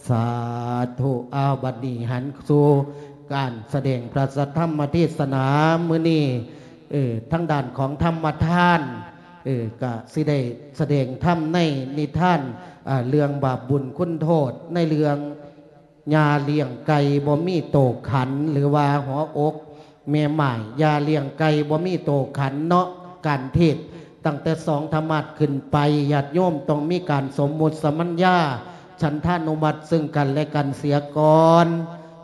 ສາທຸ. ອ້າວ ບັດນີ້ຫັນສູ່ການສະແດງພະສັດທຳມະເທດສະໜາມື້ນີ້ ເອີ ທາງດ້ານຂອງທຳມະທານ ເອີ ກະຊິໄດ້ສະແດງທຳໃນນິທານ ອາ ເລື່ອງບາບບຸນຄຸນໂທດ ໃນເລື່ອງ ຍ່າລ້ຽງໄກ່ບໍ່ມີໂຕຂັນ ຫຼືວ່າຫົວອົກແມ່ໝ້າຍ ຢ່າລ້ຽງໄກ່ບໍ່ມີໂຕຂັນເນາະ. ການເທດຕັ້ງແຕ່ສອງທຳມາດຂຶ້ນໄປ ຍາດໂຍມຕ້ອງມີການສົມມຸດສະມັນຍາ ສັນທານຸມັດເຊິ່ງກັນແລະກັນເສຍກ່ອນ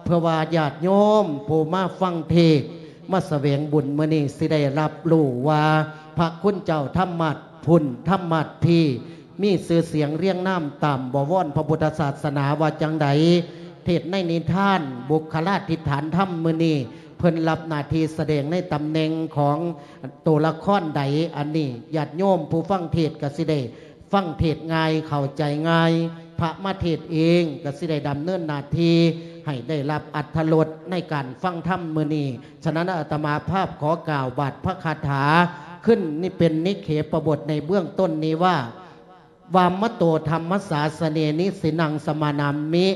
ເພື່ອວ່າຍາດໂຍມຜູ້ມາຟັງເທດ ມາສະແຫວງບຸນມື້ນີ້ ຊິໄດ້ຮັບຮູ້ວ່າພະຄຸນເຈົ້າທຳມາດພຸ້ນທຳມາດພີ ມີຊື່ສຽງລຽງນາມຕາມບໍວອນພະພຸດທະສາສະໜາວ່າຈັ່ງໃດ. ເທດໃນນິທານບຸກຄະລາທິດຖານທຳມື້ນີ້ ເພິ່ນຮັບໜ້າທີ່ສະແດງໃນຕຳແໜ່ງຂອງໂຕລະຄອນໃດ, ອັນນີ້ຍາດໂຍມຜູ້ຟັງເທດກໍຊິໄດ້ຟັງເທດງ່າຍ ເຂົ້າໃຈງ່າຍ. ພະມາເທດເອງກໍຊິໄດ້ດຳເນີນໜ້າທີ່ໃຫ້ໄດ້ຮັບອັດຖະລົດໃນການຟັງທຳມື້ນີ້. ສະນັ້ນອາດຕະມາພາບຂໍກ່າວບາດພະຄາຖາຂຶ້ນ ນີ້ເປັນນິເຂປະບົດໃນເບື້ອງຕົ້ນນີ້ວ່າ ວາມະໂຕທຳມະສາສະເນ ນິສິນັງສະມານາມິ.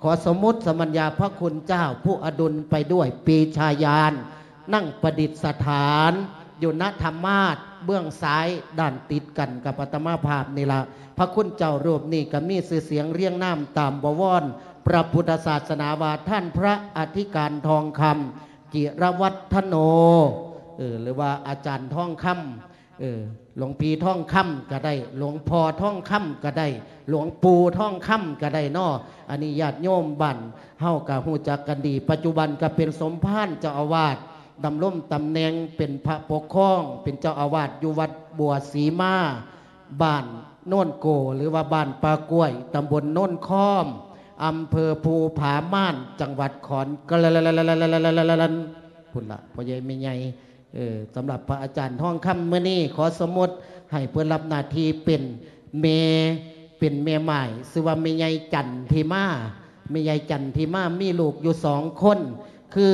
ຂໍສົມມຸດສະມັນຍາພະຄຸນເຈົ້າຜູ້ອະດຸນໄປດ້ວຍປີຊາຍານ ນັ່ງປະດິດສະຖານຢູ່ນະທຳມາດເບື້ອງຊ້າຍ ດ້ານຕິດກັນກັບອາດຕະມາພາບນີ້ລະ. ພະຄຸນເຈົ້າຮູບນີ້ກໍມີຊື່ສຽງລຽງນາມຕາມບໍວອນພະພຸດທະສາສະໜາວ່າ ທ່ານພະອະທິການທອງຄຳ ຈິລະວັດທະໂນ ເອີ ຫຼືວ່າອາຈານທອງຄຳ ເອີ ຫຼວງພີ່ທອງຄຳກໍໄດ້ ຫຼວງພໍ່ທອງຄຳກໍໄດ້ ຫຼວງປູ່ທອງຄຳກໍໄດ້ເນາະ. ອັນນີ້ຍາດໂຍມບ້ານເຮົາກໍຮູ້ຈັກກັນດີ ປັດຈຸບັນກໍເປັນສົມພານເຈົ້າອາວາດ ດຳລົງຕຳແໜ່ງເປັນພະປົກຄອງ ເປັນເຈົ້າອາວາດຢູ່ວັດບົວສີມາ ບ້ານໂນນໂກ ຫຼືວ່າບ້ານປ່າກ້ວຍ ຕຳບົນໂນນຄອມ ອຳເພີພູຜາມ່ານ ຈັງຫວັດຂອນແກ່ນ ພຸ້ນລະ ພໍ່ໃຫຍ່ແມ່ໃຫຍ່. ເອີ ສຳລັບພະອາຈານທອງຄຳມື້ນີ້ ຂໍສົມມຸດໃຫ້ເພິ່ນຮັບໜ້າທີ່ເປັນແມ່ ເປັນແມ່ໝ້າຍ ຊື່ວ່າແມ່ໃຫຍ່ຈັນທິມາ. ແມ່ໃຫຍ່ຈັນທິມາມີລູກຢູ່ສອງຄົນ ຄື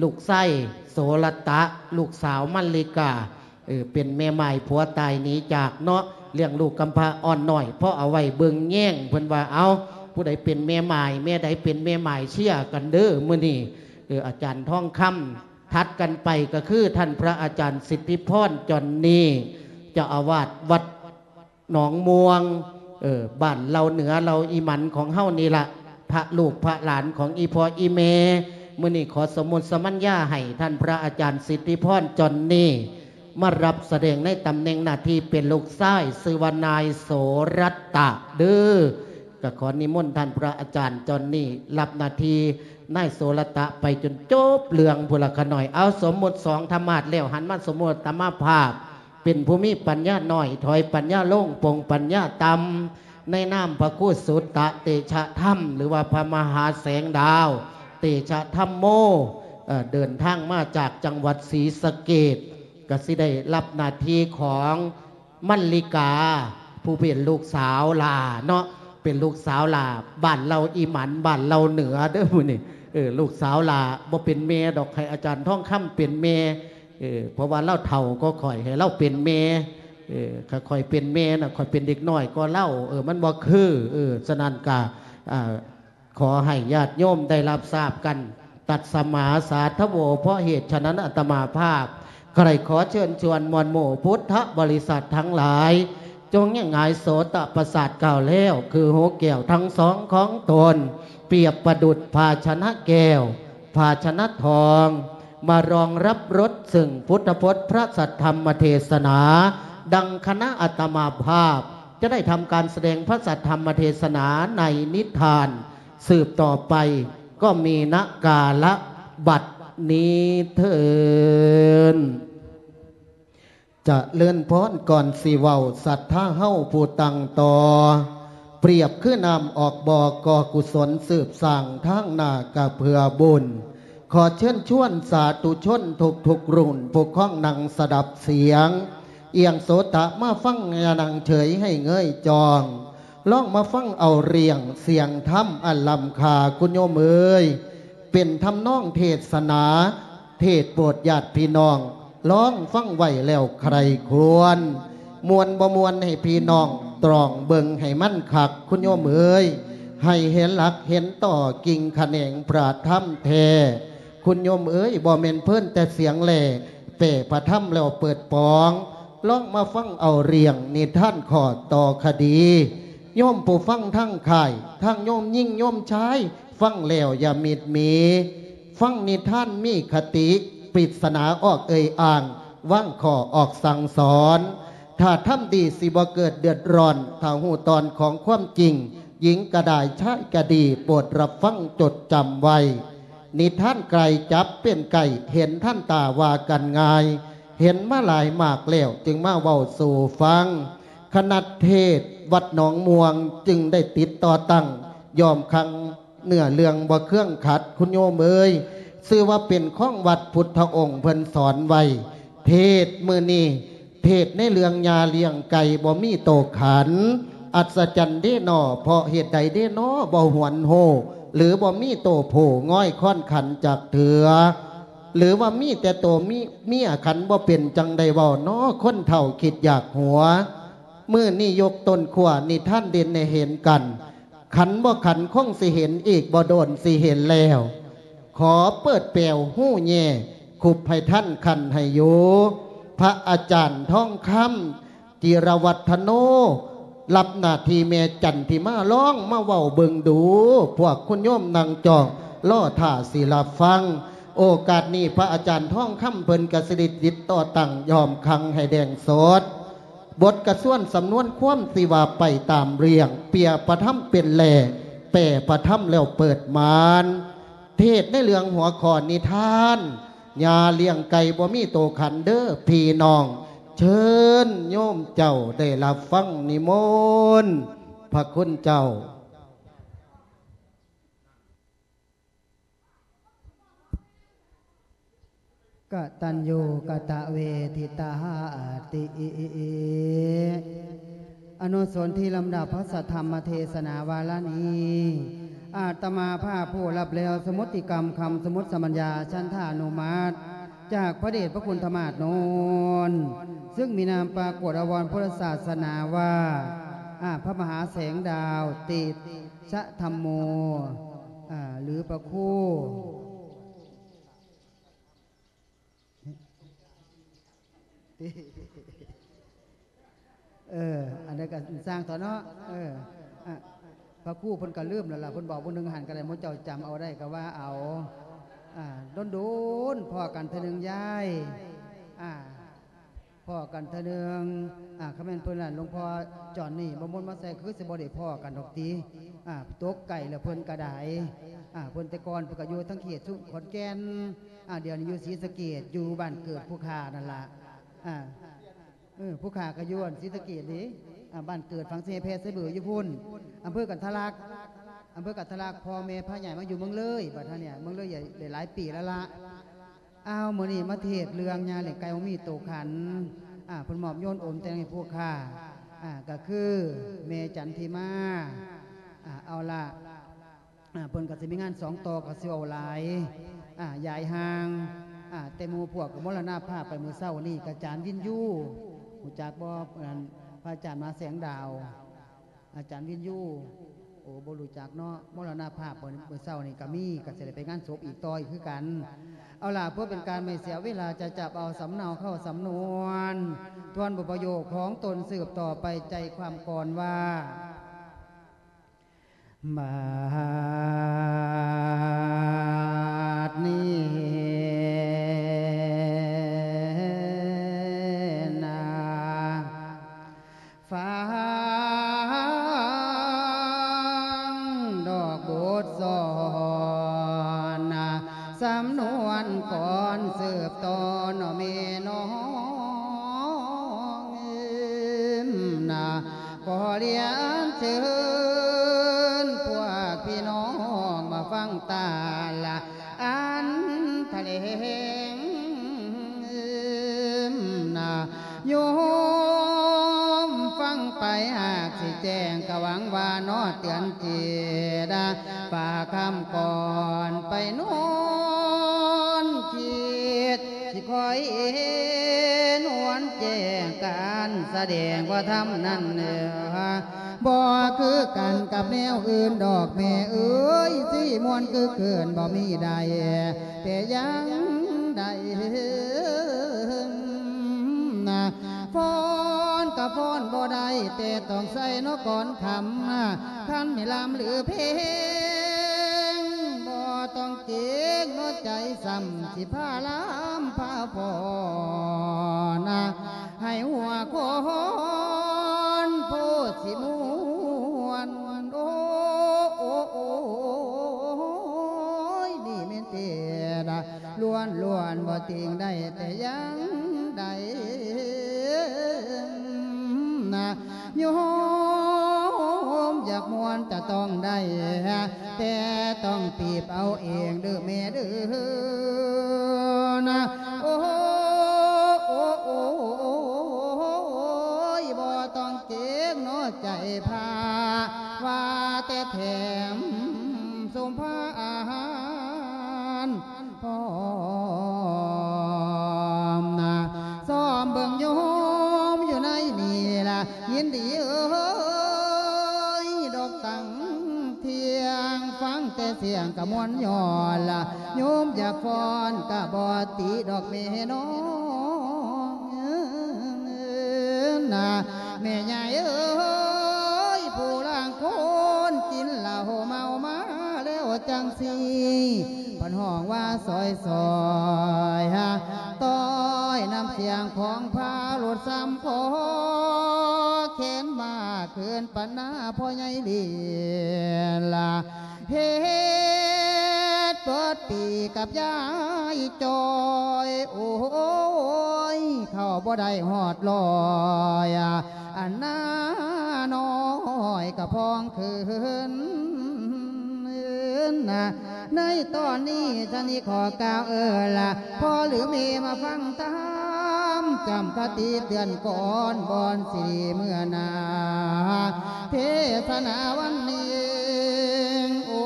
ລູກຊາຍໂສລະຕະ ລູກສາວມັນລິກາ ເອີ ເປັນແມ່ໝ້າຍ ຜົວຕາຍໜີຈາກເນາະ ລ້ຽງລູກກຳພ້າອ່ອນນ້ອຍ ພໍເອົາໄວ້ເບິ່ງແຍງ. ເພິ່ນວ່າ ເອົາ ຜູ້ໃດເປັນແມ່ໝ້າຍ ແມ່ໃດເປັນແມ່ໝ້າຍ ເຊຍກັນເດີມື້ນີ້. ເອີ ອາຈານທອງຄຳ ຖັດກັນໄປກໍຄືທ່ານພະອາຈານສິດທິພອນ ຈອນນີ ເຈົ້າອາວາດວັດໜອງມ່ວງ ເອີ ບ້ານເຫຼົ່າເໜືອ ເຫຼົ່າອີ່ໝັນຂອງເຮົານີ້ລະ ພະລູກພະຫຼານຂອງອີ່ພໍ່ອີ່ແມ່. ມື້ນີ້ຂໍສົມມຸດສະມັນຍາໃຫ້ທ່ານພະອາຈານສິດທິພອນ ຈອນນີ ມາຮັບສະແດງໃນຕຳແໜ່ງໜ້າທີ່ເປັນລູກຊາຍ ຊື່ວ່ານາຍໂສລັດຕະເດີ. ກໍຂໍນິມົນທ່ານພະອາຈານຈອນນີ ຮັບໜ້າທີ່ນາຍໂສລັດຕະໄປຈົນຈົບເລື່ອງພຸ້ນລະຂະນ້ອຍ. ເອົາ ສົມມຸດສອງທຳມາດແລ້ວ ຫັນມາສົມມຸດອາດຕະມາພາບ ເປັນຜູ້ມີປັນຍານ້ອຍ ຖອຍປັນຍາລົງ ປົງປັນຍາຕ່ຳ ໃນນາມພະຄູສຸດຕະເຕຊະທຳ ຫຼືວ່າພະມະຫາແສງດາວເຕຊະທຳໂມ ເອີ ເດີນທາງມາຈາກຈັງຫວັດສີສະເກດ ກໍຊິໄດ້ຮັບໜ້າທີ່ຂອງ ມັນລິກາ ຜູ້ເປັນລູກສາວຫຼ້າເນາະ ເປັນລູກສາວຫຼ້າບ້ານເຫຼົ່າອີ່ໝັນ ບ້ານເຫຼົ່າເໜືອເດີມື້ນີ້. ເອີ ລູກສາວຫຼ້າບໍ່ເປັນແມ່ດອກ ໃຫ້ອາຈານທອງຄຳເປັນແມ່ ເອີ ເພາະວ່າລາວເຖົ້າກວ່າຂ້ອຍ ໃຫ້ລາວເປັນແມ່. ເອີ ຖ້າຂ້ອຍເປັນແມ່ນະ ຂ້ອຍເປັນເດັກນ້ອຍກວ່າລາວ ເອີ ມັນບໍ່ຄື. ເອີ ສະນັ້ນກະ ອ່າ ຂໍໃຫ້ຍາດໂຍມໄດ້ຮັບຊາບກັນ ຕັດສະມາສາທະໂວ ເພາະເຫດສະນັ້ນອາດຕະມາພາບ ໃຄ່ຂໍເຊີນຊວນມວນໝູ່ພຸດທະບໍລິສັດທັງຫຼາຍ ຈົ່ງຍະຫງາຍໂສຕະປະສາດກ້າວແລ້ວ ຄືຫູແກ້ວທັງສອງຂອງຕົນ ປຽບປະດຸດພາຊະນະແກ້ວ ພາຊະນະທອງ ມາລອງຮັບລົດເຊິ່ງພຸດທະພົດພະສັດທຳມະເທສະໜາ ດັ່ງຄະນະອາດຕະມາພາບຈະໄດ້ທຳການສະແດງພະສັດທຳມະເທສະໜາໃນນິທານ ສືບຕໍ່ໄປກໍມີນະກາລະບັດນີ້ເທີ້ນ. ຈະເລີນພອນ ກ່ອນຊິເວົ້າ ສັດທາເຮົາຜູ້ຕັ້ງຕໍ່ ປຽບຄືນ້ຳອອກບໍ່ ກໍ່ກຸສົນສືບສ້າງທາງໜ້າກະເພື່ອບຸນ. ຂໍເຊີນຊວນສາທຸຊົນທຸກໆລຸ້ນ ຜູ້ຄອງນັ່ງສະດັບສຽງ ອຽງໂສຕະມາຟັງ ຢ່ານັ່ງເສີຍໃຫ້ເງີຍຈ້ອງ ລອງມາຟັງເອົາເລື່ອງສຽງທຳອັນລ້ຳຄ່າ ຄຸນໂຍມເອີຍ ເປັນທຳນອງເທດສະໜາ ເທດໂປດຍາດພີ່ນ້ອງ ລອງຟັງໄວ້ແລ້ວໃຄ່ຄວນ ມ່ວນບໍ່ມ່ວນໃຫ້ພີ່ນ້ອງຕຣອງເບິ່ງໃຫ້ມັນຄັກ ຄຸນໂຍມເອີຍ. ໃຫ້ເຫັນຫຼັກເຫັນຕໍ ກິ່ງຂະແໜງພະທຳແທ້. ຄຸນໂຍມເອີຍ ບໍ່ແມ່ນເພີ້ນແຕ່ສຽງແລ ແປພະທຳແລ້ວເປີດປອງ, ລອງມາຟັງເອົາເລື່ອງນິທານຂໍ້ຕໍ່ຄະດີ. ໂຍມຜູ້ຟັງທັງຄ້າຍ ທັງໂຍມຍິງໂຍມຊາຍ ຟັງແລ້ວຢ່າມິດໝີ, ຟັງນິທານມີຄະຕິ, ປິດສະໜາອອກເອີ່ຍອ້າງ, ວາງຂໍ້ອອກສັ່ງສອນ. ຖ້າທຳດີຊິບໍ່ເກີດເດືອດຮ້ອນ, ຖ້າຮູ້ຕອນຂອງຄວາມຈິງ, ຍິງກະດາຍຊາຍກະດີ, ໂປດຮັບຟັງຈົດຈຳໄວ້. ນິທານໄກ່ຈັບເປັນໄກ່, ເຫັນທັນຕາວ່າກັນງ່າຍ, ເຫັນມາຫຼາຍມາກແລ້ວຈຶ່ງມາເວົ້າສູ່ຟັງ. ຄະນະເທດວັດໜອງມ່ວງຈຶ່ງໄດ້ຕິດຕໍ່ຕັ້ງ ຍ້ອມຄັງເນື້ອເລື່ອງບໍ່ເຄືອງຂັດ ຄຸນໂຍມເອີຍ, ຊື່ວ່າເປັນຂອງວັດພຸດທະອົງເພິ່ນສອນໄວ້. ເທດມື້ນີ້ ເທດໃນເລື່ອງຍ່າລ້ຽງໄກ່ບໍ່ມີໂຕຂັນ. ອັດສະຈັນເດນໍ ເພາະເຫດໃດເດນໍ ບໍ່ຫວນຮູ້ ຫຼືບໍ່ມີໂຕຜູ້ງອຍຄ້ອນຂັນຈັກເທື່ອ ຫຼືວ່າມີແຕ່ໂຕມີເມຍຂັນບໍ່ເປັນ ຈັ່ງໄດ້ເວົ້ານໍ ຄົນເຖົ້າຄິດຢາກຫົວ. ມື້ນີ້ຍົກຕົ້ນຂົ້ວນິທານເດັ່ນໃຫ້ເຫັນກັນ, ຂັນບໍ່ຂັນຄົງຊິເຫັນອີກ ບໍ່ໂດນຊິເຫັນແລ້ວ. ຂໍເປີດແປວຫູແຍ່ ຄຸບໃຫ້ທັນຂັນໃຫ້ຢູ່. ພະອາຈານທອງຄຳ ຈິລະວັດທະໂນ ຮັບໜ້າທີ່ແມ່ຈັນທິມາ ລອງມາເວົ້າເບິ່ງດູ. ພວກຄຸນໂຍມນັ່ງຈ້ອງລໍຖ້າຊິຮັບຟັງ. ໂອກາດນີ້ພະອາຈານທອງຄຳເພິ່ນກະສິໄດ້ຕິດຕໍ່ຕັ້ງ ຍ້ອມຄັງໃຫ້ແດງສົດ. ບົດກະຊວນສຳນວນຄວາມທີ່ວ່າໄປຕາມເລື່ອງ, ເປຍພະທຳເປັນແລ, ແປພະທຳແລ້ວເປີດມານ. ເທດໃນເລື່ອງຫົວຂໍ້ນິທານ ຍ່າລ້ຽງໄກ່ບໍ່ມີໂຕຂັນເດີພີ່ນ້ອງ. ເຊີນໂຍມເຈົ້າໄດ້ຮັບຟັງນິມົນພະຄຸນເຈົ້າ. ກະຕັນຍູກະຕະເວທິຕາຫາຕິ ອະນຸສົນທີ່ລຳດັບພະສະທຳມະເທສະນາວາລະນີ້ ອາດຕະມາພາບຜູ້ຮັບແລ້ວ ສະມຸດຕິກຳຄຳສະມຸດສະບັນຍາ ສັນທານຸມັດ ຈາກພະເດດພະຄຸນທະມາດໂນນ ຊຶ່ງມີນາມປາກົດອາວອນພຸດທະສາສະໜາວ່າ ອາ ພະມະຫາແສງດາວ ຕິສະທຳໂມ ອາ ຫຼືພະຄູ ເອີ ອັນໃດກໍຊ່າງເຖາະເນາະ ເອີ ອະ ພະຄູເພິ່ນກໍລືມແລ້ວລະ ເພິ່ນບອກມື້ໜຶ່ງຫັ້ນກໍໄດ້ ໝູ່ເຈົ້າຈຳເອົາໄດ້ກໍວ່າເອົາ ອາ ດົນໆພໍ້ກັນເທື່ອໜຶ່ງຍາຍ ອາ ພໍ້ກັນເທື່ອໜຶ່ງ ອາ ຄັນແມ່ນເພິ່ນນັ້ນ ຫຼວງພໍ່ຈອນນີ້ ບໍ່ມົນມາໃສ່ ຄືຊິບໍ່ໄດ້ພໍ້ກັນດອກຕິ ອາ ຕົກໄກແລ້ວເພິ່ນກໍໄດ້ ອາ ເພິ່ນແຕ່ກ່ອນເພິ່ນກໍຢູ່ທາງເຂດຊຸມຂອນແກ່ນ ອາ ດຽວນີ້ຢູ່ສີສະເກດ ຢູ່ບ້ານເກີດຜູ້ຂ້ານັ້ນລະ ອາ ເອີ ຜູ້ຂ້າກໍຢູ່ອັນສີສະເກດເດ້ ອາ ບ້ານເກີດຝັງເສແຜ່ໃສ່ເບີຢູ່ພຸ້ນ ອຳເພີກັນທະລັກ ອຳເພີກັນທະລັກ ພໍ່ແມ່ພາຍ້າຍມາຢູ່ເມືອງເລີຍ ບັດເຮົານີ້ເມືອງເລີຍໄດ້ຫຼາຍປີແລ້ວລະ ອ້າວ ມື້ນີ້ມາເທດເລື່ອງຍ່າລ້ຽງໄກ່ບໍ່ມີໂຕຂັນ ອາ ເພິ່ນມອບໂຍນໂອມແຕ່ງໃຫ້ຜູ້ຂ້າ ອາ ກໍຄືແມ່ຈັນທິມາ ອາ ເອົາລະ ອາ ເພິ່ນກໍຊິມີງານສອງຕໍ່ ກໍຊິເວົ້າຫຼາຍ ອາ ຢາຍຫ່າງ ອາ ແຕ່ໝູ່ພວກກໍມໍລະນະພາບໄປມື້ເຊົ້ານີ້ ກະອາຈານວິນຍູ ຮູ້ຈັກບໍ່ ອັນ ພະອາຈານມະຫາແສງດາວ ອາຈານວິນຍູ ໂອ້ ບໍ່ຮູ້ຈັກເນາະ ມໍລະນະພາບມື້ ມື້ເຊົ້ານີ້ກໍມີ ກໍຊິໄດ້ໄປງານສົບອີກຕໍ່ອີກຄືກັນ ເອົາລະ ເພື່ອເປັນການບໍ່ເສຍເວລາ ຈະຈັບເອົາສຳເນົາເຂົ້າສຳນວນ ທວນບົດປະໂຫຍກຂອງຕົນສືບຕໍ່ໄປ ໃຈຄວາມກ່ອນວ່າ ບາດນີ້ນາ ຟັງດອກບົດສອນນາ ສຳນວນກ່ອນສືບຕໍ່ເນາະແມ່ນ້ອງເອີຍນາ ຂໍລຽນເຊີນພວກພີ່ນ້ອງມາຟັງຕາລະອັນທະແຫຼງນາ ໂຍມຟັງໄປຫາກຊິແຈ້ງ ກະຫວັງວ່າເນາະເຕືອນຈິດ ຝາກຄຳກ່ອນໄປນອນຄິດ ຊິຄ່ອຍເຫັນຫວນແຈ້ງການສະແດງວ່າທຳນັ້ນເອີ ບໍ່ຄືກັນກັບແນວອື່ນດອກແມ່ເອີຍ ຊິມ່ວນຄືເກີນບໍ່ມີໃດແຕ່ຢ່າງໃດ. ຟ້ອນກໍຟ້ອນບໍ່ໄດ້ ແຕ່ຕ້ອງໃສ່ເນາະກ່ອນຄ່ຳ ຄັນມີລຳຫຼືເພງ ບໍ່ຕ້ອງເກງເນາະໃຈ ຊ້ຳຊິພາລຳພາຟ້ອນ ໃຫ້ຫົວຄອນໂພດຊິມ່ວນ ໂອ້ ໂອ້ ໂອ້ຍ ນີ້ແມ່ນເທດລ້ວນໆ ບໍ່ຕິງໄດ້ແຕ່ຢ່າງໃດ. ໂຍມຢາກມ່ວນຈະຕ້ອງໄດ້ ແຕ່ຕ້ອງປີບເອົາເອງເດີ້ແມ່ເດີ້ນະ. ໂອ້ ໂອ້ ໂອ້ຍ ບໍ່ຕ້ອງເກງເນາະໃຈພາ ວ່າແຕ່ແຖມສົມພານ ພ້ອມນະ ຊອມເບິ່ງໂຍມຢູ່ໃນນີ້ລະ ຍິນດີເອີຍ ດອກຕັ້ງທ່ຽງ ຟັງແຕ່ສຽງກະມ່ວນຍ້ອນລະ ໂຍມຢາກຟ້ອນກະບໍ່ຕິດອກແມ່ນ້ອງນະ. ແມ່ຍາຍເອີຍ ຜູ້ລາງຄົນກິນເຫຼົ້າເມົາມາແລ້ວຈັ່ງຊີ້ ເພິ່ນຮ້ອງວ່າຊອຍໆ ຕ້ອຍນ້ຳສຽງຂອງພາຫຼຸດຊ້ຳຄໍ ແຂນມາຄືນປັນໜ້າພໍ່ໃຫຍ່ລີລາ ເຮັດເປີດປີກັບຍາຍຈອຍ ໂອ້ຍ ເຂົ້າບໍ່ໄດ້ຮອດຮ້ອຍ ອັນໜ້ານ້ອຍກະພອງຄືນນະ. ໃນຕອນນີ້ຊະນີ້ຂໍກ່າວເອີລະ ພໍ່ຫຼືແມ່ມາຟັງທຳ ຈຳຄະຕິເຕືອນກ່ອນ ບ່ອນຊິເມືອໜ້າ ເທສະໜາວັນນີ້ ໂອ້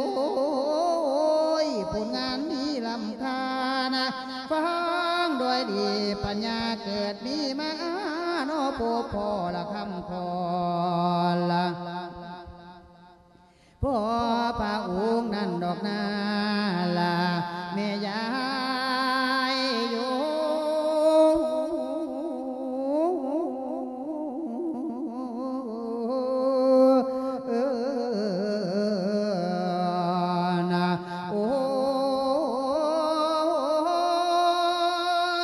ຍ ຜົນງານມີລ້ຳຄ່ານະ ຟັງດ້ວຍດີປັນຍາເກີດມີມາ ເນາະ ພົບພໍລະຄຳຂອນລະ ພໍພະອົງນັ້ນດອກນາລະ ແມ່ຍາຍໂຍ ເອີ ນະ ໂອ້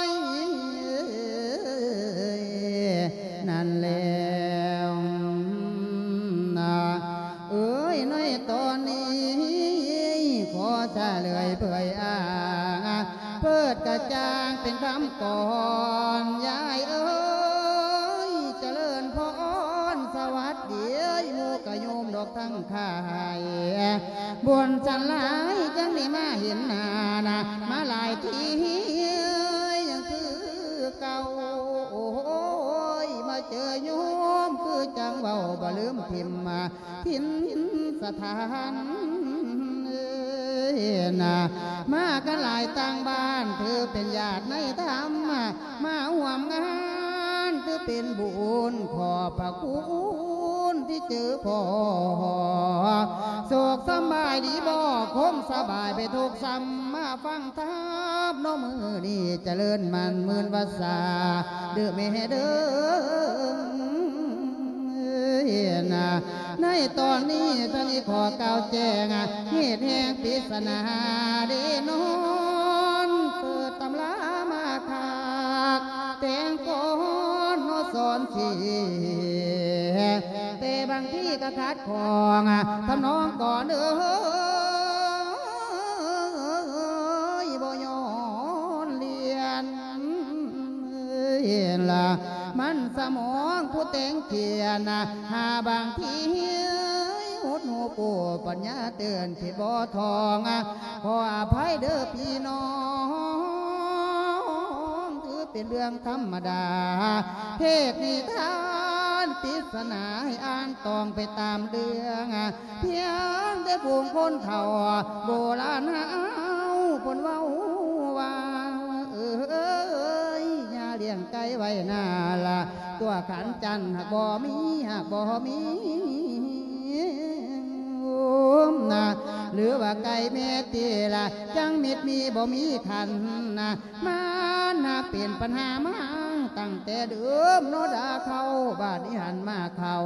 ຍ ນັ້ນແລ້ວນະ ເອີຍ ໃນຕອນນີ້ ຂໍສະເລີຍເຜີຍອ້າງ ເປີດກະຈ່າງເປັນຄຳກ່ອນ ຍາຍເອີຍ ຈະເລີນພອນ ສະຫວັດດີເອີຍ ໝູ່ກະໂຍມດອກທັງ ຂາຍ ບຸນສັນຫຼາຍຈັ່ງໄດ້ມາເຫັນໜ້ານະ ມາຫຼາຍທີຍັງຄືເກົ່າ ໂອ້ຍ ມາເຈີໂຍມຄືຈັ່ງເວົ້າບໍ່ລືມຖິ້ມມາ ຖິ່ນສະຖານ ເອີຍ ນະ ມາກັນຫຼາຍຕ່າງບ້ານ ຖືເປັນຍາດໃນທຳ ມາຮ່ວມງານ ຖືເປັນບຸນ ຂອບພະຄຸນທີ່ເຈີພໍ ສຸກສະບາຍດີບໍ່ ຄົງສະບາຍໄປທຸກຊ້ຳ ມາຟັງທຳເນາະ ມື້ນີ້ຈະເລີນໝັ້ນໝື່ນວັດສາ ເດີແມ່ເດີ ເອີຍ ນະ ໃນຕອນນີ້ທ່ານນີ້ຂໍກ່າວແຈ້ງ ເຫດແຫ່ງປິດສະໜາເດນອນ ເປີດຕຳລາມາຄັກ ແຕ່ງກ່ອນເນາະສອນເສຍ ແຕ່ບາງທີກໍຂັດຂ້ອງ ທຳນອງກ່ອນເອີຍ ບໍ່ຍ້ອນລຽນ ເຫັນລະ ມັນສະໝອງຜູ້ແຕ່ງຂຽນ ຫາບາງທີຫົດຫູປູ ປັນຍາເຕືອນຜິດບໍ່ທ່ອງ ຂໍອະໄພເດີພີ່ນ້ອງ ຖືເປັນເລື່ອງທຳມະດາ ເພດນິທານປິດສະໜາ ໃຫ້ອ່ານຕ້ອງໄປຕາມເລື່ອງ ພຽງແຕ່ຜູ້ຄົນເຖົ້າໂບລານເຮົາ ເພິ່ນເວົ້າວ່າ ເອີຍ ຢ່າລ້ຽງໄກ່ໄວ້ໜ້າລະ ຕົວຂັນຈັນຫາກບໍ່ມີ ຫາກບໍ່ມີ ນະ ຫຼືວ່າໄກ່ແມ່ຕິລະ ຈັ່ງມິດມີບໍ່ມີຄັນນະ ມັນຫາກເປັນປັນຫາມາຕັ້ງແຕ່ເດີມເນາະດາເຂົາ ບາດນີ້ຫັນມາເຂົ້າ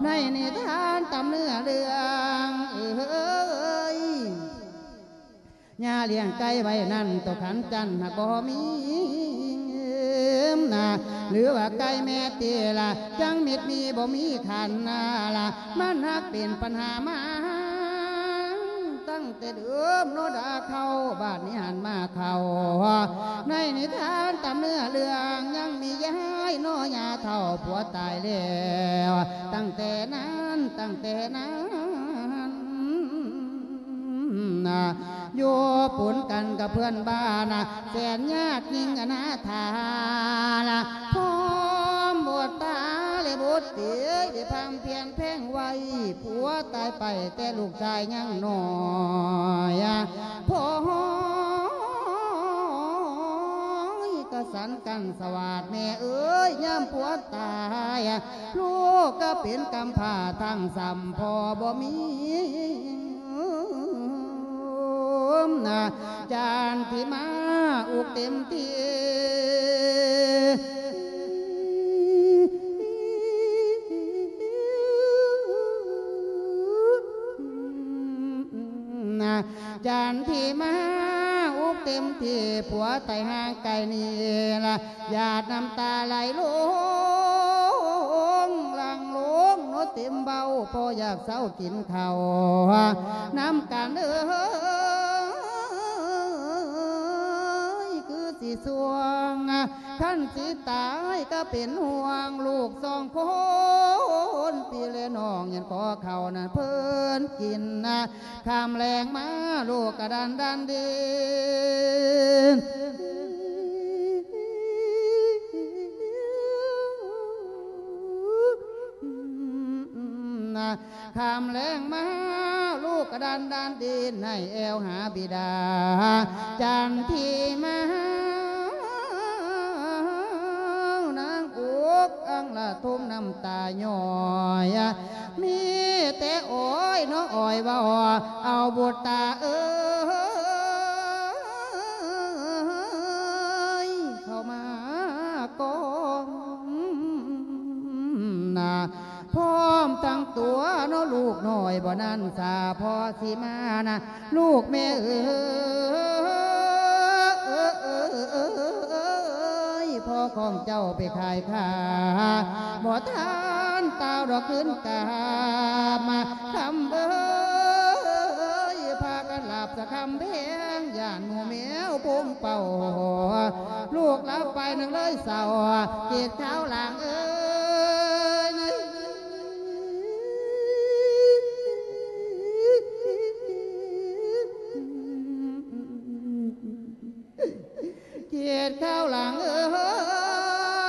ໃນນິທານຕຳເນື້ອເລື່ອງເອີຍ. ຍ່າລ້ຽງໄກ່ໄວ້ນັ້ນ ໂຕຂັນຈັນຫາກບໍ່ມີນະ ຫຼືວ່າໄກ່ແມ່ຕິລະ ຈັ່ງມິດມີບໍ່ມີຄັນນະລະ ມັນຫາກເປັນປັນຫາມາຕັ້ງແຕ່ເດີມເນາະດາເຂົາ ບາດນີ້ຫັນມາເຂົ້າໃນນິທານຕຳເນື້ອເລື່ອງ ຍັງມີຍາຍເນາະ ຍ່າເຖົ້າຜົວຕາຍແລ້ວ ຕັ້ງແຕ່ນັ້ນ ຕັ້ງແຕ່ນັ້ນ ນະ ຢູ່ປົນກັນກັບເພື່ອນບ້ານນະ ແສນຍາກຍິ່ງອະນາຖາລະ ພ້ອມບຸດຕາແລະບຸດຕີ ໄດ້ພຳພຽນແພງໄວ້ ຜົວຕາຍໄປແຕ່ລູກຊາຍຍັງນ້ອຍ ພໍ່ຫ້ອຍກະສັນກັນສະຫວາດ ແມ່ເອີຍ ຍາມຜົວຕາຍ ລູກກະເປັນກຳພ້າທັງຊ້ຳ ພໍ່ບໍ່ມີນະ ຈັນທິມາອຸກເຕັມທີ່ ນະ ຈັນທິມາອຸກເຕັມທີ່ ຜົວຕາຍຫ່າງໄກນີ້ລະ ຫຍາດນ້ຳຕາໄຫຼລົງ ຫຼັ່ງລົງເນາະເຕັມເບົາ ພໍຢາກເຊົາກິນເຂົ້ານຳກັນເອີຍ ຄືຊິຊ່ວງ ຄັນຊິຕາຍກະເປັນຫ່ວງ ລູກສອງຄົນ ພີ່ແລະນ້ອງ ຍັງຂໍເຂົ້ານັ້ນເພິ່ນກິນນະ ຄ່ຳແລງມາ ລູກກະດັນດັນດິນ ຄ່ຳແລງມາ ລູກກະດັນດັນດິນ ໃຫ້ແອວຫາບິດາ ຈັນທິມາ ນາງອຸກອັ່ງລະທຸມນ້ຳຕາຍ້ອຍ ມີແຕ່ໂອຍເນາະໂອຍເວົ້າ ເອົາບຸດຕາເອີຍ ເຂົ້າມາກ່ອນນະ ພ້ອມທັງຕົວເນາະ ລູກນ້ອຍບໍ່ນັ້ນສາ ພໍຊິມານະ ລູກແມ່ເອີຍ ພໍ່ຂອງເຈົ້າໄປຂາຍຂ້າ ບໍ່ທັນຕ່າວດອກຄືນກາບມາ ຄຳເອີຍ ພາກັນຫຼັບສະຄຳແພງ ຢ້ານໝູແມວປຸງເປົ້າ ລູກຫຼັບໄປໜຶ່ງເລີຍເສົ້າ ເກດຂາວຫຼາງເອີຍ ເກດຂາວຫຼາງເອີ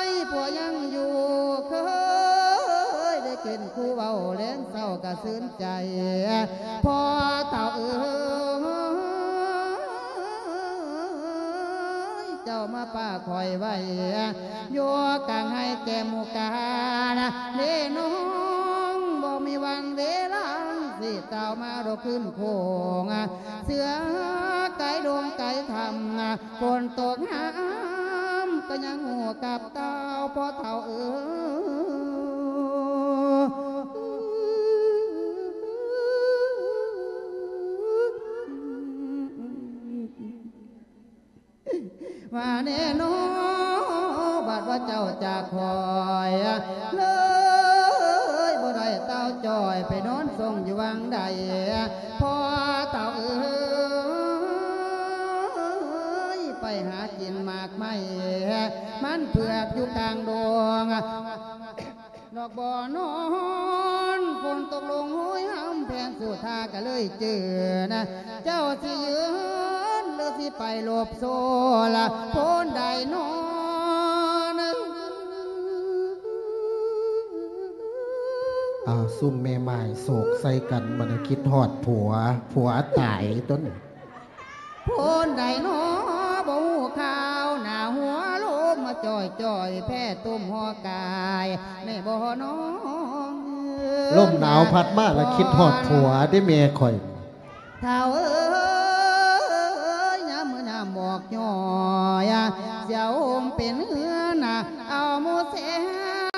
ຍ ຜົວຍັງຢູ່ ເຄີຍໄດ້ກິນຄູ່ເວົ້າ ແລງເຊົ້າກະຊື່ນໃຈ ພໍ່ເຖົ້າເອີຍ ເຈົ້າມາປະຂ້ອຍໄວ້ ຢູ່ກາງໄຮ່ແກ້ມໝູການ ເດ້ນ້ອງ ບໍ່ມີວັນເວລາ ຊິເຕົ້າມາດອກຄືນໂຄງ ເສືອໄກດົງໄກຖ້ຳ ຝົນຕົກຫາມ ກະຍັງຫູກັບເຕົ້າ ພໍ່ເຖົ້າເອີຍ ວ່າແນ່ນອ ບາດວ່າເຈົ້າຈາກຂ້ອຍ ເລີຍບໍ່ໄດ້ເຕົ້າຈ້ອຍ ໄປນອນຊົງຢູ່ວັງໃດ ພໍ່ເຖົ້າເອີຍ ໄປຫາກິນໝາກໄມ້ ມັນເຜືອກຢູ່ກາງດົງ ນອກບໍ່ນອນ ຝົນຕົກລົງໂຫຍຫ້ຳ ແພງສຸທາກະເລີຍຈື່ນະ ເຈົ້າຊິຢືນ ຫຼືຊິໄປຫຼົບໂຊລະ ໂພນໃດນອນ ອ້າວ ຊຸມແມ່ໝ້າຍໂສກໃສ່ກັນ ບັດນີ້ຄິດຮອດຜົວ ຜົວຕາຍຕົວນີ້. ໂພນໃດນໍບໍ່ຮູ້ຂ່າວ ໜາຫົວລົມມາຈ່ອຍໆ ແພ້ຕຸ່ມຫໍ່ກາຍ ແມ່ບໍ່ນ້ອງ ລົມໜາວພັດມາລະຄິດຮອດຜົວເດ້ແມ່ຂ້ອຍ. ທ້າວເອີຍ ຍາມມື້ຍາມໝອກຍ້ອຍ ສຽວໂຮມເປັນເຮືອນ ເອົາໝູ່ແສ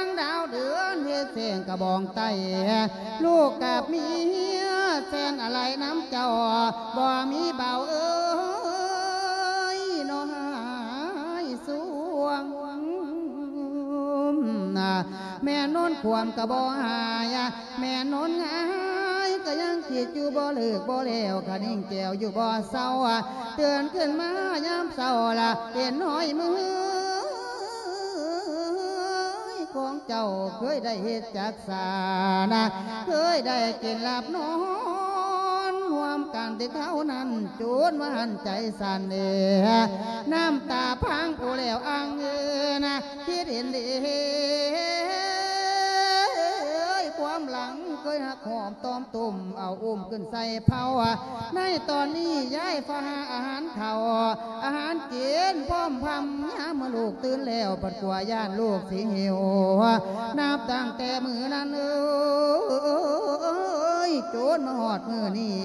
ງດາວເດືອນເຮັດແສງກະບອງໄຕ້ ລູກກັບເມຍແສນອາໄລນຳເຈົ້າ ບໍ່ມີເບົາເອີຍ ນ້ອງຫາຍສວງ ແມ່ນອນຄວາມກະບໍ່ຫາຍ ແມ່ນອນຫງາຍກະຍັງຄິດຢູ່ບໍ່ເລີກບໍ່ແລ້ວ ຄະນິງແກ້ວຢູ່ບໍ່ເຊົາ ເຕືອນຂຶ້ນມາຍາມເຊົ້າລະເຫັນຮອຍມື ຂອງເຈົ້າເຄີຍໄດ້ເຮັດຈັກສານະ ເຄີຍໄດ້ກິນຫຼັບນອນຮ່ວມກັນແຕ່ເທົ່ານັ້ນ ຈົນວ່າຫັ້ນໃຈສັ່ນເດ ນ້ຳຕາພັງໂອແລ້ວອັ່ງເອີນະ ຄິດເຫັນເດ ຄວາມຫຼັງເຄີຍຮັກຫອມຕອມ ຕົ້ມເອົາອຸ້ມຂຶ້ນໃສ່ເພົາ ໃນຕອນນີ້ຍ້າຍຟ້າຫາອາຫານເຂົ້າ ອາຫານກິນພ້ອມພຳ ຍາມເມື່ອລູກຕື່ນແລ້ວ ພັດກົວຢ້ານລູກຊິຫິວ ນັບຕັ້ງແຕ່ມື້ນັ້ນເອີຍ ຈົນມາຮອດມື້ນີ້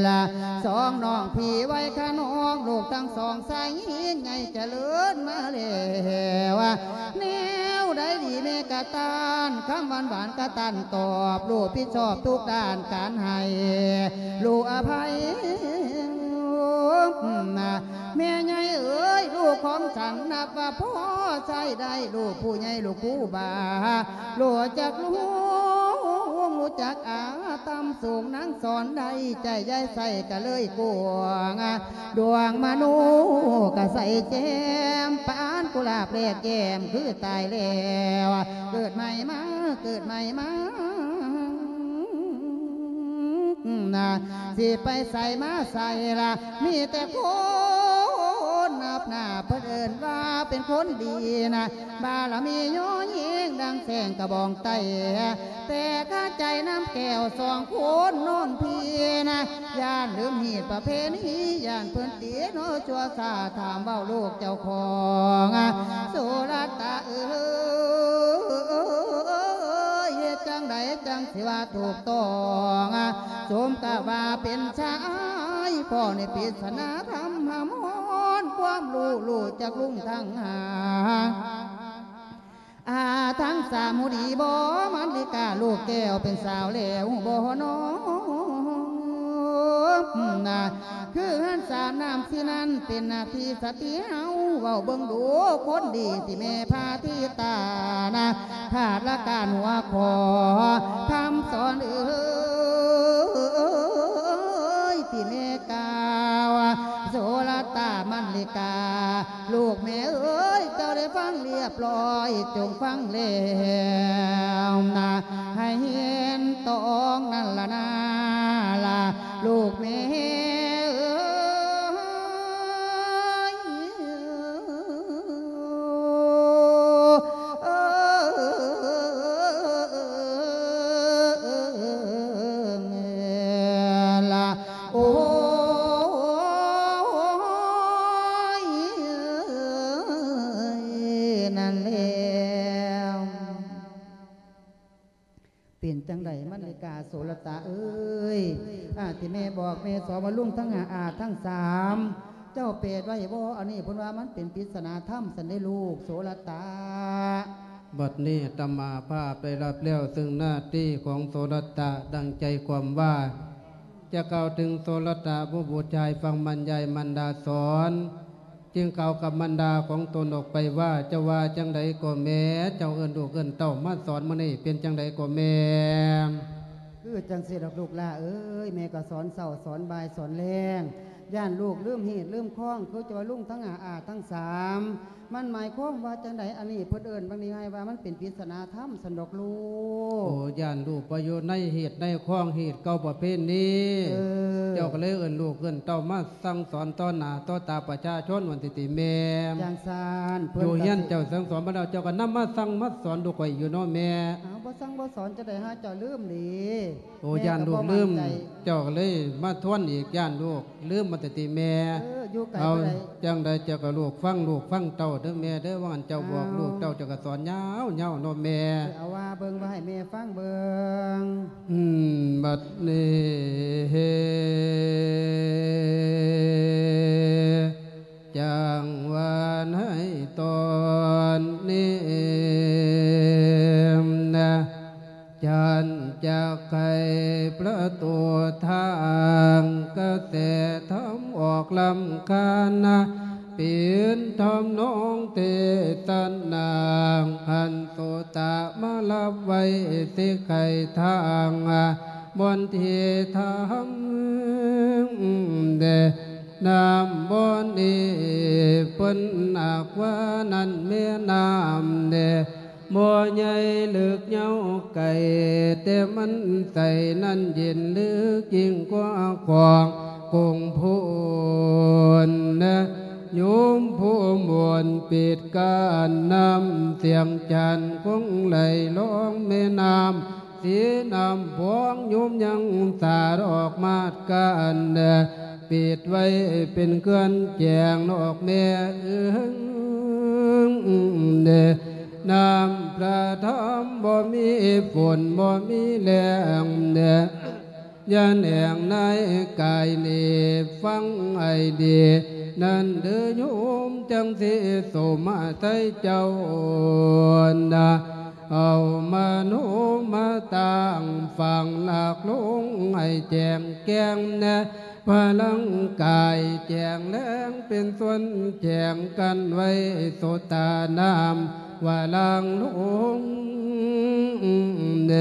ລະ ສອງນ້ອງພີ່ໄວຄະນອງ ລູກທັງສອງຊາຍຍິງໃຫຍ່ຈະເລີນມາແລ້ວ ແນວໃດດີແມ່ກະຕ້ານ ຄຳຫວານໆກະຕ້ານຕອບ ລູກຜິດຊອບທຸກດ້ານການໃຫ້ ລູກອະໄພ ແມ່ໃຫຍ່ເອີຍ ລູກຂອງສັນນັບວ່າພໍໃຊ້ໄດ້ ລູກຜູ້ໃຫຍ່ລູກຄູບາ ຮູ້ຈັກລຸງ ຮູ້ຈັກອາ ຕ່ຳສູງນາງສອນໄດ້ ໃຈຢາຍໃສ່ກະເລີຍກວ້າງ ດວງມະໂນກະໃສແຈ່ມ ປານກຸຫຼາບແລກແກ້ມຄືຕາຍແລ້ວ ເກີດໃໝ່ມາ ເກີດໃໝ່ມາ ຊິໄປໃສມາໃສລະ ມີແຕ່ຄົນນັບໜ້າ ເພິ່ນເອີ້ນວ່າເປັນຄົນດີນະ ບາລະມີຍໍຍິງດັ່ງແສງກະບອງໄຕ້ ແຕ່ຄາໃຈນ້ຳແກ້ວສອງຄົນນ້ອງພີ່ນະ ຢ້ານລືມຮີດປະເພນີ ຢ້ານເພິ່ນຕິເນາະຊົ່ວຊາ ຖາມເວົ້າລູກເຈົ້າຂອງ ໂສລະຕະເອີຍ ເຮັດຈັ່ງໃດຈັ່ງຊິວ່າຖືກຕ້ອງ ສົມກັບວ່າເປັນຊາຍ ພໍ່ໃນປິດສະໜາທຳ ຫຳຮ້ອນຄວາມຮູ້ ຮູ້ຈັກລຸງທັງຫາ ອາ ທັງສາມຮູ້ດີບໍ່ ມັນລິກາລູກແກ້ວເປັນສາວແລ້ວບໍ່ນ້ອງ ຄືເຮືອນສາມນ້ຳສີ່ນັ້ນ ເປັນໜ້າທີ່ສະຕີເຮົາ ເວົ້າເບິ່ງດູຄົນດີ ທີ່ແມ່ພາທິຕານະ ຂາດລະການຫົວຂໍ້ ຄຳສອນເອີຍ ທີ່ແມ່ກ່າວ ໂສລະຕາ ມັນລິກາ ລູກແມ່ເອີຍ ເຈົ້າໄດ້ຟັງລຽບລ້ອຍ ຈົ່ງຟັງແລ້ວນະ ໃຫ້ເຫັນຕອງນັ້ນລະນາລະ ລູກແມ່ເອີຍ ເອີ ເອີ ເອີ ເອີ ເອີ ລະ ໂອ້ຍ ນັ້ນແລ້ວ ເປັນຈັ່ງໃດມັນລິກາໂສລະຕາເອີຍ ອາ ທີ່ແມ່ບອກແມ່ສອນວ່າລຸງທັງຫ້າ ອາທັງສາມ ເຈົ້າແປດໄວ້ບໍ່? ອັນນີ້ເພິ່ນວ່າມັນເປັນປິດສະໜາທຳຊັ້ນເດ້ລູກໂສລະຕາ. ບັດນີ້ອາດຕະມາພາບໄດ້ຮັບແລ້ວເຊິ່ງໜ້າທີ່ຂອງໂສລະຕະ ດັ່ງໃຈຄວາມວ່າ ຈະກ່າວເຖິງໂສລະຕະຜູ້ບຸດຊາຍຟັງບັນຍາຍມັນດາສອນ ຈຶ່ງກ່າວກັບມັນດາຂອງຕົນອອກໄປວ່າ ເຈົ້າວ່າຈັ່ງໃດກໍແມ່ ເຈົ້າເອີ້ນລູກເອີ້ນເຕົ້າມາສອນມື້ນີ້ ເປັນຈັ່ງໃດກໍແມ່? ຄືຈັ່ງຊີ້ດອກລູກຫຼ້າເອີຍ ແມ່ກໍສອນເຊົ້າສອນບ່າຍສອນແລງ ຢ້ານລູກລືມຮີດລືມຄອງ ຄືເຈົ້າວ່າລຸງທັງຫ້າ ອາທັງສາມ ມັນໝາຍຄວາມວ່າຈັ່ງໃດ? ອັນນີ້ເພິ່ນເອີ້ນບາງທີໃຫ້ວ່າມັນເປັນປິດສະໜາທຳຊັ້ນດອກລູກ. ໂອ້ ຢ້ານລູກບໍ່ຢູ່ໃນຮີດໃນຄອງ ຮີດເກົ່າປະເພນີ ເອີ ເຈົ້າກໍເລີຍເອີ້ນລູກເອີ້ນເຕົ້າມາສັ່ງສອນຕໍ່ໜ້າຕໍ່ຕາປະຊາຊົນວ່າຊີ້ຕິແມ່. ຈັ່ງຊັ້ນ ຢູ່ເຮືອນເຈົ້າສັ່ງສອນມາແລ້ວ ເຈົ້າກໍນຳມາສັ່ງມາສອນລູກຂ້ອຍຢູ່ເນາະແມ່. ເອົາ ບໍ່ສັ່ງບໍ່ສອນຈັ່ງໃດຫາເຈົ້າລືມເດ? ໂອ້ ຢ້ານລູກລືມ ເຈົ້າກໍເລີຍມາທວນອີກ ຢ້ານລູກລືມວ່າຊີ້ຕິແມ່. ເອີ ຢູ່ໄກ ເອົາ ບໍ່ໄດ້ ຈັ່ງໃດເຈົ້າກໍລູກຟັງລູກຟັງເຕົ້າເດີ້ແມ່ເດີ້ ວ່າອັນເຈົ້າບອກ ເອົາ ລູກເຕົ້າ ເຈົ້າກໍສອນຍາວໆເນາະແມ່ ເອົາວ່າເບິ່ງ ວ່າໃຫ້ແມ່ຟັງເບິ່ງ ອືມ ບັດນີ້ ຈັ່ງວ່າໃນຕອນນີ້ນະ ຈັນຈັກໃຫ້ປະຕູທາງ ກະແສທຳອອກລຳຄານະ ເປັນທຳນອງເທສະນາ ຄັນໂສຕະມາຮັບໄວ້ ຊິໄຂທາງບ່ອນທີ່ທຳເດ ນ້ຳບ່ອນນີ້ເພິ່ນອາກວ່ານັ້ນແມ່ນ້ຳເດ ບໍ່ໃຫຍ່ເລິກຍາວໄກ ແຕ່ມັນໃສນັ້ນເຢັນເລິກຍິ່ງກວ່າຂອງກົງພຸນນະ ໂຍມຜູ້ມົນປິດກັ້ນນ້ຳ ສຽງຈັນຄົງໄຫຼລອງແມ່ນ້ຳ ສີນ້ຳພອງໂຍມຍັງສາດອອກມາດການ ປິດໄວ້ເປັນເຄື່ອນແຈງນອກແມ່ເອີງ ນ້ຳພະທຳບໍ່ມີຝົນບໍ່ມີແລ້ງ ຢ່າແໜງໃນກາຍນີ້ ຟັງໃຫ້ດີນັ້ນເດີໂຍມ ຈັ່ງຊິສົມໃສ່ເຈົ້ານະ ເອົາມະໂນມະຕັ້ງຝັງຫຼັກລົງໃຫ້ແຈ້ງແຈ້ງແນ ພະລັງກາຍແຈ້ງແລງເປັນສ່ວນແຈ້ງກັນໄວ້ ໂສຕະນ້ຳວະລາງລົງເນ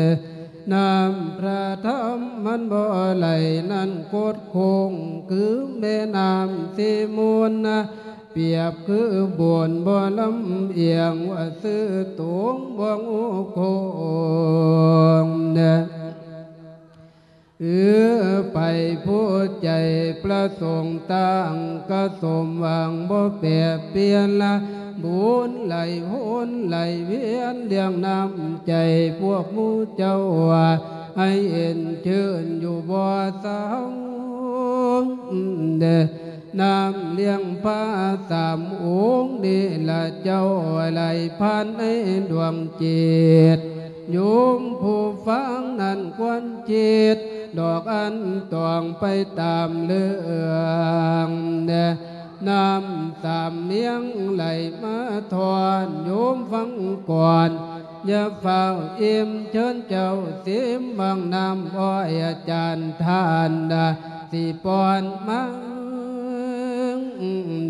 ນ້ຳພະທຳມັນບໍ່ໄຫຼນັ້ນຄົດໂຄ້ງ ຄືແມ່ນ້ຳສີມູນນະ ປຽບຄືໂບນບໍ່ລຳອຽງ ວ່າຊື່ໂຕງບໍ່ງູໂຄ້ງເນ ເອີ ໄປຜູ້ໃຈປະສົງຕັ້ງກະສົມຫວັງບໍ່ແປປ່ຽນລະ ບຸນໄຫຼໂຫນໄຫຼວຽນລ້ຽງນ້ຳໃຈພວກໝູ່ເຈົ້າ ໃຫ້ເຢັນຊື່ນຢູ່ບໍ່ເຊົາເດີ ນ້ຳລ້ຽງພະສາມອົງນີ້ລະເຈົ້າ ໄຫຼຜ່ານໃນດວງຈິດ ໂຍມຜູ້ຟັງນັ້ນຄວນຄິດ ດອກອັນຕ້ອງໄປຕາມເລື່ອງແດ່ ນ້ຳສາມມຽງໄຫຼມາທອນ ໂຍມຟັງກ່ອນ ຢ່າຟ້າວອີ່ມ ເຊີນເຈົ້າຊີມບາງນ້ຳອ້ອຍ ອາຈານທ່ານນະ ຊິປ້ອນມາ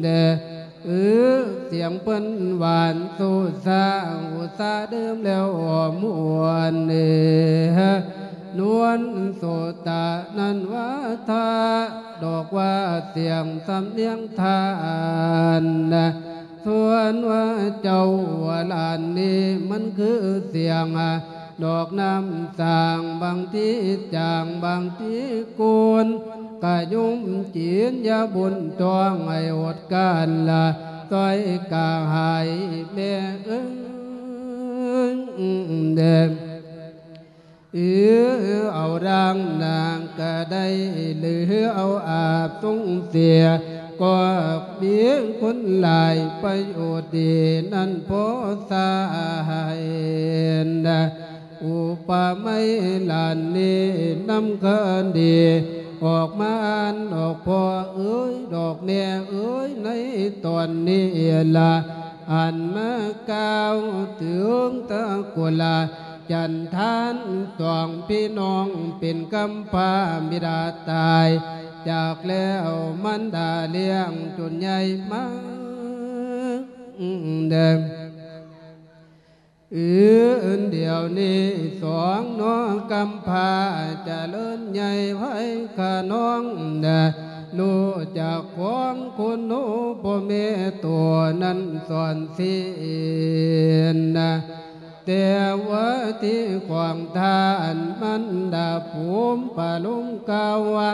ແດ່ ເອີ ສຽງເພິ່ນຫວານຊູຊາ ອຸສາດື່ມແລ້ວມ່ວນເອີ ນວນໂສຕະນັ້ນວ່າທາ ດອກວ່າສຽງສຳນຽງທ່ານນະ ສ່ວນວ່າເຈົ້າວ່າຫຼານນີ້ ມັນຄືສຽງ ດອກນ້ຳສາງ ບາງທີຈາງ ບາງທີກູນ ກະຍຸ່ມຈີນຢາບຸນຕ້ອງໃຫ້ອົດການລະ ຊ່ອຍກະຫາຍແມ່ເອີຍ ເອີ ເອົາລ້າງນາງກະໄດ້ ຫຼືເອົາອາບສົງເສຍ ກໍມີຄຸນຫຼາຍປະໂຫຍດດີ ນັ້ນພໍສາຍນະ ອຸປະໄມຫຼານນີ້ນຳຄະດີ ອອກມາອ່ານດອກພໍ່ເອີຍ ດອກແມ່ເອີຍ ໃນຕອນນີ້ລະ ອັນມາກ່າວເຖິງຕະກຸລາ ຈັນທານສອງພີ່ນ້ອງ ເປັນກຳພ້າບິດາຕາຍຈາກແລ້ວ ມານດາລ້ຽງຈົນໃຫຍ່ມາ ເອີ ດຽວນີ້ສອງນ້ອງກຳພ້າຈະເລີນໃຫຍ່ໄວຂະນອງ ຮູ້ຈັກຂອງຄຸນໂນພໍ່ແມ່ໂຕນັ້ນສອນສິນ ແຕ່ວ່າທີ່ຂອງທ່ານມັນດາພູມປະລຸງກ່າວວ່າ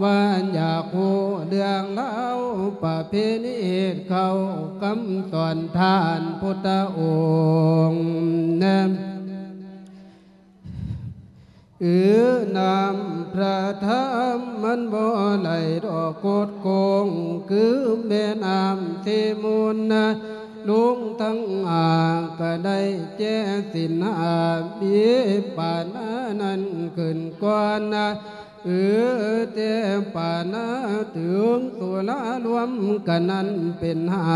ວ່າຢາກຮູ້ເລື່ອງລາວປະເພນີເຮັດເຂົ້າ ຄຳສອນທ່ານພຸດທະອົງນັ້ນ ເອີ ນ້ຳພະທຳມັນບໍ່ໄຫຼດອກກົດໂກງ ຄືແມ່ນ້ຳເຊມູນນະ ລຸງທັງຫ້າກໍໄດ້ແຈສິນຫ້າ ມີປານານັ້ນຂຶ້ນກ່ອນນະ ເອີ ແຕ່ປານາເຖິງສຸລາລວມກັນນັ້ນເປັນຫ້າ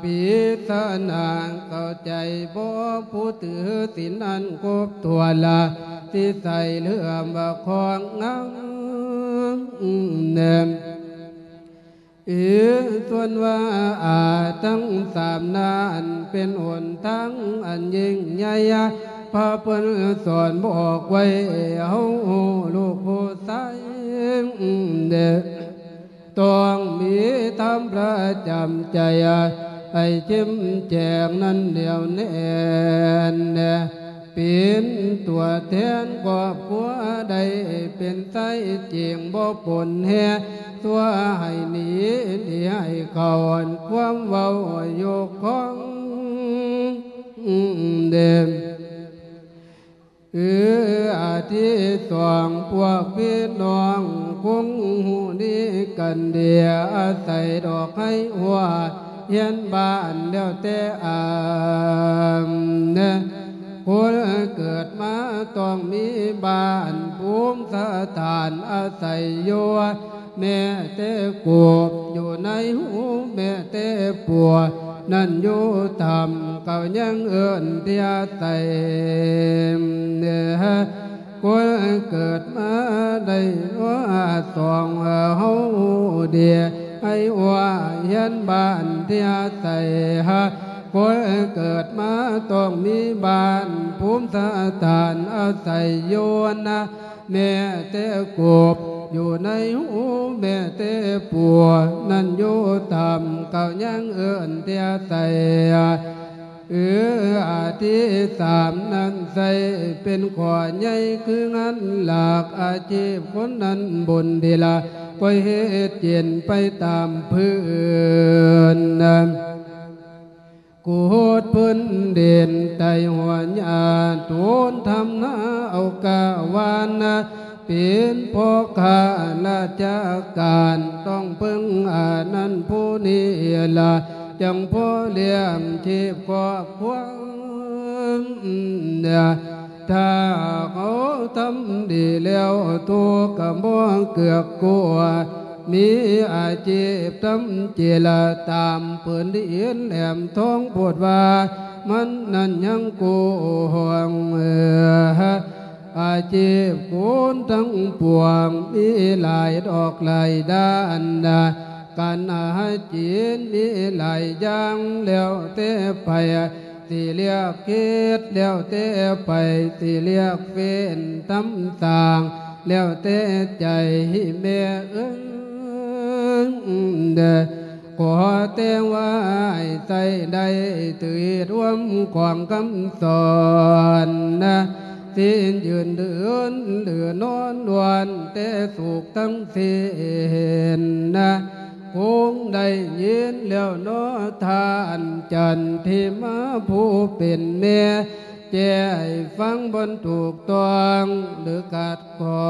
ປິສະໜາເຂົ້າໃຈບໍ່ ຜູ້ຖືສິນນັ້ນຄົບຖ້ວນລະ ທີ່ໃສ່ເລື່ອມວ່າຄອງງາມແນມ ເອີ ສ່ວນວ່າອາທັງສາມນັ້ນ ເປັນຫົນທາງອັນຍິ່ງໃຫຍ່ ພະເພິ່ນສອນບອກໄວ້ ເຮົາລູກຜູ້ຊາຍເດ້ ຕ້ອງມີທຳປະຈຳໃຈ ໃຫ້ເຂັ້ມແຂງນັ້ນແໜ້ວແໜ້ນ ເປັນຕົວແທນຄອບຄົວ ໄດ້ເປັນໄຊເກັ່ງບໍ່ປົນແຮ່ ຊົ່ວໃຫ້ໜີ ດີໃຫ້ເຂົ້າ ຄວາມເວົ້າຍົກຂອງເດ ເອີ ອາທິສອງ ພວກພີ່ນ້ອງຄົງຮູ້ດີກັນດີ ອາໄສດອກໄຮຫົວ ຮຽນບ້ານແລ້ວແຕ່ອານ ຄົນເກີດມາຕ້ອງມີບ້ານພູມສະຖານອາໄສຢູ່ ແມ້ແຕ່ກົບຢູ່ໃນຮູ ແມ້ແຕ່ປົວນັ້ນຢູ່ຖ້ຳ ເຂົາຍັງເອີ້ນທີ່ອາໄສ ຄົນເກີດມາໄດ້ວ່າສອງ ເຮົາດີໃຫ້ວ່າຮຽນບ້ານທີ່ອາໄສ ຄົນເກີດມາຕ້ອງມີບ້ານພູມສະຖານອາໄສຢູ່ນະ ແມ້ແຕ່ກົບຢູ່ໃນຮູ ແມ້ແຕ່ປົວນັ້ນຢູ່ຖ້ຳ ເຂົາຍັງເອີ້ນແຕ່ໃສ ເອີ ອາທິສາມນັ້ນໃຊ້ເປັນຂໍ້ໃຫຍ່ ຄືງານຫຼັກອາຊີບຄົນນັ້ນບຸນດີລະ ກໍເຮັດກິນໄປຕາມພື້ນ ຂຸດພື້ນດິນໄຕ່ຫົວຫຍ້າ ໂຕນທຳນາເອົາກ້າຫວ່ານນະ ເປັນພໍ່ຄ້າລາຊະການ ຕ້ອງເພິ່ງອານັ້ນຜູ້ນີ້ລະ ຈັ່ງພໍລ້ຽງຊີບຄອບຄົວ ຖ້າເຮົາທຳດີແລ້ວ ທຸກກໍບໍ່ເກືອກກົວ ມີອາຊີບທຳເຈລະ ຕາມຜືນດິນແຫຼມທອງ ໂພດວ່າມັນນັ້ນຍັງກວ້າງ ອາຊີບຄົນທັງປວງ ມີຫຼາຍດອກຫຼາຍດ້ານນະ ການຫາກິນມີຫຼາຍຢ່າງ ແລ້ວແຕ່ໃຜ ຊິເລືອກເຮັດ ແລ້ວແຕ່ໃຜ ຊິເລືອກເຟ້ນທຳສ້າງ ແລ້ວແຕ່ໃຈແມ່ເອີຍ ຂໍແຕ່ວ່າໃຊ້ໄດ້ ຖືກຮ່ວມຂອງຄຳສອນນະ ສິ້ນຢືນເດີນ ຫຼືນອນ ລ້ວນແຕ່ສຸກທັງ ເສນນະ ຄົງໄດ້ຍິນແລ້ວເນາະ ທ່ານຈັນທິມາຜູ້ເປັນແມ່ ແຈ້ໃຫ້ຟັງບ່ອນຖືກຕ້ອງ ຫຼືຂັດຂ້ອ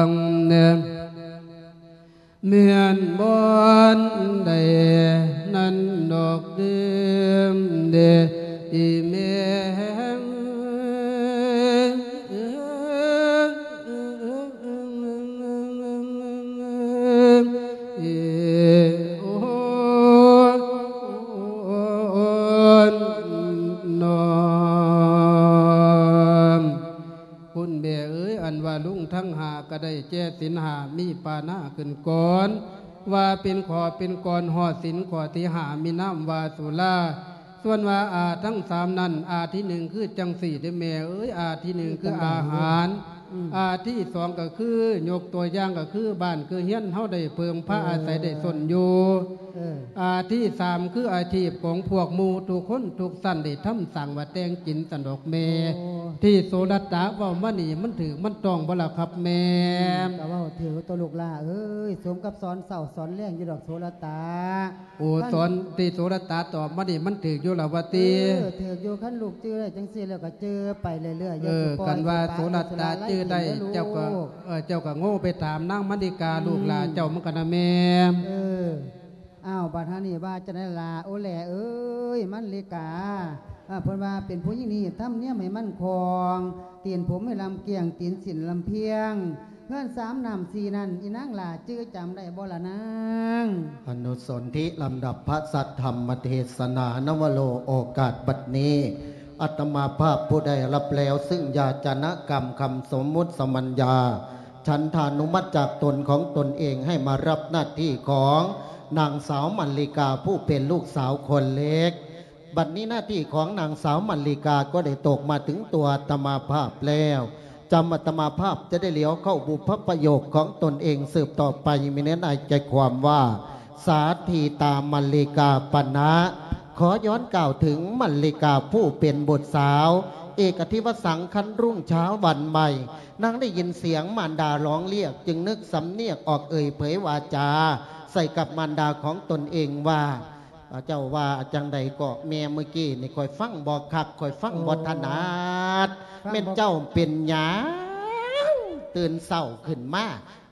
ງແດ່ ແມ່ນບ່ອນໃດນັ້ນດອກເດີມເດ ອີແມ່ ເອ ໂອ ນອມ ຄຸນແມ່ເອີຍ ອັນວ່າລຸງທັງຫ້າກໍໄດ້ແຈສິນຫ້າ ມີປານາຂຶ້ນກ່ອນ ວ່າເປັນຂໍ້ເປັນກອນຮອດສິນຂໍ້ທີຫ້າ ມີນາມວ່າສຸລາ ສ່ວນວ່າອາທັງສາມນັ້ນ ອາທີໜຶ່ງຄືຈັ່ງຊີ້ເດ້ແມ່ເອີຍ ອາທີໜຶ່ງຄືອາຫານ ອືມ ອັນທີສອງກໍຄື ຍົກຕົວຢ່າງກໍຄື ບ້ານຄືເຮືອນເຮົາໄດ້ເພິ່ງພາອາໄສໄດ້ຊົນຢູ່. ເອີ ອັນທີສາມຄື ອາຊີບຂອງພວກໝູ່ທຸກຄົນທຸກຊັ້ນໄດ້ທຳສ້າງວ່າແຕ່ງກິນຊັ້ນດອກແມ່. ໂອ້ ທີ່ໂສລະຕາເວົ້າມານີ້ ມັນຖືກມັນຕ້ອງບໍ່ລະຄັບແມ່? ອືມ ກໍເວົ້າຖືກຕົວະລູກຫຼ້າເອີຍ, ສົມກັບສອນເຊົ້າສອນແລງຢູ່ດອກໂສລະຕາ. ໂອ້ ຄັນ ສອນທີ່ໂສລະຕາຕອບມານີ້ມັນຖືກຢູ່ລະວະຕິ? ເອີ ຖືກຢູ່, ຄັນລູກຈື່ໄດ້ຈັ່ງຊີ້ແລ້ວກໍຈື່ໄປເລື້ອຍໆ ເອີ ຢ່າຊິປ່ອຍ ຄັນວ່າໂສລະຕາຈື່ໄດ້ ເຈົ້າກໍ ເອີ ເຈົ້າກໍໂງ່ໄປຖາມນາງມະລິກາ ອືມ ລູກຫຼ້າເຈົ້າມັນກໍນະແມ່. ເອີ ອ້າວ ບັດຫານີ້ວ່າຈັ່ງໃດລະ? ໂອ້ ແຫຼເອີຍ ມະລິກາ ເພິ່ນວ່າເປັນຜູ້ຍິງນີ້ ທຳນຽມໃຫ້ມັນຄ່ອງ, ຕີນຜົມໃຫ້ລຳກ້ຽງ, ຕີນສິ້ນລຳພຽງ. ເຮືອນສາມນ້ຳສີ່ນັ້ນ ອີນາງຫຼ້າຈື່ຈຳໄດ້ບໍ່ລະນາງ? ອະນຸສົນທິລຳດັບພະສັດທຳມະເທສະໜາ ນະວະໂລ ໂອກາດບັດນີ້ ອາດຕະມາພາບຜູ້ໄດ້ຮັບແລ້ວ ຊຶ່ງຢາຈະນະກຳຄຳສົມມຸດສະມັນຍາ ສັນທານຸມັດຈາກຕົນຂອງຕົນເອງ ໃຫ້ມາຮັບໜ້າທີ່ຂອງນາງສາວມະລິກາ ຜູ້ເປັນລູກສາວຄົນເລັກ. ບັດນີ້ໜ້າທີ່ຂອງນາງສາວມະລິກາກໍໄດ້ຕົກມາເຖິງຕົວອາດຕະມາພາບແລ້ວ, ຈຳອາດຕະມາພາບຈະໄດ້ຫຼຽວເຂົ້າບຸບພະປະໂຫຍກຂອງຕົນເອງສືບຕໍ່ໄປ. ມີເນື້ອໃນໃຈຄວາມວ່າ ສາທີຕາມະລິກາປະນະ. ຂໍຍ້ອນກ່າວເຖິງມະລິກາຜູ້ເປັນບຸດສາວ ເອກະທິວະສັງ ຄັນລຸງເຊົ້າວັນໃໝ່ ນາງໄດ້ຍິນສຽງມານດາຮ້ອງລຽກ ຈຶ່ງນຶກສຳນຽກອອກເອີ່ຍເຜີຍວາຈາໃສ່ກັບມານດາຂອງຕົນເອງວ່າ ເຈົ້າວ່າຈັ່ງໃດເກາະແມ່? ມື້ກີ້ນີ້ຂ້ອຍຟັງບໍ່ຄັກ, ຂ້ອຍຟັງບໍ່ຖະໜັດ. ໂອ້ ແມ່ນເຈົ້າເປັນຫຍັງ? ຕື່ນເຊົ້າຂຶ້ນມາ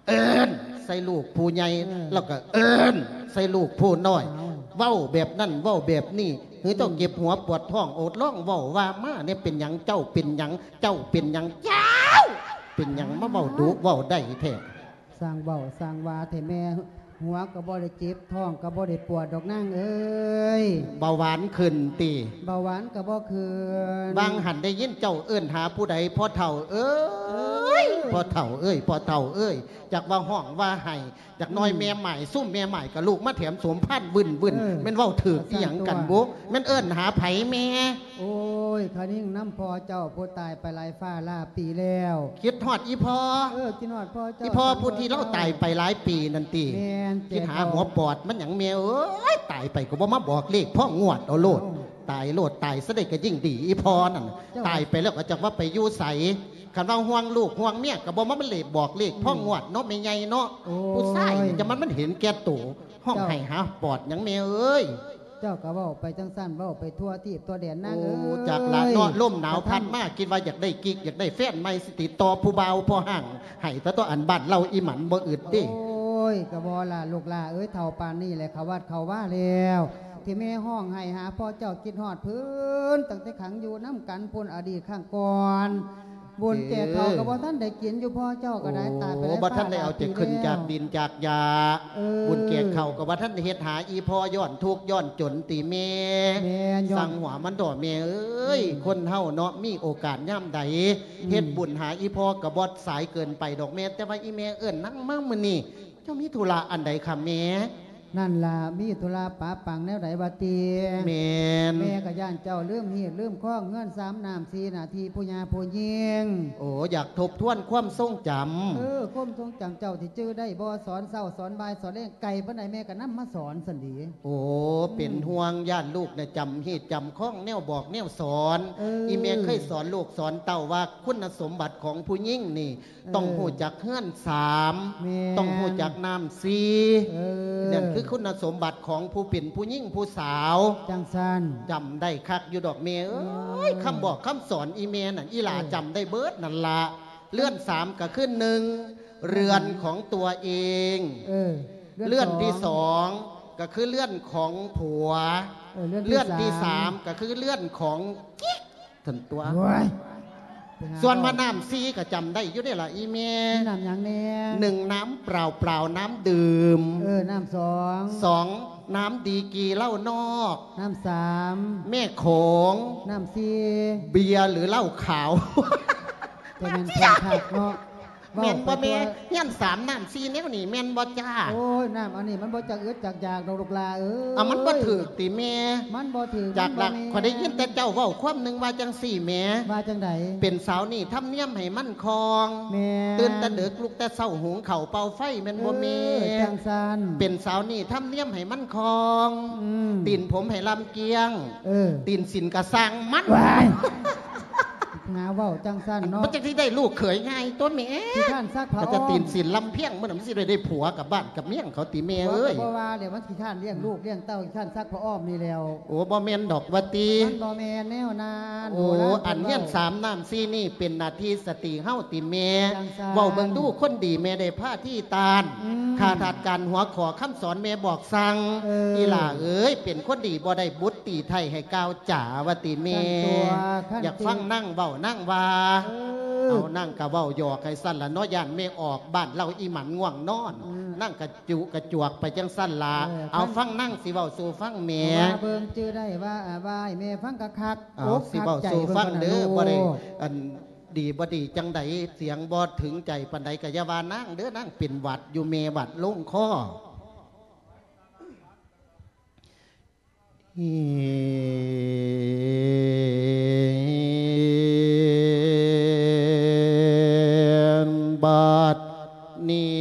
ເອີ້ນໃສ່ລູກຜູ້ໃຫຍ່ ເອີ ແລ້ວກໍເອີ້ນໃສ່ລູກຜູ້ນ້ອຍ. ເອົ້າ ເວົ້າແບບນັ້ນເວົ້າແບບນີ້ ຫຼືເຈົ້າ ອືມ ເຈັບຫົວປວດທ້ອງ? ໂອດ ລອງເວົ້າວ່າມາແດ່ ເປັນຫຍັງ? ເຈົ້າເປັນຫຍັງ? ເຈົ້າເປັນຫຍັງ? ເຈົ້າເປັນຫຍັງມາເວົ້າດຸເວົ້າໄດ້ແທ້? ຊ່າງເວົ້າຊ່າງວ່າແທ້ແມ່, ຫົວກໍບໍ່ໄດ້ເຈັບ ທ້ອງກໍບໍ່ໄດ້ປວດດອກນາງເອີຍ. ເບົາຫວານຂຶ້ນຕິ? ເບົາຫວານກໍບໍ່ຂຶ້ນ. ວ່າງຫັ້ນໄດ້ຍິນເຈົ້າເອີ້ນຫາຜູ້ໃດ? ພໍ່ເຖົ້າເອີຍ ເອີຍ ພໍ່ເຖົ້າເອີຍ ພໍ່ເຖົ້າເອີຍ. ຈັກວ່າຮ້ອງວ່າໄຫ້, ຈັກໜ້ອຍ ອືມ ແມ່ໝ້າຍ ຊຸມແມ່ໝ້າຍກໍລຸກມາແຖມໂສມພານວື່ນໆ. ເອີ ແມ່ນເວົ້າຖືກອີ່ຫຍັງກັນບຸ? ແມ່ນເອີ້ນຫາໃຜແມ່? ໂອ້ຍ ຄະນິງນຳພໍ່ເຈົ້າຜູ້ຕາຍໄປຫຼາຍຟ້າຫຼາຍປີແລ້ວ. ຄິດຮອດອີ່ພໍ່? ເອີ ຄິດຮອດພໍ່ເຈົ້າ. ອີ່ພໍ່ຜູ້ທີ່ລາວຕາຍໄປຫຼາຍປີນັ້ນຕິ? ແມ່ນ. ຄິດຫາຫົວປອດມັນຫຍັງແມ່ເອີຍ? ຕາຍໄປກໍບໍ່ມາບອກເລກພ້ອມງວດເອົາໂລດ. ເອົ້າ ຕາຍໂລດ ຕາຍຊະໄດ້ກໍຍິ່ງດີ. ອີ່ພໍ່ນັ້ນ ເຈົ້າ ຕາຍໄປແລ້ວກໍຈັກວ່າໄປຢູ່ໃສ. ຄັນວ່າຫ່ວງລູກຫ່ວງເມຍກໍບໍ່ມາເລກບອກເລກ ອືມ ພ້ອມງວດເນາະ ແມ່ໃຫຍ່ເນາະ. ໂອ້ຍ ຜູ້ຊາຍນີ້ຈະມັນ ມັນເຫັນແກ່ໂຕ. ຮ້ອງໄຫ້ຫາປອດຫຍັງແມ່ເອີຍ? ເຈົ້າກໍເວົ້າໄປຈັ່ງຊັ້ນ ເວົ້າໄປທົ່ວທີບທົ່ວແດນນາງເອີຍ. ໂອ້ ຈັກລະເນາະ ລົມໜາວພັດມາ ຄິດວ່າຢາກໄດ້ກິກ ຢາກໄດ້ແຟນໃໝ່ ຊິຕິດຕໍ່ຜູ້ບ່າວພໍ່ຮ້າງໃຫ້ຕະຕົວະ. ອັນບ້ານເຮົາອີ່ໝັນບໍ່ອຶດເດ້. ໂອ້ຍ ກໍບໍ່ລະລູກຫຼ້າເອີຍ ເຖົ້າປານນີ້ແຫຼະ ເຂົ້າວັດເຂົ້າວາແລ້ວ. ທີ່ແມ່ຮ້ອງໄຫ້ຫາພໍ່ເຈົ້າ ຄິດຮອດເພິ່ນ ຕັ້ງແຕ່ຂັງຢູ່ນຳກັນພຸ້ນ ອະດີດຄັ້ງກ່ອນ. ບຸນແກ່ເຂົ້າກໍບໍ່ທັນໄດ້ກິນຢູ່ ພໍ່ເຈົ້າກໍໄດ້ຕາຍໄປຫຼາຍ ໂອ້ ບໍ່ທັນໄດ້ເອົາຈາກຂຶ້ນຈາກດິນຈາກຫຍ້າ. ເອີ ບຸນແກ່ເຂົ້າກໍບໍ່ທັນໄດ້ເຮັດຫາອີ່ພໍ່ ຍ້ອນທຸກຍ້ອນຈົນຕິແມ່. ແມ່ນ. ຊ່າງຫົວມັນເຖາະແມ່ເອີຍ. ອືມ ຄົນເຮົາເນາະ ມີໂອກາດຍາມໃດ ອືມ ເຮັດບຸນຫາອີ່ພໍ່ກໍບໍ່ສາຍເກີນໄປດອກແມ່. ແຕ່ວ່າອີ່ແມ່ເອີ້ນນາງມາມື້ນີ້ ເຈົ້າມີທຸລະອັນໃດຄະແມ່? ນັ້ນລະ ມີທຸລະປະປັງແນວໃດວະຕິ? ແມ່ນ. ແມ່ກໍຢ້ານເຈົ້າລືມຮີດລືມຄອງ ເຮືອນສາມນ້ຳສີ່ໜ້າທີ່ ຜູ້ຍ່າຜູ້ຍິງ. ໂອ້ ຢາກທົບທວນຄວາມຊົງຈຳ. ເອີ ຄວາມຊົງຈຳເຈົ້າທີ່ຈື່ໄດ້ບໍ່? ສອນເຊົ້າສອນບ່າຍສອນແລງ ໄກປານໃດແມ່ກໍນຳມາສອນຊັ້ນເດ. ໂອ້ ອືມ ເປັນຫ່ວງຢ້ານລູກນະຈຳຮີດຈຳຄອງແນວບອກແນວສອນ. ເອີ ອີ່ແມ່ເຄີຍສອນລູກສອນເຕົ້າວ່າຄຸນນະສົມບັດຂອງຜູ້ຍິງນີ້ ເອີ ຕ້ອງຮູ້ຈັກເຮືອນສາມ ແມ່ນ ຕ້ອງຮູ້ຈັກນ້ຳສີ່. ເອີ ນັ້ນຄືຄຸນນະສົມບັດຂອງຜູ້ເປັນຜູ້ຍິງຜູ້ສາວ. ຈັ່ງຊັ້ນ ຈຳໄດ້ຄັກຢູ່ດອກແມ່ເອີຍ. ເອີ ຄຳບອກຄຳສອນອີ່ແມ່ນັ້ນ ອີ່ຫຼ້າ ເອີ ຈຳໄດ້ເບິດນັ້ນລະ. ເຮືອນສາມກໍຄື ໜຶ່ງ ເຮືອນຂອງຕົວເອງ. ເອີ ເຮືອນທີສອງ ສອງກໍຄືເຮືອນຂອງຜົວ. ເອີ ເຮືອນທີ ເຮືອນທີສາມ ສາມກໍຄືເຮືອນຂອງ ກິກ ຊັ້ນຕົວະ. ໂອ້ຍ ສ່ວນວ່ານ້ຳສີ່ກໍຈຳໄດ້ຢູ່ເດ້ລະອີ່ແມ່. ມີນ້ຳຫຍັງແດ່? ໜຶ່ງ ນ້ຳເປົ່າໆ ນ້ຳດື່ມ. ເອີ ນ້ຳສອງ ສອງ ນ້ຳດີກີເຫຼົ້ານອກ. ນ້ຳສາມ ແມ່ໂຂງ. ນ້ຳສີ່ ເບຍຫຼືເຫຼົ້າຂາວ. ແຕ່ແມ່ນເພິ່ນຄັກເນາະ. ແມ່ນບໍ່ແມ່? ເວົ້າໄປທົ່ວ ຮຽນສາມນ້ຳສີ່ແນວນີ້ແມ່ນບໍ່ຈ້າ? ໂອ້ຍ ນ້ຳອັນນີ້ມັນບໍ່ຈັກອຶດຈັກຢາກດອກລູກຫຼ້າເອີຍ. ເອົາ ມັນບໍ່ຖືກຕິແມ່? ມັນບໍ່ຖືກ ຈັກລະ ມັນບໍ່ແມ່ນ. ຂ້ອຍໄດ້ຍິນແຕ່ເຈົ້າເວົ້າຄວາມໜຶ່ງວ່າຈັ່ງຊີ້ແໝ່. ວ່າຈັ່ງໃດ? ເປັນສາວນີ້ທຳນຽມໃຫ້ມັນຄ່ອງ. ແມ່ນ. ຕື່ນແຕ່ເດິກ ລຸກແຕ່ເຊົ້າ ຫຸງເຂົ້າເປົ່າໄຟ ແມ່ນບໍ່ແມ່? ເອີ ຈັ່ງຊັ້ນ. ເປັນສາວນີ້ທຳນຽມໃຫ້ມັນຄ່ອງ. ອືມ. ຕີນຜົມໃຫ້ລຳກຽງ. ເອີ. ຕີນສິ້ນກະຊ່າງມັນ. ວ້າຍ ຫາເວົ້າຈັ່ງຊັ້ນເນາະ. ມັນຈັ່ງຊິໄດ້ລູກເຂີຍງ່າຍຕົວະແມ່. ຂີ້ຄ້ານຊັກຜ້າອ້ອມ. ມັນຈະຕີນສິ້ນລຳພຽງ ມັນນະ ມັນຊິໄດ້ ໄດ້ຜົວກັບບ້ານກັບເມືອງເຂົາຕິແມ່ເອີຍ. ບໍ່ ກໍບໍ່ວ່າແລ້ວ ມັນຂີ້ຄ້ານລ້ຽງລູກລ້ຽງເຕົ້າ ຂີ້ຄ້ານຊັກຜ້າອ້ອມນີ້ແລ້ວ. ໂອ້ ບໍ່ແມ່ນດອກວ່າຕິ. ມັນບໍ່ແມ່ນແນວນັ້ນ. ໂອ້ ໂບລານເພິ່ນເວົ້າ ອັນຮຽນສາມນ້ຳສີ່ນີ້ເປັນໜ້າທີ່ສະຕີເຮົາຕິແມ່. ຈັ່ງຊັ້ນ. ເວົ້າເບິ່ງດູ ຄົນດີແມ່ໄດ້ພາທີ່ຕ້ານ. ອືມ. ຂ້າທາດການຫົວຂໍ້ຄຳສອນແມ່ບອກສັ່ງ. ເອີ. ອີ່ຫຼ້າເອີຍ ເປັນຄົນດີບໍ່ໄດ້ບຸດຕີໄທໃຫ້ກ່າວ ຈາວ່າຕິແມ່. ຊັ້ນຕົວະ ຄັນ ຢາກຟັງນາງເວົ້ານາງວ່າ. ເອີ ເອົາ ນາງກະເວົ້າຫຍອກໃຫ້ຊັ້ນລະເນາະ ຢ້ານແມ່ອອກບ້ານເລົ່າອີ່ໝັນງ່ວງນອນ. ເອີ ນາງກະຈຸກະຈວກໄປຈັ່ງຊັ້ນລະ. ເອີ ເອົາ ຟັງ ຟັງນາງຊິເວົ້າສູ່ຟັງແມ່. ເອົາວ່າເບິ່ງຈື່ໄດ້ວ່າ ອາ ວ່າໃຫ້ແມ່ຟັງຄັກໆ. ເອົາ ອົກ ຊິເວົ້າສູ່ຟັງເດີ. ຄັກໃຈເບິ່ງຫັ້ນນະລູກ. ບໍ່ໄດ້ ອັນ ດີບໍ່ດີຈັ່ງໃດ ສຽງບໍ່ເຖິງໃຈປານໃດ ກະຢ່າວ່ານາງເດີ ນາງເປັນຫວັດຢູ່ ແມ່ຫວັດລົງຄໍ. ບັດນີ້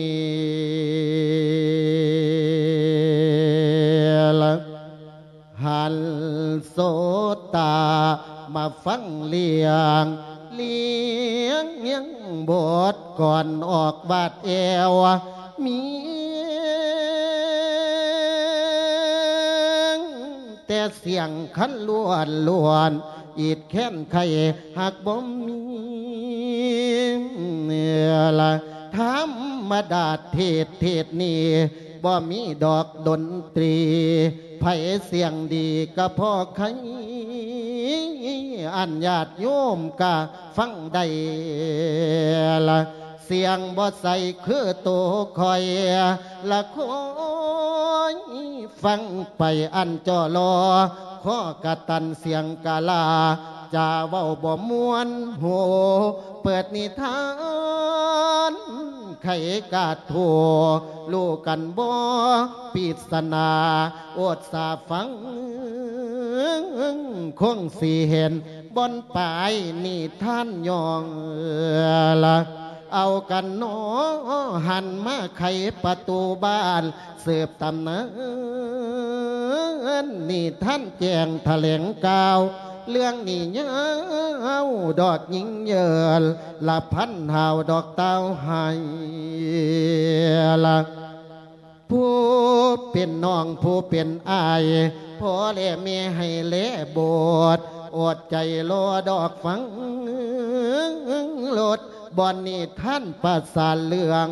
ລະ ຫັນໂສດຕາມາຟັງລຽງ ລຽງ ລຽງບົດກ່ອນອອກວາດແອວ ມີແຕ່ສຽງຄັນລ້ວນໆ ອີດແຄ້ນໄຄຮັກບໍ່ມີລະ ທຳມະດາເທດ ເທດນີ້ ບໍ່ມີດອກດົນຕຣີ ໃຜສຽງດີກະພໍໄຄ ອັນຍາດໂຍມກະຟັງໄດ້ລະ ສຽງບໍ່ໃສຄືໂຕຂ້ອຍ ລະຄອຍຟັງໄປອັນຈໍລໍ ຄໍກະຕັນສຽງກະລາ ຈາເວົ້າບໍ່ມ່ວນຫູ ເປີດນິທານ ໄຂກາດໂທ ຮູ້ກັນບໍ່ ປິດສະໜາ ອົດສາຟັງ ຄົງຊິເຫັນ ບ່ອນປາຍນິທານຍ່ອງລະ ເອົາກັນໜໍ ຫັນມາໄຂປະຕູບ້ານ ສືບຕຳນານ ນິທານແຈ້ງຖະແຫຼງກ່າວ ເລື່ອງນີ້ຍາວດອກຍິງເຍີນ ລະພັນຫາວດອກຕ່າວໄຫ້ລະ ຜູ້ເປັນນ້ອງຜູ້ເປັນອ້າຍ ພໍ່ແລະແມ່ໃຫ້ແລບົດ ອົດໃຈລໍດອກຟັງລົດ ບ່ອນນິທານປະສານເລື່ອງ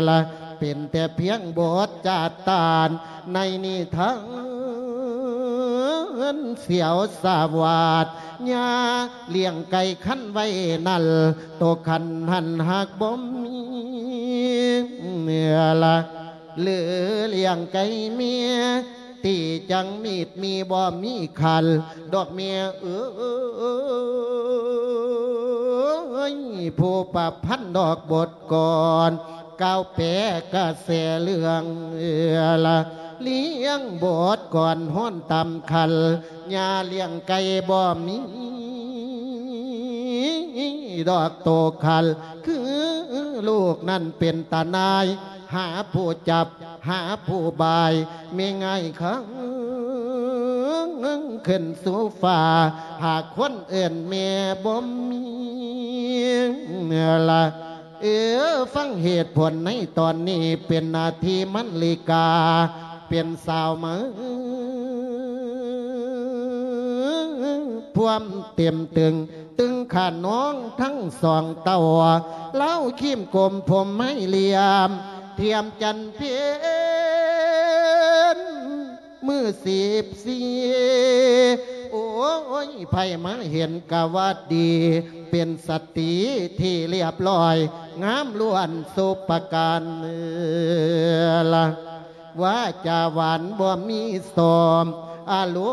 ລະ ເປັນແຕ່ພຽງບົດຈາດຕານ ໃນນິທານສຽວສາວາດ ຍ່າລ້ຽງໄກ່ຄັນໄວ້ນັ້ນ ໂຕຄັນຫັ້ນຫາກບໍ່ມີລະ ຫຼືລ້ຽງໄກ່ເມຍ ຕີຈັງມີດມີບໍ່ມີຄັນ ດອກເມຍເອີຍ ຜູ້ປະພັນດອກບົດກ່ອນ ກ່າວແປກະແສເລື່ອງລະ ລ້ຽງບົດກ່ອນຮ້ອນຕຳຄັນ ຍ່າລ້ຽງໄກ່ບໍ່ມີ ດອກໂຕຄັນ ຄືລູກນັ້ນເປັນຕານາຍ ຫາຜູ້ຈັບ ຫາຜູ້ບາຍ ແມ່ງ່າຍຄັງຂຶ້ນສູ່ຟ້າ ຫາກຄົນເອີ້ນແມ່ບໍ່ມີລະ ເອີ ຟັງເຫດຜົນໃນຕອນນີ້ ເປັນໜ້າທີ່ມັນລີກາ ເປັນສາວມາ ພວມເຕັມຕຶງ ຕຶງຂານ້ອງທັງສອງເຕົ້າ ລາວຄີມກົມຜົມໄມ້ຫຼ່ຽມ ທຽມຈັນເພັນ ມື້ສິບສີ່ ໂອ້ຍ ໃຜມາເຫັນກະຫວັດດີ ເປັນສະຕີທີ່ລຽບລ້ອຍ ງາມລ້ວນສຸປະການລະ ວາຈາຫວານບໍ່ມີຊອມ ອາລົ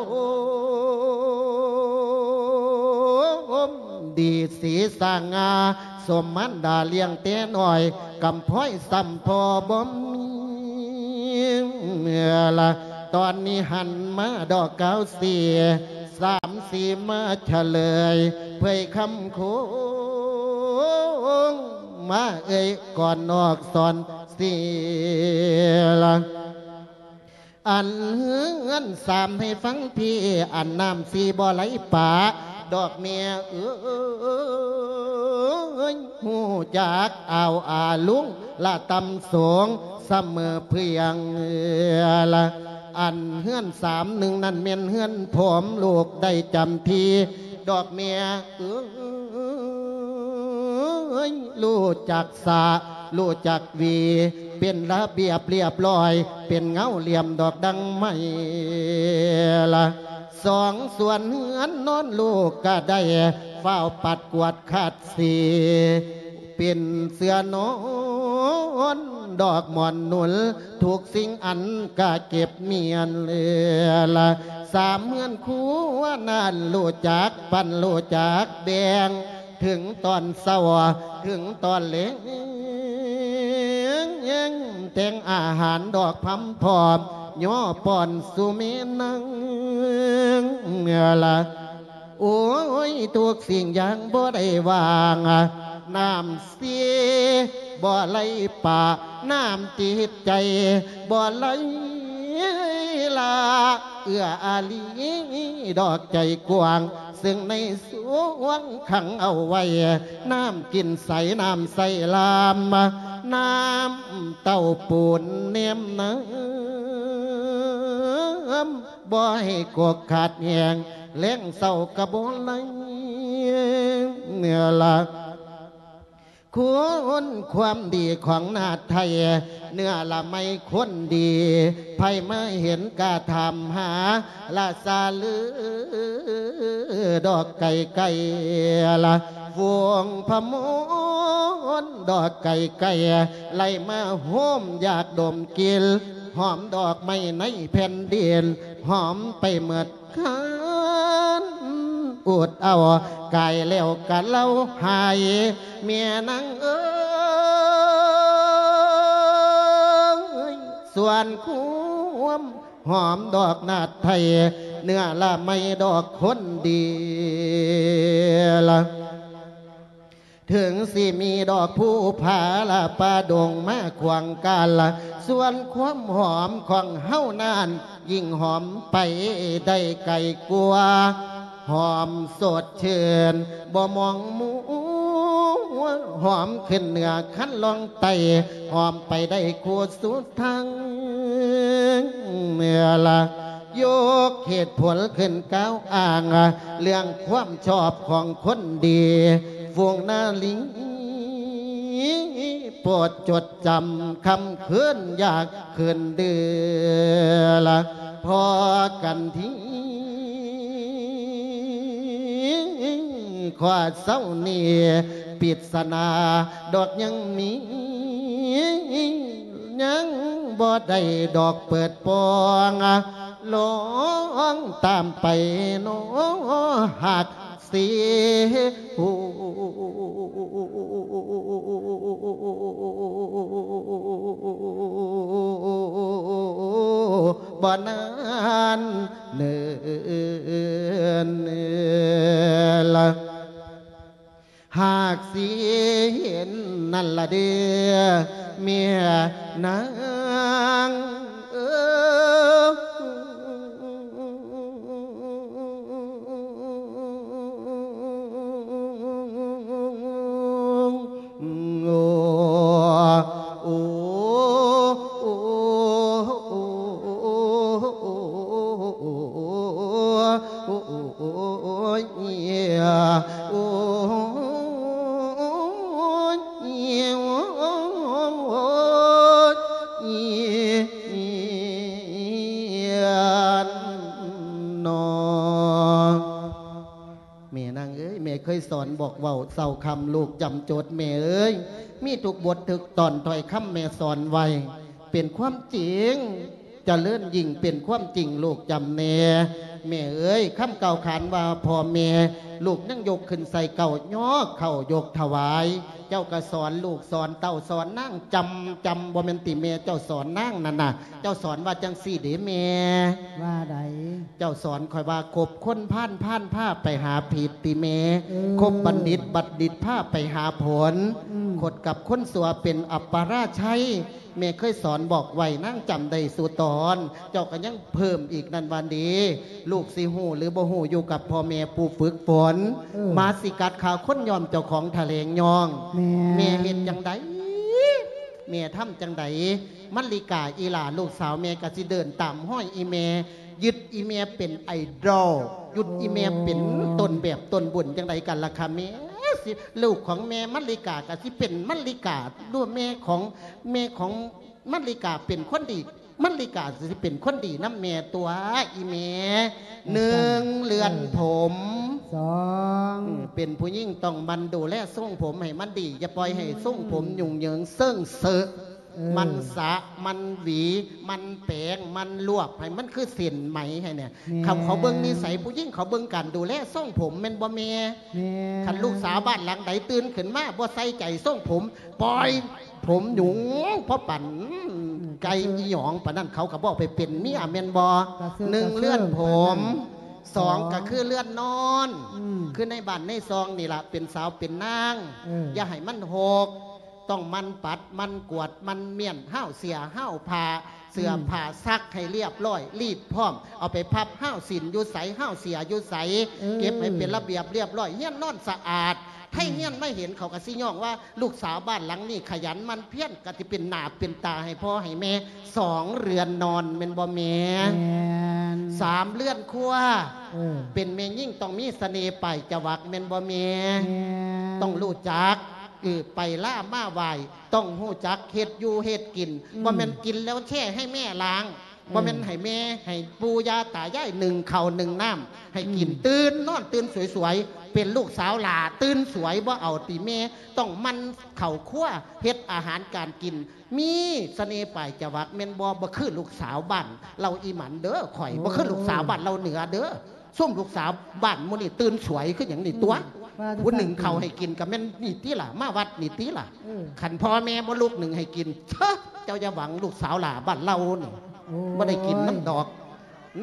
ມດີສີສະຫງ່າ ສົມມານດາລ້ຽງແຕ່ນ້ອຍ ກຳພ້ອຍຊ້ຳພໍ່ບໍ່ມີລະ. ຕອນນີ້ຫັນມາດອກກາວເສ ສາມສີ່ມາສະເລີຍ ເຜີຍຄຳໂຄງ ມາເອີ່ຍກ່ອນນອກສອນເສລະ. ອັນເຮືອນສາມໃຫ້ຟັງພີ່ ອັນນ້ຳສີ່ບໍ່ໄຫຼປາ ດອກແມ່ເອີຍ ຮູ້ຈັກອາວອາລຸງ ລະຕ່ຳສູງສະເໝີເພື່ອງລະ. ອັນເຮືອນສາມໜຶ່ງນັ້ນແມ່ນເຮືອນຜົມ ລູກໄດ້ຈຳທີ່ ດອກແມ່ເອີຍ ຮູ້ຈັກສະ ຮູ້ຈັກຫວີ ເປັນລະບຽບລຽບຮ້ອຍ ເປັນເງົາຫຼ່ຽມດອກດັ່ງໄມ້ລະ. ສອງສ່ວນເຮືອນນອນລູກກະໄດ້ ຟ້າວປັດກວາດຂັດສີ ເປັນເສື່ອນອນ ດອກໝອນໜູນ ທຸກສິ່ງອັນກະເກັບມ້ຽນລະ. ສາມເຮືອນຄົວນັ້ນ ຮູ້ຈັກປັນ ຮູ້ຈັກແບ່ງ ເຖິງຕອນເຊົ້າ ເຖິງຕອນແລງ ແຕ່ງອາຫານດອກພຳພ້ອມ ຍໍປ້ອນສູ່ແມ່ນາງລະ. ໂອ້ຍ ທຸກສິ່ງຢ່າງບໍ່ໄດ້ວ່າງ ນ້ຳເສບໍ່ໄຫຼປາ ນ້ຳຈິດໃຈບໍ່ໄຫຼລາ ເອື້ອອາລີດອກໃຈກວ້າງ ເຊິ່ງໃນສວງຂັງເອົາໄວ້ ນ້ຳກິນໃສ ນ້ຳໃສລາມ ນ້ຳເຕົ້າປູນແນມນຳ ບໍ່ໃຫ້ກົກຂາດແຫ້ງ ແລງເຊົ້າກະບໍ່ໄຫຼເນື້ອລະ. ຄຸນຄວາມດີຂອງນາດໄທ ເນື້ອລະໄມຄົນດີ ໃຜມາເຫັນກະຖາມຫາ ລະສະລືດອກໄກ່ໄກ່ລະ ວົງພະມອນດອກໄກ່ໄກ່ ໄລ່ມາໂຮມຢາກດົມກິ່ນ ຫອມດອກໄມ້ໃນແຜ່ນດິນ ຫອມໄປໝົດຄັນ ອຸດເອົາກາຍແລ້ວກະເລົ່າຫາຍ ແມ່ນາງເອີຍ ສ່ວນຄວາມຫອມດອກນາດໄທ ເນື້ອລະໄມ້ດອກຄົນດີລະ. ເຖິງຊິມີດອກພູຜາລະປ່າດົງມາຂວາງການລະ ສ່ວນຄວາມຫອມຂອງເຮົານັ້ນ ຍິ່ງຫອມໄປໄດ້ໄກກວ່າ ຫອມສົດຊື່ນບໍ່ມອງມົວ ຫອມຂຶ້ນເໜືອຄັນລ່ອງໄຕ່ ຫອມໄປໄດ້ຄູ່ສຸດທາງເມື່ອລະ ຍົກເຫດຜົນຂຶ້ນກ່າວອ້າງ ເລື່ອງຄວາມຊອບຂອງຄົນດີ ຝູງນາລີ ໂປດຈົດຈຳ ຄ່ຳຄືນຢາກຄືນເດືອລະ ພໍກັນທີ ຂໍເຊົານີ້ ປິດສະໜາດອກຍັງມີ ຍັງບໍ່ໄດ້ດອກເປີດປ່ອງ ລອງຕາມໄປເນາະ ຫາກຊິຮູ້ບໍ່ນານເນີນລະ. ຫາກຊິເຫັນນັ້ນລະເດີ ແມ່ນາງເອີຍ ໂອ້ ໂອ້ ໂອ້ຍ ໂອ້ຍ ໂອ້ຍ ເນາະ. ແມ່ນາງເອີຍ ແມ່ເຄີຍສອນບອກເວົ້າເຊົ້າຄ່ຳລູກຈຳຈົດ ແມ່ເອີຍ ມີທຸກບົດທຸກຕອນ ຖ້ອຍຄຳແມ່ສອນໄວ້ ເປັນຄວາມຈິງ ຈະເລີນຍິ່ງເປັນຄວາມຈິງ ລູກຈຳແນ່ ແມ່ເອີຍ ຄຳກ່າວຂານວ່າພໍ່ແມ່ ລູກຍັງຍົກຂຶ້ນໃສ່ເກົ້າ ຍໍເຂົ້າຍົກຖວາຍ ເຈົ້າກໍສອນລູກສອນເຕົ້າ ສອນນາງຈຳ ຈຳ ບໍ່ແມ່ນຕິແມ່ເຈົ້າສອນນາງນັ້ນນະ? ເຈົ້າສອນວ່າຈັ່ງຊີ້ເດ້ແມ່. ວ່າໃດ? ເຈົ້າສອນຂ້ອຍວ່າ ຄົບຄົນພານ ພານພາໄປຫາຜິດຕິແມ່. ເອີ ຄົບບັນດິດ ບັນດິດພາໄປຫາຜົນ. ອືມ ຄົບກັບຄົນຊົ່ວເປັນອັບປະລາໄຊ. ແມ່ເຄີຍສອນບອກໄວ້ ນາງຈຳໄດ້ສູ່ຕອນ. ເຈົ້າກໍຍັງເພີ່ມອີກນັ້ນວ່າເດ້ ລູກຊິຮູ້ຫຼືບໍ່ຮູ້ ຢູ່ກັບພໍ່ແມ່ຜູ້ຝຶກຝົນ. ເອີ ໝາຊິກັດຂ້າຄົນ ຍ້ອນເຈົ້າຂອງຖະແຫຼງຍ້ອງ. ແມ່ນ ແມ່ເຮັດຈັ່ງໃດ? ແມ່ທຳຈັ່ງໃດ? ມັນລິກາອີ່ຫຼ້າ ລູກສາວແມ່ກໍຊິເດີນຕາມຮອຍອີ່ແມ່ ຍຶດອີ່ແມ່ເປັນໄອດອລ ຍຶດອີ່ແມ່ເປັນ ໂອ້ ຕົ້ນແບບຕົ້ນບຸນຈັ່ງໃດກັນລະຄະແມ່? ຊິ ລູກຂອງແມ່ມັນລິກາກໍຊິເປັນມັນລິກາ ຫຼືແມ່ຂອງ ແມ່ຂອງມັນລິກາເປັນຄົນດີ ມັນລິກາຊິເປັນຄົນດີນຳແມ່ຕົວະອີ່ແມ່. ວ່າຊັ້ນ ໜຶ່ງ ເລື່ອນ ເອີ ຜົມ. ສອງ ເປັນຜູ້ຍິງຕ້ອງໝັ່ນດູແລຊົງຜົມໃຫ້ມັນດີ ຢ່າປ່ອຍໃຫ້ ອືມ ຊົງຜົມຫຍຸ້ງເຫຍິງເຊິ່ງເຊີະ. ເອີ ໝັ່ນສະ ໝັ່ນຫວີ ໝັ່ນແປງ ໝັ່ນລວບໃຫ້ມັນຄືເສັ້ນໄໝໃຫ້ແນ່. ແມ່ນ ເຂົາ ເຂົາເບິ່ງນິໄສຜູ້ຍິງ ເຂົາເບິ່ງການດູແລຊົງຜົມແມ່ນບໍ່ແມ່? ແມ່ນ ຄັນລູກສາວບ້ານຫຼັງໃດຕື່ນຂຶ້ນມາບໍ່ໃສ່ໃຈຊົງຜົມ ປ່ອຍຜົມຫຍຸ້ງພໍປານ ອືມ ໄກ່ອີ່ຫຍັງປານນັ້ນ ເຂົາກໍບໍ່ໄປເປັນເມຍແມ່ນບໍ່? ກະເຊີ ໜຶ່ງ ກະເຊີ ເລື່ອນຜົມ. ປານນັ້ນ ສອງ ສອງ ກໍຄືເລື່ອນນອນ. ອືມ ຄືໃນບ້ານໃນຊ່ອງນີ້ລະ ເປັນສາວເປັນນາງ ເອີ ຢ່າໃຫ້ມັນຮົກ. ຕ້ອງໝັ່ນປັດ ໝັ່ນກວາດ ໝັ່ນມ້ຽນ ຮາວເສຍ ຮາວຜ້າ ເສື້ອ ອືມ ຜ້າຊັກໃຫ້ລຽບຮ້ອຍ ລີດພ້ອມ ເອົາໄປພັບ ຮາວສິ້ນຢູ່ໃສ ຮາວເສຍຢູ່ໃສ ເອີ ເກັບໃຫ້ເປັນລະບຽບລຽບຮ້ອຍ ເຮືອນນອນສະອາດ. ໃຜ ອືມ ເຮືອນມາເຫັນ ເຂົາກໍຊິຍ້ອງວ່າ ລູກສາວບ້ານຫຼັງນີ້ຂະຫຍັນໝັ່ນພຽນ ກໍຊິເປັນໜ້າເປັນຕາໃຫ້ພໍ່ໃຫ້ແມ່. ສອງ ເຮືອນນອນແມ່ນບໍ່ແມ່? ແມ່ນ ສາມ ເຮືອນຄົວ. ເອີ ເປັນແມ່ຍິງຕ້ອງມີສະເໜ່ປາຍຈະວັກແມ່ນບໍ່ແມ່? ແມ່ນ ຕ້ອງຮູ້ຈັກ ເອີ ໄປລາມາໄຫວ້ ຕ້ອງຮູ້ຈັກເຮັດຢູ່ເຮັດກິນ. ອືມ ບໍ່ແມ່ນກິນແລ້ວແຊ່ໃຫ້ແມ່ລ້າງ. ເອີ ບໍ່ແມ່ນໃຫ້ແມ່ ໃຫ້ປູ່ຍ່າຕາຍາຍໜຶ້ງເຂົ້າໜຶ້ງນ້ຳໃຫ້ກິນ. ອືມ ຕື່ນນອນຕື່ນສວຍໆ ເປັນລູກສາວຫຼ້າຕື່ນສວຍ ບໍ່ເອົາຕິແມ່. ຕ້ອງໝັ່ນເຂົ້າຄົວ ເຮັດອາຫານການກິນ ມີສະເໜ່ປາຍຈະວັກແມ່ນບໍ່? ບໍ່ຄືລູກສາວບ້ານເຫຼົ່າອີ່ໝັນເດີ ຂ້ອຍ ໂອ້ຍ ບໍ່ຄືລູກສາວບ້ານເຫຼົ່າເໜືອເດີ. ຊຸມລູກສາວບ້ານໝູ່ນີ້ຕື່ນສວຍຄືຫຍັງນີ້ຕົວະ. ອືມ ວ່າຈັງຊັ້ນ ຜູ້ໜຶ້ງເຂົ້າໃຫ້ກິນກໍແມ່ນນີ້ຕິລະ ມາວັດນີ້ຕິລະ. ເອີ ຄັນພໍ່ແມ່ບໍ່ລຸກໜຶ້ງໃຫ້ກິນ ເຊີ ເຈົ້າຢ່າຫວັງລູກສາວຫຼ້າບ້ານເຮົານີ້. ໂອ້ຍ ບໍ່ໄດ້ກິນນຳດອກ.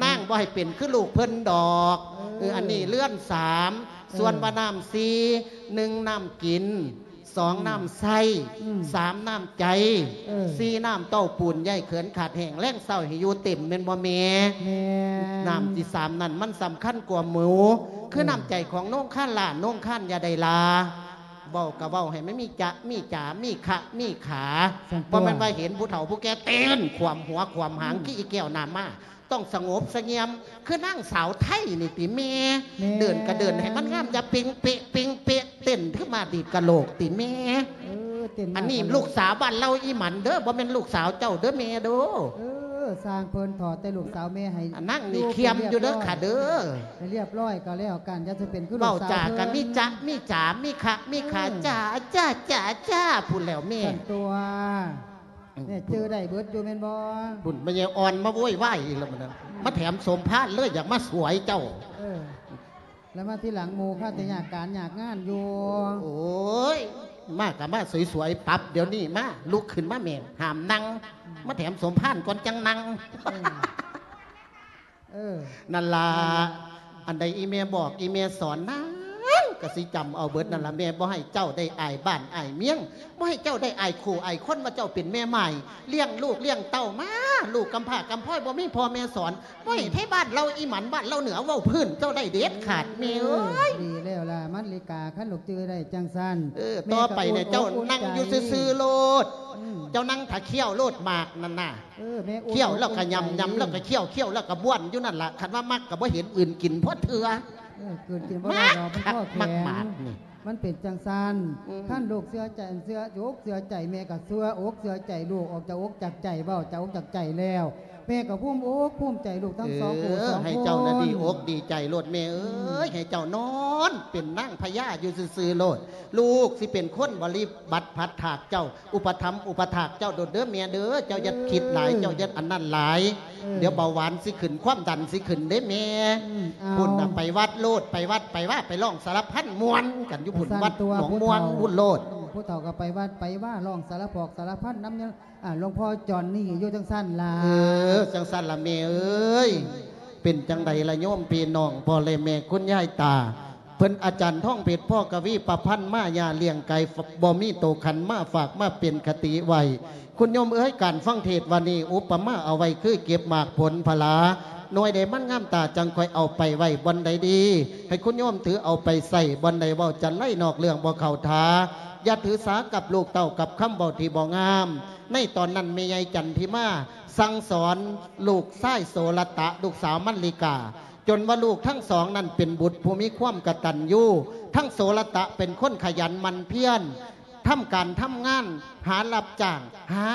ນາງບໍ່ໃຫ້ເປັນຄືລູກເພິ່ນດອກ. ເອີ ເອີ ອັນນີ້ເຮືອນສາມ. ເອີ ສ່ວນວ່ານ້ຳສີ່ ໜຶ່ງ ນ້ຳກິນ ສອງ ອືມ ນ້ຳໃຊ້ ອືມ ສາມ ນ້ຳໃຈ ເອີ ສີ່ ນ້ຳເຕົ້າປູນ ຢ່າໃຫ້ເຂືອນຂາດແຫ້ງ ແລງເຊົ້າໃຫ້ຢູ່ເຕັມແມ່ນບໍ່ແມ່? ແມ່ນ ນ້ຳທີສາມນັ້ນມັນສຳຄັນກວ່າໝູ່ ຄື ເອີ ນ້ຳໃຈຂອງໂນງຄານຫຼ້າ ໂນງຄານຢ່າໄດ້ລາ ເວົ້າກໍເວົ້າໃຫ້ມັນມີຈະມີຈາ ມີຂະມີຂາ ຊັ້ນຕົວະ ບໍ່ແມ່ນວ່າເຫັນຜູ້ເຖົ້າຜູ້ແກ່ເຕັ້ນຂວາມຫົວຂວາມຫາງ ອືມ ຄືອີແກ້ວນ້ຳມາ. ຕ້ອງສະຫງົບສະຫງຽມ ຄືນາງສາວໄທນີ້ຕິແມ່? ແມ່ ເດີນກະເດີນໃຫ້ມັນງາມ ຢ່າເປັງເປະເປັງເປະ ເຕັ້ນຄືໝາດີດກະໂຫຼກຕິແມ່? ເອີ ເຕັ້ນ ອັນນີ້ລູກສາວບ້ານເຮົາອີ່ໝັນເດີ ບໍ່ແມ່ນລູກສາວເຈົ້າເດີແມ່ເດີ. ເອີ ຊ່າງເພິ່ນ ຂໍແຕ່ລູກສາວແມ່ໃຫ້ ອັນນັ້ນນີ້ຄຽມຢູ່ເດີຂະເດີ ໃຫ້ລຽບຮ້ອຍກໍແລ້ວກັນ ຢ່າຊິເປັນຄືລູກສາວເພິ່ນ. ເວົ້າຈາກໍມີຈະມີຈາ ມີຂະມີຂາ ເອີ ຈາຈາຈາຈາພຸ້ນແລ້ວແມ່ ຊັ້ນຕົວະ. ອືມ ແມ່ຈື່ໄດ້ເບິດຢູ່ແມ່ນບໍ່? ພຸ້ນ ແມ່ໃຫຍ່ອ່ອນມາໂວຍວາຍອີກແລ້ວບັດນັ້ນ ອືມ ມາແຖມສົມພານເລີຍ ຢາກມາສວຍເຈົ້າ. ເອີ ແລ້ວມາທີຫຼັງໝູ່ ຄາແຕ່ຍາກການຍາກງານຢູ່. ໂອ້ຍ ມາກໍມາສວຍໆ ປັບດຽວນີ້ ມາ ລຸກຂຶ້ນມາແມ່ ຫ້າມນັ່ງ ອືມ ມາແຖມສົມພານກ່ອນຈັ່ງນັ່ງ. ເອີ ເອີ ນັ້ນລະ ອືມ ອັນໃດອີແມ່ບອກ ອີແມ່ສອນນາງກໍຊິຈຳເອົາເບິດນັ້ນລະ. ອືມ ແມ່ບໍ່ໃຫ້ເຈົ້າໄດ້ອາຍບ້ານອາຍເມືອງ ບໍ່ໃຫ້ເຈົ້າໄດ້ອາຍຄູ່ອາຍຄົນວ່າເຈົ້າເປັນແມ່ໝ້າຍ ລ້ຽງລູກລ້ຽງເຕົ້າມາ ລູກກຳພ້າກຳພ້ອຍ ບໍ່ມີພໍ່ແມ່ສອນ ບໍ່ໃຫ້ ອືມ ໄທບ້ານເຮົາອີ່ໝັນ ບ້ານເຮົາເໜືອເວົ້າພື້ນເຈົ້າໄດ້ເດັດຂາດ ອືມ ແມ່ເອີຍ. ເອີ ດີແລ້ວລະ ມັນລິກາ ຄັນລູກຈື່ໄດ້ຈັ່ງຊັ້ນ ເອີ ແມ່ກໍ ຕໍ່ໄປນີ້ ອືມ ເຈົ້ານັ່ງຢູ່ຊື່ໆໂລດ ອືມ ເຈົ້ານັ່ງຖ້າຄ້ຽວໂລດໝາກນັ້ນນະ. ເອີ ແມ່ ຂ້ຽວແລ້ວກໍຫຍ້ຳ ຫຍ້ຳແລ້ວກໍຂ້ຽວ ຂ້ຽວແລ້ວກໍບ້ວນຢູ່ນັ້ນລະ ຄັນວ່າມັກກໍບໍ່ເຫັນອື່ນກິນພໍເທື່ອ. ເອີ ເກີດກິນບໍ່ໄດ້ດອກ ມັນພໍແຂງ ມັກໝາກນີ້ ມັນເປັນຈັ່ງຊັ້ນ. ອືມ ຄັນລູກເຊື່ອໃຈ ເຊື່ອອົກເຊື່ອໃຈ ແມ່ກໍເຊື່ອອົກເຊື່ອໃຈລູກ ອອກຈາກອົກຈາກໃຈ ເວົ້າຈາກອົກຈາກໃຈແລ້ວ ແມ່ກໍພູມອົກພູມໃຈລູກທັງສອງ ເອີ ຜູ້ສອງຄົນ ໃຫ້ເຈົ້ານະດີອົກດີໃຈໂລດແມ່ເອີຍ. ອືມ ໃຫ້ເຈົ້ານອນເປັນນາງພະຍາຢູ່ຊື່ໆໂລດ ລູກຊິເປັນຄົນບໍລິບັດພັດຖາກເຈົ້າ ອຸປະຖຳອຸປະຖາກເຈົ້າໂລດເດີແມ່ເດີ. ເຈົ້າຢ່າຄິດຫຼາຍ ເອີ ເຈົ້າຢ່າອັນນັ້ນຫຼາຍ ເອີ ດຽວເບົາຫວານຊິຂຶ້ນ ຄວາມດັນຊິຂຶ້ນເດ້ແມ່. ອືມ ເອົາ ພຸ້ນນະ ໄປວັດໂລດ ໄປວັດໄປວາ ໄປຮ້ອງສາລະພັນມ່ວນກັນຢູ່ພຸ້ນ ວັດໜອງມ່ວງພຸ້ນໂລດ. ຜູ້ເຖົ້າກໍໄປວັດໄປວາ ຮ້ອງສາລະພອກສາລະພັນນຳ ອາ ຫຼວງພໍ່ຈອນນີ້ຢູ່ຈັ່ງຊັ້ນລະ. ເອີ ຈັ່ງຊັ້ນລະແມ່ເອີຍ. ເປັນຈັ່ງໃດລະໂຍມພີ່ນ້ອງ ພໍ່ແລະແມ່ ຄຸນຍາຍຕາ ເພິ່ນອາຈານທອງເພັດ ພໍກະວີປະພັນມາ ຍ່າລ້ຽງໄກ່ ບໍ່ມີໂຕຂັນມາຝາກ ມາເປັນຄະຕິໄວ້. ຄຸນໂຍມເອີຍ ການຟັງເທດວັນນີ້ ອຸປະມາເອົາໄວ້ຄືເກັບໝາກຜົນຜະລາ ໜ່ວຍໃດມັນງາມຕາ ຈັ່ງຄ່ອຍເອົາໄປໄວ້ບ່ອນໃດດີ ໃຫ້ຄຸນໂຍມຖືເອົາໄປໃຊ້ບ່ອນໃດ ເວົ້າຈັນໄລນອກເລື່ອງບໍ່ເຂົ້າທ່າ. ຢ່າຖືສາກັບລູກເຕົ້າ ກັບຄຳເວົ້າທີ່ບໍ່ງາມ. ໃນຕອນນັ້ນ ແມ່ໃຫຍ່ຈັນທິມາສັ່ງສອນລູກຊາຍໂສລະຕະ ລູກສາວມັນລິກາ ຈົນວ່າລູກທັງສອງນັ້ນເປັນບຸດຜູ້ມີຄວາມກະຕັນຍູ, ທັງໂສລະຕະເປັນຄົນຂະຫຍັນໝັ່ນພຽນ ທຳການທຳງານ ຫາຮັບຈ້າງ ຫາ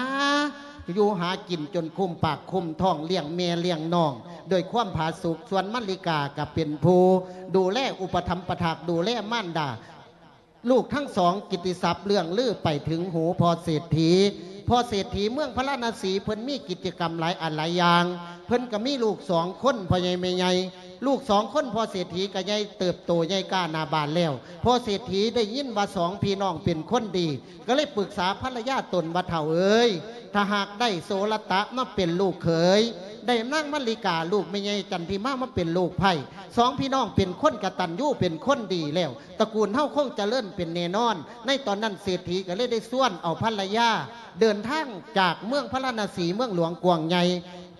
ຢູ່ຫາກິນຈົນຄຸມປາກຄຸມທ້ອງ ລ້ຽງແມ່ລ້ຽງນ້ອງດ້ວຍຄວາມຜາສຸກ, ສ່ວນມັນລິກາກໍເປັນຜູ້ດູແລອຸປະຖຳປະຖາກ ດູແລມານດາ. ລູກທັງສອງ ກິດຕິສັບເລື່ອງລືໄປເຖິງຫູພໍ່ເສດຖີ. ພໍ່ເສດຖີເມືອງພາລານະສີ ເພິ່ນມີກິດຈະກຳຫຼາຍອັນຫຼາຍຢ່າງ. ເພິ່ນກໍມີລູກສອງຄົນ ພໍ່ໃຫຍ່ແມ່ໃຫຍ່. ລູກສອງຄົນພໍ່ເສດຖີກໍໃຫຍ່ເຕີບໂຕໃຫຍ່ກ້າໜ້າບານແລ້ວ. ພໍ່ເສດຖີໄດ້ຍິນວ່າສອງພີ່ນ້ອງເປັນຄົນດີ ກໍເລີຍປຶກສາພັນລະຍາຕົນວ່າ ເຖົ້າເອີຍ ຖ້າຫາກໄດ້ໂສລະຕະມາເປັນລູກເຂີຍ ໄດ້ນາງມະລິກາ ລູກແມ່ໃຫຍ່ຈັນທິມາ ມາເປັນລູກໃພ້ ສອງພີ່ນ້ອງເປັນຄົນກະຕັນຍູ ເປັນຄົນດີແລ້ວ ຕະກູນເຮົາຄົງຈະເລີນເປັນແນ່ນອນ. ໃນຕອນນັ້ນເສດຖີກໍເລີຍໄດ້ຊວນເອົາພັນລະຍາ ເດີນທາງຈາກເມືອງພາລານະສີ ເມືອງຫຼວງກວ້າງໃຫຍ່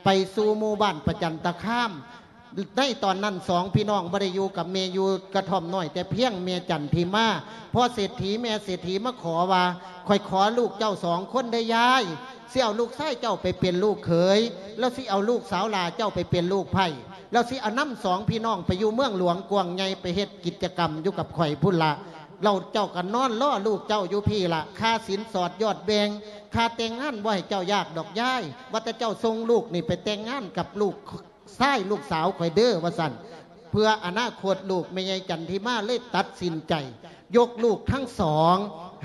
ໄປສູ່ໝູ່ບ້ານປະຈັນຕະຄາມ. ໃນຕອນນັ້ນສອງພີ່ນ້ອງບໍ່ໄດ້ຢູ່ກັບແມ່ ຢູ່ກະທ່ອມນ້ອຍແຕ່ພຽງ. ແມ່ຈັນທິມາ ພໍ່ເສດຖີ ແມ່ເສດຖີມາຂໍວ່າ ຂ້ອຍຂໍລູກເຈົ້າສອງຄົນເດີຍາຍ ຊິເອົາລູກຊາຍເຈົ້າໄປເປັນລູກເຂີຍ ແລ້ວຊິເອົາລູກສາວຫຼ້າເຈົ້າໄປເປັນລູກໃພ້ ແລ້ວຊິເອົານຳສອງພີ່ນ້ອງໄປຢູ່ເມືອງຫຼວງກວ້າງໃຫຍ່ ໄປເຮັດກິດຈະກຳຢູ່ກັບຂ້ອຍພຸ້ນລະ. ແລ້ວເຈົ້າກໍນອນລໍລູກເຈົ້າຢູ່ພີ້ລະ ຄ່າສິນສອດຍອດແບ່ງ ຄ່າແຕ່ງງານບໍ່ໃຫ້ເຈົ້າຍາກດອກຍາຍ ວ່າແຕ່ເຈົ້າສົ່ງລູກນີ້ໄປແຕ່ງງານກັບລູກຊາຍລູກສາວຂ້ອຍເດີ ວ່າຊັ້ນ. ເພື່ອອະນາຄົດລູກ ແມ່ໃຫຍ່ຈັນທິມາເລີຍຕັດສິນໃຈ ຍົກລູກທັງສອງ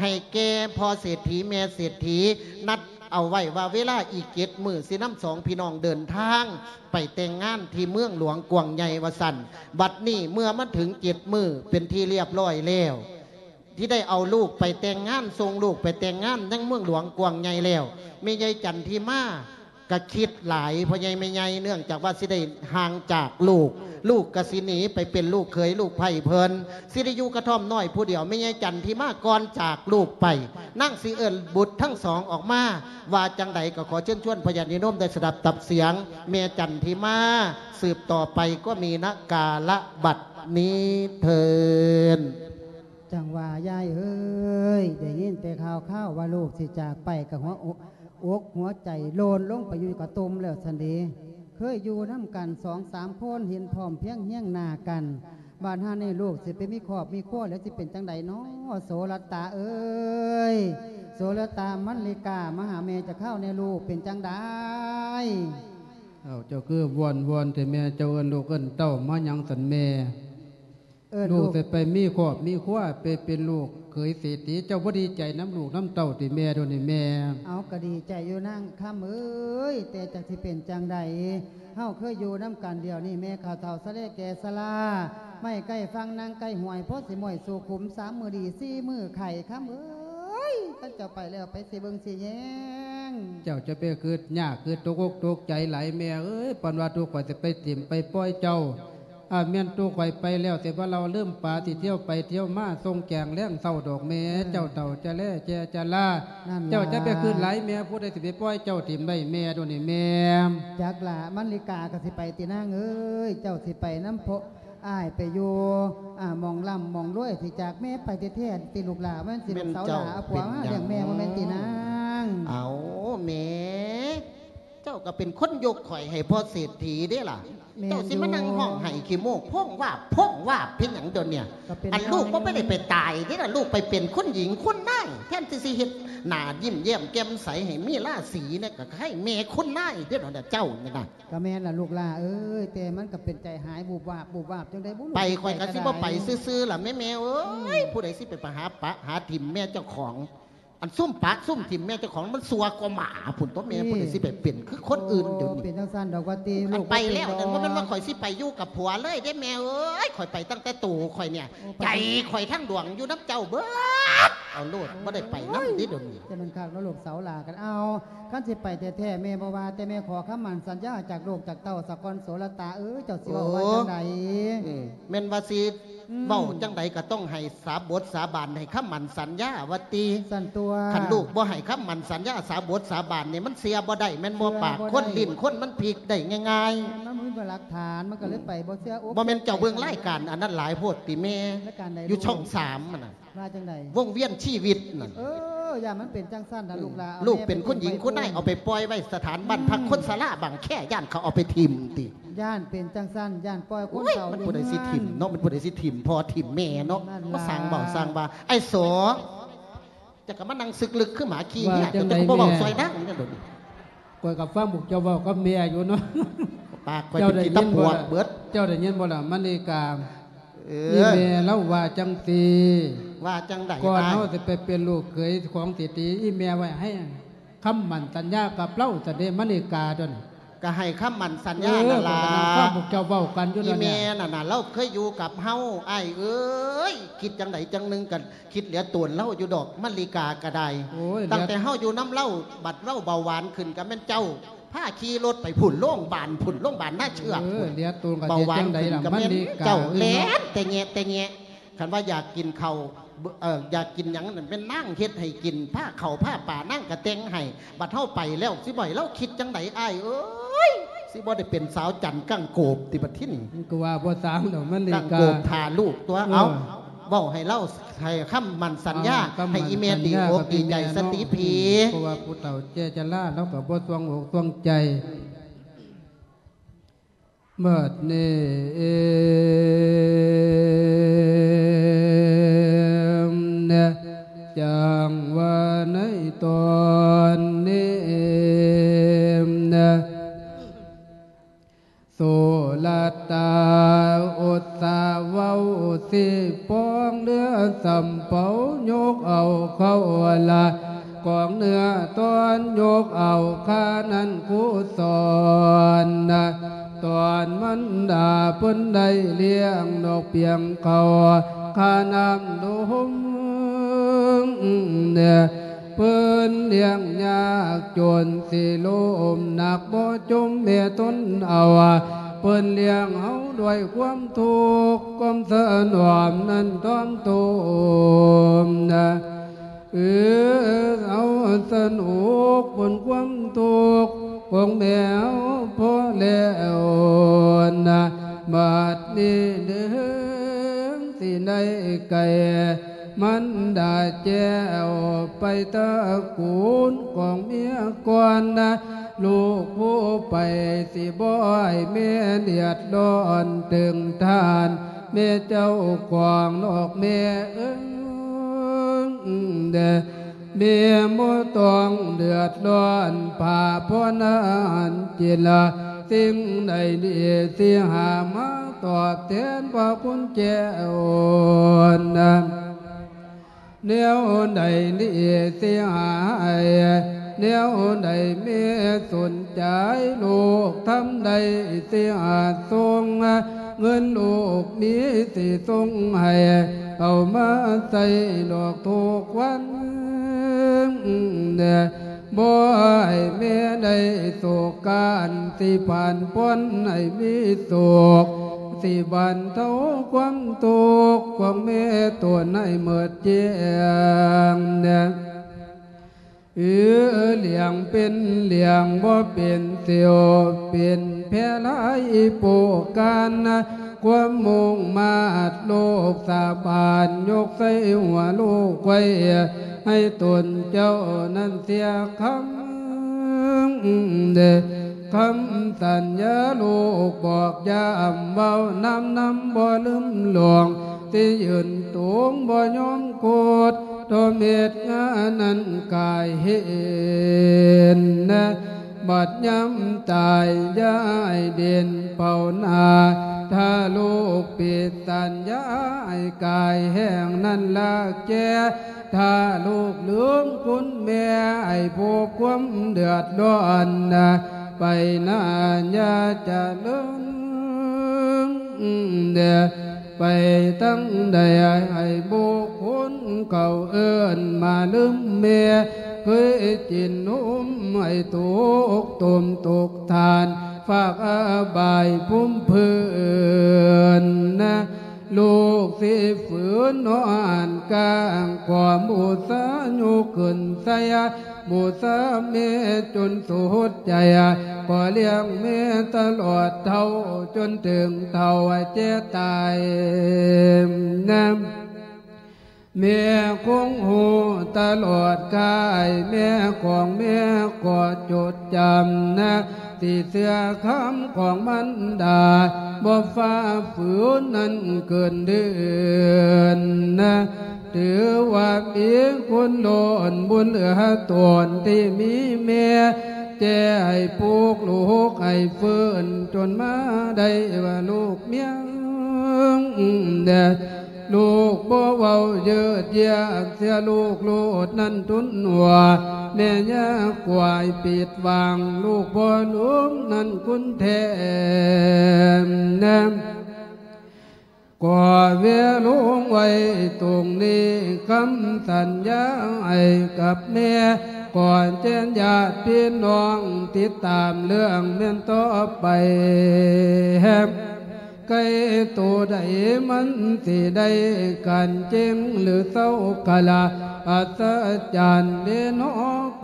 ໃຫ້ແກ່ພໍ່ເສດຖີແມ່ເສດຖີ ນັດເອົາໄວ້ວ່າເວລາອີກເຈັດມື້ຊິນຳສອງພີ່ນ້ອງເດີນທາງໄປແຕ່ງງານທີ່ເມືອງຫຼວງກວ້າງໃຫຍ່ວ່າຊັ້ນ. ບັດນີ້ເມື່ອມາເຖິງເຈັດມື້ເປັນທີ່ລຽບລ້ອຍແລ້ວ ທີ່ໄດ້ເອົາລູກໄປແຕ່ງງານ ສົ່ງລູກໄປແຕ່ງງານຍັງເມືອງຫຼວງກວ້າງໃຫຍ່ແລ້ວ ແມ່ໃຫຍ່ຈັນທິມາ ກະຄິດຫຼາຍ ພໍ່ໃຫຍ່ແມ່ໃຫຍ່ ເນື່ອງຈາກວ່າຊິໄດ້ຫ່າງຈາກລູກ ລູກກະຊິໜີໄປເປັນລູກເຂີຍລູກໃພ້ເພິ່ນ ຊິໄດ້ຢູ່ກະທ່ອມນ້ອຍຜູ້ດຽວ. ແມ່ໃຫຍ່ຈັນທິມາກ່ອນຈາກລູກໄປ ນາງຊິເອີ້ນບຸດທັງສອງອອກມາ ວ່າຈັ່ງໃດກໍຂໍເຊີນຊວນພະຍາດຍາດໂຍມໄດ້ສະດັບຕັບສຽງ ແມ່ຈັນທິມາ ສືບຕໍ່ໄປກໍມີນະກາລະບັດນີ້ເທີ້ນ. ຈັ່ງວ່າຍາຍເອີຍ ໄດ້ຍິນແຕ່ຂ່າວໆວ່າລູກຊິຈາກໄປ ກໍຫົວອົກຫົວໃຈໂລນລົງໄປຢູ່ກະຕຸ່ມແລ້ວຊັ້ນເດ. ເຄີຍຢູ່ນຳກັນສອງສາມຄົນ ເຫັນພ້ອມພຽງຮຽງໜ້າກັນ ບາດຫານີ້ລູກຊິໄປມີຄອບມີຄົວແລ້ວ ຊິເປັນຈັ່ງໃດນໍ ໂສລະຕະເອີຍ ໂສລະຕະ ມັນລິກາ ມາຫາແມ່ຈັກຄາວແດ່ລູກ ເປັນຈັ່ງໃດ? ເອົ້າ ເຈົ້າຄືວອນໆແທ້ແມ່ ເຈົ້າເອີ້ນລູກເອີ້ນເຕົ້າມາຫຍັງຊັ້ນແມ່? ເອີ້ນລູກ ລູກຊິໄປມີຄອບມີຄົວ ໄປເປັນລູກເຂີຍເສດຖີ ເຈົ້າບໍ່ດີໃຈນຳລູກນຳເຕົ້າຕິແມ່ ດຽວນີ້ແມ່? ເອົາ ກໍດີໃຈຢູ່ນາງຄຳເອີຍ ແຕ່ຈັກຊິເປັນຈັ່ງໃດ ເຮົາເຄີຍຢູ່ນຳກັນ ດຽວນີ້ແມ່ເຖົ້າສະແລແກ່ຊະລາ ໄມ້ໃກ້ຝັ່ງນາງໃກ້ຫ້ວຍ ພໍຊິມ້ອຍສູ່ຂຸມ ສາມມື້ດີ ສີ່ມື້ໄຂ້ ຄຳເອີຍ ຄັນເຈົ້າໄປແລ້ວ ໃຜຊິເບິ່ງຊິແຍງ? ເຈົ້າຈະໄປຄຶດຍາກ ຄຶດຕົກອົກຕົກໃຈຫຼາຍແມ່ເອີຍ ປານວ່າຕົວຂ້ອຍຊິໄປຖິ້ມໄປປ່ອຍເຈົ້າ ອາ ແມ່ນໂຕຂ້ອຍໄປແລ້ວ ແຕ່ວ່າລາວລືມປາ ຊິທ່ຽວໄປທ່ຽວມາ ສົ່ງແກງແລງເຊົ້າດອກແມ່. ເອີ ເຈົ້າເຖົ້າຈະແລແຈຈະລາ ນັ້ນລະ ເຈົ້າຈະໄປຄຶດຫຼາຍແມ່ ຜູ້ໃດຊິໄປປ່ອຍເຈົ້າຖິ້ມໄດ້ແມ່ ດຽວນີ້ແມ່? ຈັກລະ ມັນລິກາກໍຊິໄປຕິນາງເອີຍ ເຈົ້າຊິໄປນຳພວກອ້າຍ ໄປຢູ່ ອາ ໝ່ອງລ່ຳໝ່ອງລວຍ ຊິຈາກແມ່ໄປແທ້ໆຕິລູກຫຼ້າ? ແມ່ນຊິລູກສາວຫຼ້າ ເອົາຜົວມາລ້ຽງແມ່ ບໍ່ແມ່ນຕິນາງ? ເອົ້າ ແມ່ ເຈົ້າກໍເປັນຄົນຍົກຂ້ອຍໃຫ້ພໍ່ເສດຖີເດ້ລະ ແມ່ນຢູ່ ເຈົ້າຊິມານັ່ງຮ້ອງໄຫ້ຂີ້ມູກໂພງວາບໂພງວາບເຮັດຫຍັງດຽວນີ້? ອັນລູກບໍ່ໄດ້ໄປຕາຍເດ້ລະ ລູກໄປເປັນຄຸນຍິງຄຸນນາຍ ແທນທີ່ຊິເຮັດໜ້າຍິ້ມແຍ້ມແຈ່ມໃສໃຫ້ມີລາສີແດ່ ກໍໃຫ້ແມ່ຄຸນນາຍເດ້ລະເຈົ້ານີ້ນະ. ກໍແມ່ນລະລູກຫຼ້າເອີຍ ແຕ່ມັນກໍເປັນໃຈຫາຍວຸບວາບວຸບວາບຈັ່ງໃດບໍ່ຮູ້ ໄປຂ້ອຍກໍຊິບໍ່ໄປຊື່ໆລະແມ່ ແມ່ເອີຍ ອືມ ຜູ້ໃດຊິໄປ ໄປຫາປະຫາຖິ້ມແມ່ເຈົ້າຂອງ? ອັນຊຸມປະຊຸມຖິ້ມແມ່ເຈົ້າຂອງ ມັນຊົ່ວກວ່າໝາພຸ້ນຕົວະແມ່. ນີ້ ຜູ້ໃດຊິໄປເປັນຄືຄົນອື່ນ ໂອ້ ດຽວນີ້ ເປັນຈັ່ງຊັ້ນດອກວ່າຕິ ລູກ ໄປແລ້ວ ບໍ່ເປັນດອກ ນັ້ນບໍ່ແມ່ນວ່າຂ້ອຍຊິໄປຢູ່ກັບຜົວເລີຍເດ້ແມ່ເອີຍ. ຂ້ອຍໄປຕັ້ງແຕ່ໂຕຂ້ອຍນີ້ ໂອ້ ໃຈຂ້ອຍທັງດວງຢູ່ນຳເຈົ້າເບິດ. ເອົາໂລດ ບໍ່ໄດ້ໄປນຳເດ້ດຽວນີ້. ຈະແມ່ນຄັກເນາະລູກສາວຫຼ້າກັນ. ເອົາ ຄັນຊິໄປແທ້ໆ ແມ່ບໍ່ວ່າ ແຕ່ແມ່ຂໍຄຳໝັ້ນສັນຍາຈາກລູກຈາກເຕົ້າສາກ່ອນ ໂສລະຕາເອີຍ. ເຈົ້າຊິເວົ້າວ່າ ເອີ ຈັ່ງໃດ? ເອີ ແມ່ນວ່າຊິ ອືມ ເວົ້າຈັ່ງໃດກໍຕ້ອງໃຫ້ສາບົດສາບານ ໃຫ້ຄຳໝັ້ນສັນຍາວ່າຕິ. ຊັ້ນຕົວະ ຄັນລູກບໍ່ໃຫ້ຄຳໝັ້ນສັນຍາ ສາບົດສາບານນີ້ ມັນເຊື່ອບໍ່ໄດ້ແມ່ນບໍ່? ເຊື່ອບໍ່ໄດ້ ປາກຄົນ ຫຼິ້ນຄົນ ມັນພິກໄດ້ງ່າຍໆ. ມັນບໍ່ມີຫຼັກຖານ ມັນກໍເລີຍໄປບໍ່ເຊື່ອອົກ ບໍ່ແມ່ນເຈົ້າເບິ່ງລາຍການອັນນັ້ນຫຼາຍໂພດຕິແມ່? ລາຍການໃດ? ຢູ່ຊ່ອງສາມຫັ້ນນະ. ວ່າຈັ່ງໃດ? ວົງວຽນຊີວິດນັ້ນ. ເອີ ຢ່າມັນເປັນຈັ່ງຊັ້ນນະ ອືມ ລູກຫຼ້າ. ລູກເປັນຄຸນຍິງຄຸນນາຍ ເອົາໄປປ່ອຍໄວ້ສະຖານບ້ານພັກ ອືມ ຄົນຊະລາບາງແຄ ຢ້ານເຂົາເອົາໄປຖິ້ມຕິ. ຢ້ານເປັນຈັ່ງຊັ້ນ ຢ້ານປ່ອຍຄົນເຖົ້າ. ໂອ້ຍ ມັນຜູ້ໃດຊິຖິ້ມເນາະ ມັນຜູ້ໃດຊິຖິ້ມພໍ່ຖິ້ມແມ່ເນາະ. ມາສ້າງເວົ້າສ້າງວ່າ ໄອ້ໂສ ເຈົ້າກໍມານັ່ງຊຶກລຶກຄືໝາຂີ້ເຫຍ. ວ່າຈັ່ງໃດ ເຈົ້າກໍບໍ່ເວົ້າ ແມ່ ຊ່ອຍນາງແດ່ດຽວນີ້. ຂ້ອຍກໍຟັງພວກເຈົ້າເວົ້າກັບແມ່ຢູ່ເນາະ. ປາກຂ້ອຍເປັນຂີ້ຕະປວກເບິດ. ເຈົ້າໄດ້ຍິນບໍ່ລະ ມະນີກາ? ເອີ ອີແມ່ລາວວ່າຈັ່ງຊີ້. ວ່າຈັ່ງໃດ? ກ່ອນເຮົາຊິໄປເປັນລູກເຂີຍຂອງເສດຖີ ອີແມ່ໄວ້ໃຫ້ຄຳໝັ້ນສັນຍາກັບລາວຊັ້ນເດ້ ມະນີກາຕົວນີ້. ກໍໃຫ້ຄຳໝັ້ນສັນຍາ ເອີ ນັ້ນລະ ຂ້ອຍກໍນັ່ງຟັງພວກເຈົ້າເວົ້າກັນຢູ່. ອີແມ່ນັ້ນນະ ລາວເຄີຍຢູ່ກັບເຮົາ ອ້າຍເອີຍ. ຄິດຈັ່ງໃດຈັ່ງໜຶ່ງ ກໍຄິດເຫຼືອໂຕນລາວຢູ່ດອກ ມະນີກາກໍໄດ້. ໂອ້ຍ ຕັ້ງແຕ່ເຮົາຢູ່ນຳລາວ ບັດລາວເບົາຫວານຂຶ້ນ ກໍແມ່ນເຈົ້າ ພາຂີ່ລົດໄປພຸ້ນ ໂລງບານພຸ້ນ ໂລງບານນາເຊືອກພຸ້ນ. ເອີ ເບາຫວານຂຶ້ນກໍແມ່ນເຈົ້າ ແລ່ນແຕ່ແຍະແຕ່ແຍະ. ຄັນວ່າຢາກກິນເຂົ້າ ເອີ ຢາກກິນຫຍັງນັ້ນ ແມ່ນນາງເຮັດໃຫ້ກິນ ພາເຂົ້າພາປານາງກໍແຕ່ງໃຫ້. ບັດເຮົາໄປແລ້ວ ຊິບໍ່ໃຫ້ລາວຄິດຈັ່ງໃດ ອ້າຍເອີຍ? ຊິບໍ່ໄດ້ເປັນສາວຈັນກ້າງໂກບຕິບັດທີນີ້? ມັນກໍວ່າບໍ່ຊ່າງດອກ ມັນນີ້ກໍກ້າງໂກບຖ້າລູກຕົວະ. ເອີ ເອົາ ເວົ້າໃຫ້ລາວ ໃຫ້ຄຳໝັ້ນສັນຍາ ໃຫ້ອີແມ່ດີອົກດີໃຈສະຕິພີ. ເພາະວ່າຜູ້ເຖົ້າແກ່ຊະລາ ລາວກໍບໍ່ຊ່ວງອົກຊ່ວງໃຈ. ບັດນີ້ເອງ ຈັ່ງວ່າໃນຕອນນີ້ເອງ ໂສລະຕາອຸດສາເວົ້າ ຊິປອງເຫຼືອສຳເປົາ ຍົກເອົາເຂົ້າລະກອງເນື້ອຕອນ ຍົກເອົາຄານັ້ນຄູສອນນະ ຕອນມັນດາເພິ່ນໄດ້ລ້ຽງນອກປຽງເຂົ້າ ຄານ້ຳດົງ ເພິ່ນລ້ຽງຍາກຈົນຊິລົ້ມໜັກບໍ່ຈົມແມ່ທົນເອົາ ເພິ່ນລ້ຽງເຮົາດ້ວຍຄວາມທຸກ ຄວາມສະໜອມນັ້ນທ້ອງໂຕມນະ ເອີ ເຮົາສະໜຸກພົ້ນຄວາມທຸກຂອງແມ່ເຮົາພໍແລ້ວນະ ບັດນີ້ເດີ ຊິໄດ້ໄກ່ ມັນດາແຈ້ວໄປຕະກູນຂອງເມຍກ່ອນນະ ລູກຜູ້ໄປ ຊິບໍ່ໃຫ້ແມ່ເດືອດຮ້ອນເຖິງທ່ານ ແມ່ເຈົ້າຂອງນອກແມ່ເອີງເດີ ແມ່ບໍ່ຕ້ອງເດືອດຮ້ອນ ພາພອນອາຫານກິນລະ ສິ່ງໃດດີຊິຫາມາຕອບແທນພະຄຸນແກ່ອ່ອນນະ ແນວໃດນີ້ຊິຫາໃຫ້ ແນວໃດແມ່ສົນໃຈ ລູກທຳໃດຊິຫາສົ່ງ ເງິນລູກມີຊິສົ່ງໃຫ້ ເອົາມາໃຊ້ດອກທຸກວັນ ບໍ່ໃຫ້ແມ່ໄດ້ໂສການ ຊິຜ່ານພົ້ນໃຫ້ມີໂຊກ ຊິບັນເທົາຄວາມທຸກຂອງແມ່ຕົນໃຫ້ໝົດແຈ້ງ ເອີ ລ້ຽງເປັນລ້ຽງບໍ່ເປັນ ຊິວເປັນແພລາຍໂປການ ຄວາມມຸ່ງມາດລູກສາບານ ຍົກໃສ່ຫົວລູກໄວ້ ໃຫ້ຕົນເຈົ້ານັ້ນເສຍຄຳ ເດີ ຄຳສັນຍາລູກບອກຢ້ຳ ເວົ້ານຳນຳບໍ່ລືມຫຼວງ ຊິຢືນຕົງບໍ່ຍອມໂຄດ ໂຕເມັດງານນັ້ນກາຍເຫັນນະ ບັດຍາມຕາຍຢ່າໃຫ້ເດັ່ນເປົ່າໜ້າ ຖ້າລູກຜິດສັນຍາໃຫ້ກາຍແຫ້ງນັ້ນລາກແກ່ ຖ້າລູກລືມຄຸນແມ່ ໃຫ້ພົບຄວາມເດືອດຮ້ອນນະ ໄປໜ້າຢ່າຈະເລີນເດີ ໄປທາງໃດໃຫ້ບຸກຄົນເຂົາເອີ້ນມາລືມແມ່ ເຄີຍກິນນົມໃຫ້ຕົກຕົ້ມຕົກຖ່ານ ຝາກອາບາຍພູມພື້ນນະ ລູກຊິຝືນນອນກາງ ຂໍບູຊາຍົກຂຶ້ນໃສ່ ບູຊາແມ່ຈົນສຸດໃຈ ຂໍລ້ຽງແມ່ຕະຫຼອດເທົ່າ ຈົນເຖິງເຖົ້າແກ່ຕາຍນະ ແມ່ຄົງຮູ້ຕະຫຼອດກາຍ ແມ່ຂອງແມ່ກໍຈົດຈຳນະ ຊິເຊື່ອຄຳຂອງມານດາ ບໍ່ຝ່າຝືນນັ້ນເກີນເດືອນນະ ຖືວ່າມີຄຸນລ້ນບຸນເຫຼືອຕົນທີ່ມີແມ່ ແຈໃຫ້ປຸກລູກໃຫ້ຟື້ນ ຈົນມາໄດ້ວ່າລູກມຽງແດ່ ລູກບໍ່ເວົ້າເຍີດຢຽດ ເສຍລູກໂລດນັ້ນທຸນຫົວ ແມ່ຢ່າກວາຍປິດຫວັງ ລູກບໍ່ລືມນັ້ນຄຸນແທ້ແນມ ຂໍເວລົງໄວ້ຕົງນີ້ ຄຳສັນຍາໃຫ້ກັບແມ່ ກ່ອນແຈ້ນຍາດພີ່ນ້ອງ ຕິດຕາມເລື່ອງແມ່ນຕໍ່ໄປ ແຮມ ໄກ່ໂຕໃດມັນຊິໄດ້ກັນເຈັງ ຫຼືເຊົາກະລະ ອັດສະຈັນເດນໍ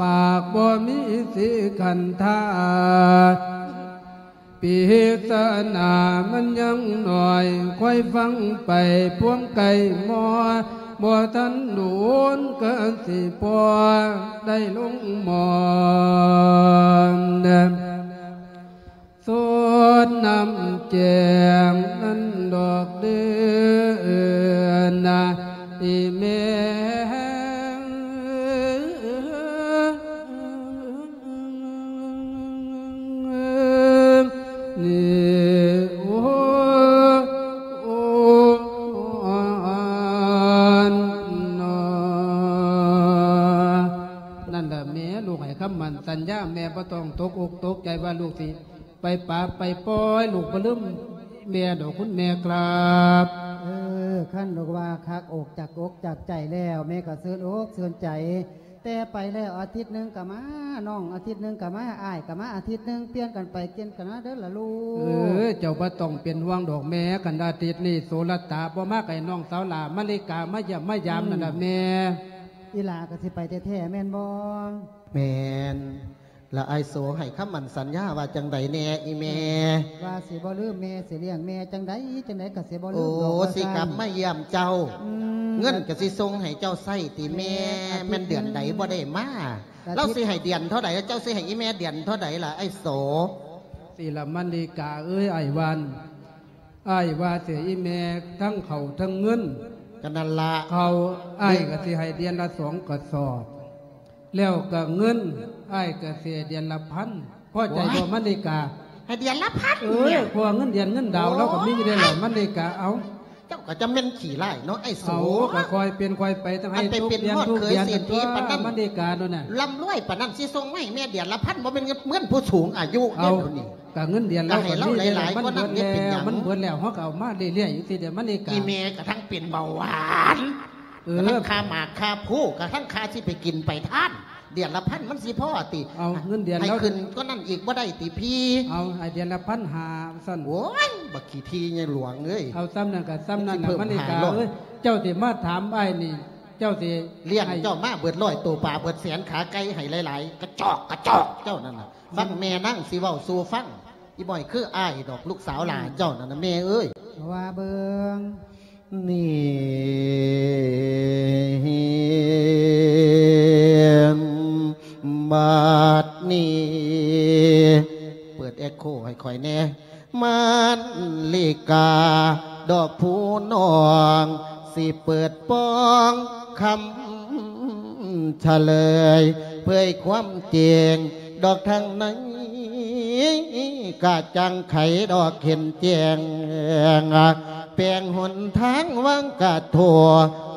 ປາກບໍ່ມີສີຂັນທາ ປິສະໜາມັນຍັງໜ້ອຍ ຄອຍຟັງໄປພວມໄກ່ມໍ ບໍ່ທັນໂດນກະຊິພໍໄດ້ລົງໝໍ ສົດນ້ຳແຈງນັ້ນດອກເດີນາ ອີແມ່ນີ້ ໂອ້ ໂອ້ ນັ້ນລະແມ່ ລູກໃຫ້ຄຳໝັ້ນສັນຍາ ແມ່ບໍ່ຕ້ອງຕົກອົກຕົກໃຈວ່າລູກຊິ ໄປປາບໄປປ່ອຍ ລູກບໍ່ລືມແມ່ດອກຄຸນແມ່ຄັບ. ເອີ ຄັນລູກວ່າຄັກອົກຈັກອົກຈັກໃຈແລ້ວ ແມ່ກໍຊື່ນອົກຊື່ນໃຈ ແຕ່ໄປແລ້ວອາທິດໜຶ່ງກໍມາ ນ້ອງອາທິດໜຶ່ງກໍມາ ອ້າຍກໍມາອາທິດໜຶ່ງ ປ່ຽນກັນໄປປ່ຽນກັນມາເດີລະລູກ. ເອີ ເຈົ້າບໍ່ຕ້ອງເປັນຫ່ວງດອກແມ່ ຄັນອາທິດນີ້ໂສລະຕາບໍ່ມາ ກໍໃຫ້ນ້ອງສາວຫຼ້າມາລິກາມາຢ້ຽມມາຢາມນັ້ນລະແມ່. ອີຫຼ້າກໍຊິໄປແທ້ໆແມ່ນບໍ່? ແມ່ນ. ລະອ້າຍໂສໃຫ້ຄຳໝັ້ນສັນຍາວ່າຈັ່ງໃດແດ່ອີແມ່? ວ່າຊິບໍ່ລືມແມ່ ຊິລ້ຽງແມ່ຈັ່ງໃດຈັ່ງໃດກໍຊິບໍ່ລືມດອກວ່າຊັ້ນ. ໂອ້ ຊິກັບມາຢ້ຽມເຈົ້າ ອືມ ເງິນກໍຊິສົ່ງໃຫ້ເຈົ້າໃຊ້ຕິແມ່? ແມ່ນເດືອນໃດບໍ່ໄດ້ມາ? ລາວຊິໃຫ້ເດືອນເທົ່າໃດ? ເຈົ້າຊິໃຫ້ອີແມ່ເດືອນເທົ່າໃດລະອ້າຍໂສ? ສິລະມະລິກາເອີຍ ອ້າຍວ່າ ອ້າຍວ່າຊິໃຫ້ອີແມ່ທັງເຂົ້າທັງເງິນ. ກໍນັ້ນລະ ເຂົ້າອ້າຍກໍຊິໃຫ້ເດືອນລະສອງກະສອບ ແລ້ວກໍເງິນອ້າຍກໍຊິໃຫ້ເດືອນລະພັນ. ພໍໃຈບໍ່ມະລິກາ? ໃຫ້ເດືອນລະພັນ? ເອີ ເພາະວ່າເງິນເດືອນເງິນດາວລາວກໍມີຢູ່ເດ້ລະມະລິກາ. ເອົ້າ ເຈົ້າກໍຈະແມ່ນຂີ້ຮ້າຍເນາະໄອ້ໂສ. ເອົາ ກໍຄ່ອຍເປັນຄ່ອຍໄປ ຕ້ອງໃຫ້ທຸກເດືອນທຸກເດືອນ. ອັນໄປເປັນຮອດເຂີຍເສດຖີປານນັ້ນ ມະລິກາໂດນນະ ລ່ຳລວຍປານນັ້ນ ຊິສົ່ງມາໃຫ້ແມ່ເດືອນລະພັນ ບໍ່ແມ່ນເງິນເງິນຜູ້ສູງອາຍຸເດ້. ເອົາ ດຽວນີ້ ກະເງິນເດືອນລາວກໍມີຫຼາຍໆ ມັນເບິດແລ້ວ ມັນເບິດແລ້ວ ເຮົາກໍເອົາມາເລື້ອຍໆ ຈັ່ງຊີ້ເດ້ມະລິກາ. ອີແມ່ກະທັງເປັນເບົາຫວານ ເອີ ກະທັງຄາໝາກຄາພູ ກະທັງຄາຊິໄປກິນໄປທານ ເດືອນລະພັນມັນຊິພໍຕິ? ເອົາ ເງິນເດືອນໃຫ້ລາວຂຶ້ນກວ່ານັ້ນອີກບໍ່ໄດ້ຕິພີ່? ເອົາ ໃຫ້ເດືອນລະພັນຫ້າຊັ້ນ. ໂອ້ຍ ບັກຂີ້ຖີ່ໃຫຍ່ຫຼວງເອີຍ ເອົາ ສ່ຳນັ້ນກະສ່ຳນັ້ນລະມະລິກາເອີຍ. ເຈົ້າຊິມາຖາມອ້າຍນີ້ ເຈົ້າຊິລ້ຽງເຈົ້າມາເບິດຮ້ອຍໂຕ ປາເບິດແສນ ຂາໄກ່ໃຫ້ຫຼາຍໆ ກະຈອກກະຈອກເຈົ້ານັ້ນນະ. ຟັງແມ່ນາງຊິເວົ້າສູ່ຟັງ. ອີບໍ່ໃຫ້ຄືອ້າຍດອກ ລູກສາວຫຼ້າເຈົ້ານັ້ນນະແມ່ເອີຍ. ວ່າເບິ່ງ ນີ້ ບາດນີ້ ເປີດເອັກໂຄໃຫ້ຂ້ອຍແດ່ ມະລິກາ ດອກຜູ້ນ້ອງ ຊິເປີດປ່ອງຄຳ ສະເລີຍເຜີຍຄວາມຈິງ ດອກທາງໃນກະຈ່າງໄຂ ດອກເຫັນແຈ້ງ ແປງຫົນທາງວາງກະໂທ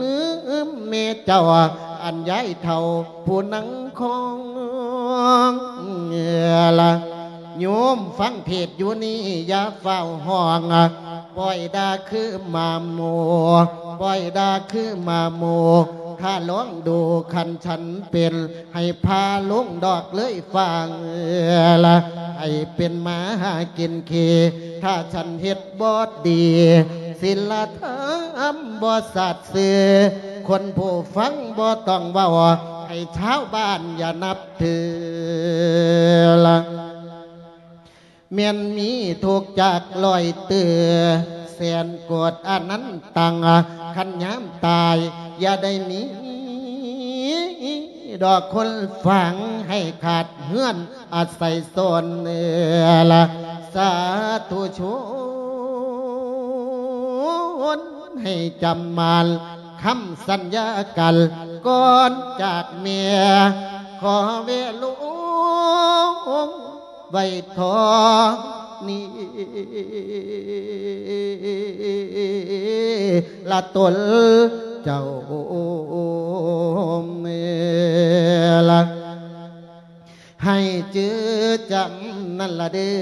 ລືມແມ່ເຈົ້າ ອັນຍາຍເຖົ້າຜູ້ນັ່ງຄອງລະ. ໂຍມຟັງເທດຢູ່ນີ້ຢ່າຟ້າວຮ້ອງ ປ່ອຍດ່າຄືໝາໝູ່ ປ່ອຍດ່າຄືໝາໝູ່ ຖ້າລອງດູຄັນສັນເປັນ ໃຫ້ພາລົງດອກເລີຍຟັງລະ ໃຫ້ເປັນໝາຫາກິນຂີ້ ຖ້າສັນເຮັດບໍ່ດີ ສິລະທຳບໍ່ສາດຊື່ ຄົນຜູ້ຟັງບໍ່ຕ້ອງເວົ້າ ໃຫ້ຊາວບ້ານຢ່ານັບຖືລະ. ແມ່ນມີທຸກຈັກຮ້ອຍເຕີ ແສນໂກດອະນັນຕັງ ຄັນຍາມຕາຍ ຢ່າໄດ້ມີດອກຄົນຝັງ ໃຫ້ຂາດເຮືອນອາໄສຊົນ ເອີລະ ສາທຸຊົນ ໃຫ້ຈຳໝັ້ນຄຳສັນຍາກັນ ກ່ອນຈາກແມ່ ຂໍເວລົງ ໄວ້ເທົ່ານີ້ລະຕົນເຈົ້າແມ່ລະ ໃຫ້ຈື່ຈຳນັ້ນລະເດີ້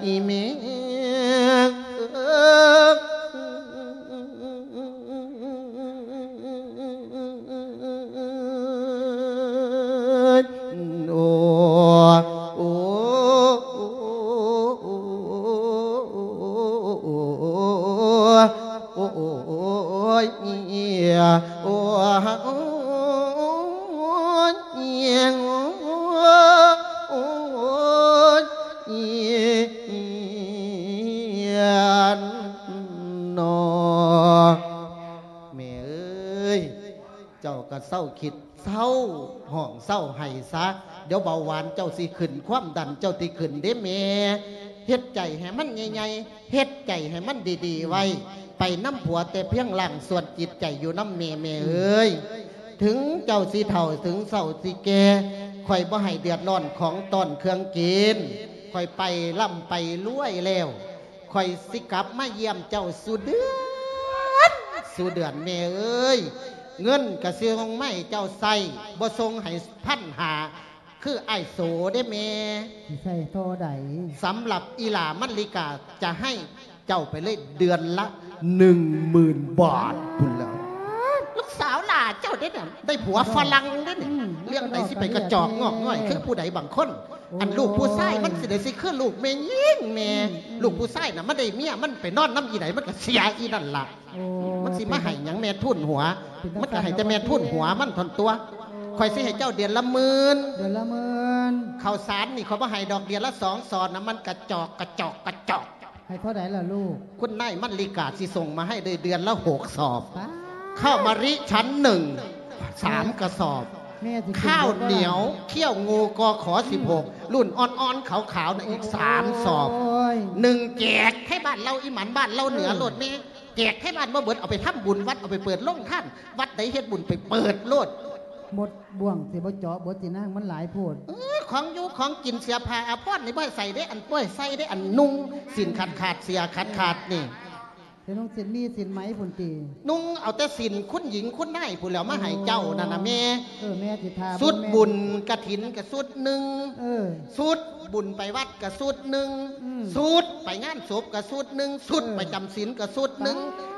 ອີ່ແມ່ເອີຍ. ໂອ້ ໂອ້ ໂອ້ຍ ໂອ້ ໂອ້ ໂອ້ຍ ໂອ້ ໂອ້ຍ ໂອ້ຍ ເນາະ ແມ່ເອີຍ ເຈົ້າກໍເຊົາຄິດ ເຊົາຮ້ອງເຊົາໄຫ້ຊະ ດຽວເບົາຫວານເຈົ້າຊິຂຶ້ນ ຄວາມດັນເຈົ້າຊິຂຶ້ນເດ້ແມ່. ເຮັດໃຈໃຫ້ມັນໃຫຍ່ໆ ເຮັດໃຈໃຫ້ມັນດີໆໄວ້ ໄປນຳຜົວແຕ່ພຽງລ່າງ ສ່ວນຈິດໃຈຢູ່ນຳແມ່ ແມ່ເອີຍ. ເຖິງເຈົ້າຊິເຖົ້າ ເຖິງເຖົ້າຊິແກ່ ຂ້ອຍບໍ່ໃຫ້ເດືອດຮ້ອນຂອງຕ້ອນເຄື່ອງກິນ. ຂ້ອຍໄປລ່ຳໄປລວຍແລ້ວ ຂ້ອຍຊິກັບມາຢ້ຽມເຈົ້າສູ່ເດືອນ ສູ່ເດືອນແມ່ເອີຍ. ເງິນກະຊິສົ່ງມາໃຫ້ເຈົ້າໃຊ້ ບໍ່ສົ່ງໃຫ້ພັນຫ້າ ຄືອ້າຍໂສເດ້ແມ່. ຊິໃຊ້ທໍ່ໃດ? ສຳລັບອີ່ຫຼ້າມັນລິກາຈະໃຫ້ເຈົ້າໄປເລີຍເດືອນລະໜຶ່ງໝື່ນບາດພຸ້ນແຫຼ້ວ. ລູກສາວຫຼ້າເຈົ້າເດ້ນະ ໄດ້ຜົວຝຣັ່ງເດ້ນີ້. ອືມ ເລື່ອງໃດຊິໄປກະຈອກງອກງ່ອຍຄືຜູ້ໃດບາງຄົນ. ໂອ້ ອັນລູກຜູ້ຊາຍມັນຊິໄດ້ຊິຄືລູກແມ່ຍິງແມ່. ອືມ ອືມ ລູກຜູ້ຊາຍນະ ມັນໄດ້ເມຍ ມັນໄປນອນນຳອີໃດ ມັນກະເສຍອີນັ້ນລະ. ໂອ້ ມັນຊິມາໃຫ້ຫຍັງແມ່ທູນຫົວ? ເປັນ ມັນກະໃຫ້ແຕ່ແມ່ທູນຫົວມັນເທົ່ານັ້ນຕົວະ. ໂອ້ ຂ້ອຍຊິໃຫ້ເຈົ້າເດືອນລະໝື່ນ. ເດືອນລະໝື່ນ. ເຂົ້າສານນີ້ຂ້ອຍບໍ່ໃຫ້ດອກ ເດືອນລະສອງສອບນະ ມັນກະຈອກ ກະຈອກ ກະຈອກ. ໃຫ້ເທົ່າໃດລະລູກ? ຄຸນນາຍມັນລິກາຊິສົ່ງມາໃຫ້ເລີຍເດືອນລະຫົກສອບ. ປາດ. ເຂົ້າມາລິຊັ້ນໜຶ່ງ ສາມກະສອບ. ແມ່ຊິເປັນ ຂ້າວໜຽວ ເບິດບໍ່ລະ? ຂ້ຽວງູ ກຂ ສິບຫົກ ລຸ້ນອ່ອນໆຂາວໆນະ ອີກສາມສອບ. ໂອ້ຍ ໜຶ່ງແຈກໃຫ້ບ້ານເລົ່າອີ່ໝັນ ບ້ານເລົ່າເໜືອ ເອີ ໂລດແມ່. ແຈກໃຫ້ບ້ານບໍ່ເບິດ ເອົາໄປທຳບຸນວັດ ເອົາໄປເປີດໂຮງທານ ວັດໃດເຮັດບຸນໄປເປີດໂລດ. ໝົດບ່ວງຊິບໍ່ເຈາະເບິດຕິນາງ ມັນຫຼາຍໂພດ. ເອີ ຂອງຢູ່ຂອງກິນ ເສື້ອຜ້າອາພອນນີ້ບໍ່ໃຫ້ໃສ່ເດ້ ອັນ ບໍ່ໃຫ້ໃສ່ເດ້ ອັນນຸ່ງສິ້ນຂາດໆ ເສື້ອຂາດໆນີ້. ເອີ ຊິນຸ່ງສິ້ນໝີ້ສິ້ນໄໝພຸ້ນຕິ? ນຸ່ງເອົາແຕ່ສິ້ນຄຸນຍິງຄຸນນາຍພຸ້ນແຫຼ້ວ ມາໃຫ້ເຈົ້ານັ້ນນະແມ່. ໂອ້ ເອີ ແມ່ຊິຖ້າເບິ່ງ ຊຸດບຸນກະຖິນກະຊຸດໜຶ່ງ. ເອີ ຊຸດ ບຸນໄປວັດກະຊຸດໜຶ່ງ ອືມ ຊຸດໄປງານສົບກະຊຸດໜຶ່ງ ຊຸດ ເອີ ປະຈຳສິນກະຊຸດໜຶ່ງ. ປາດ.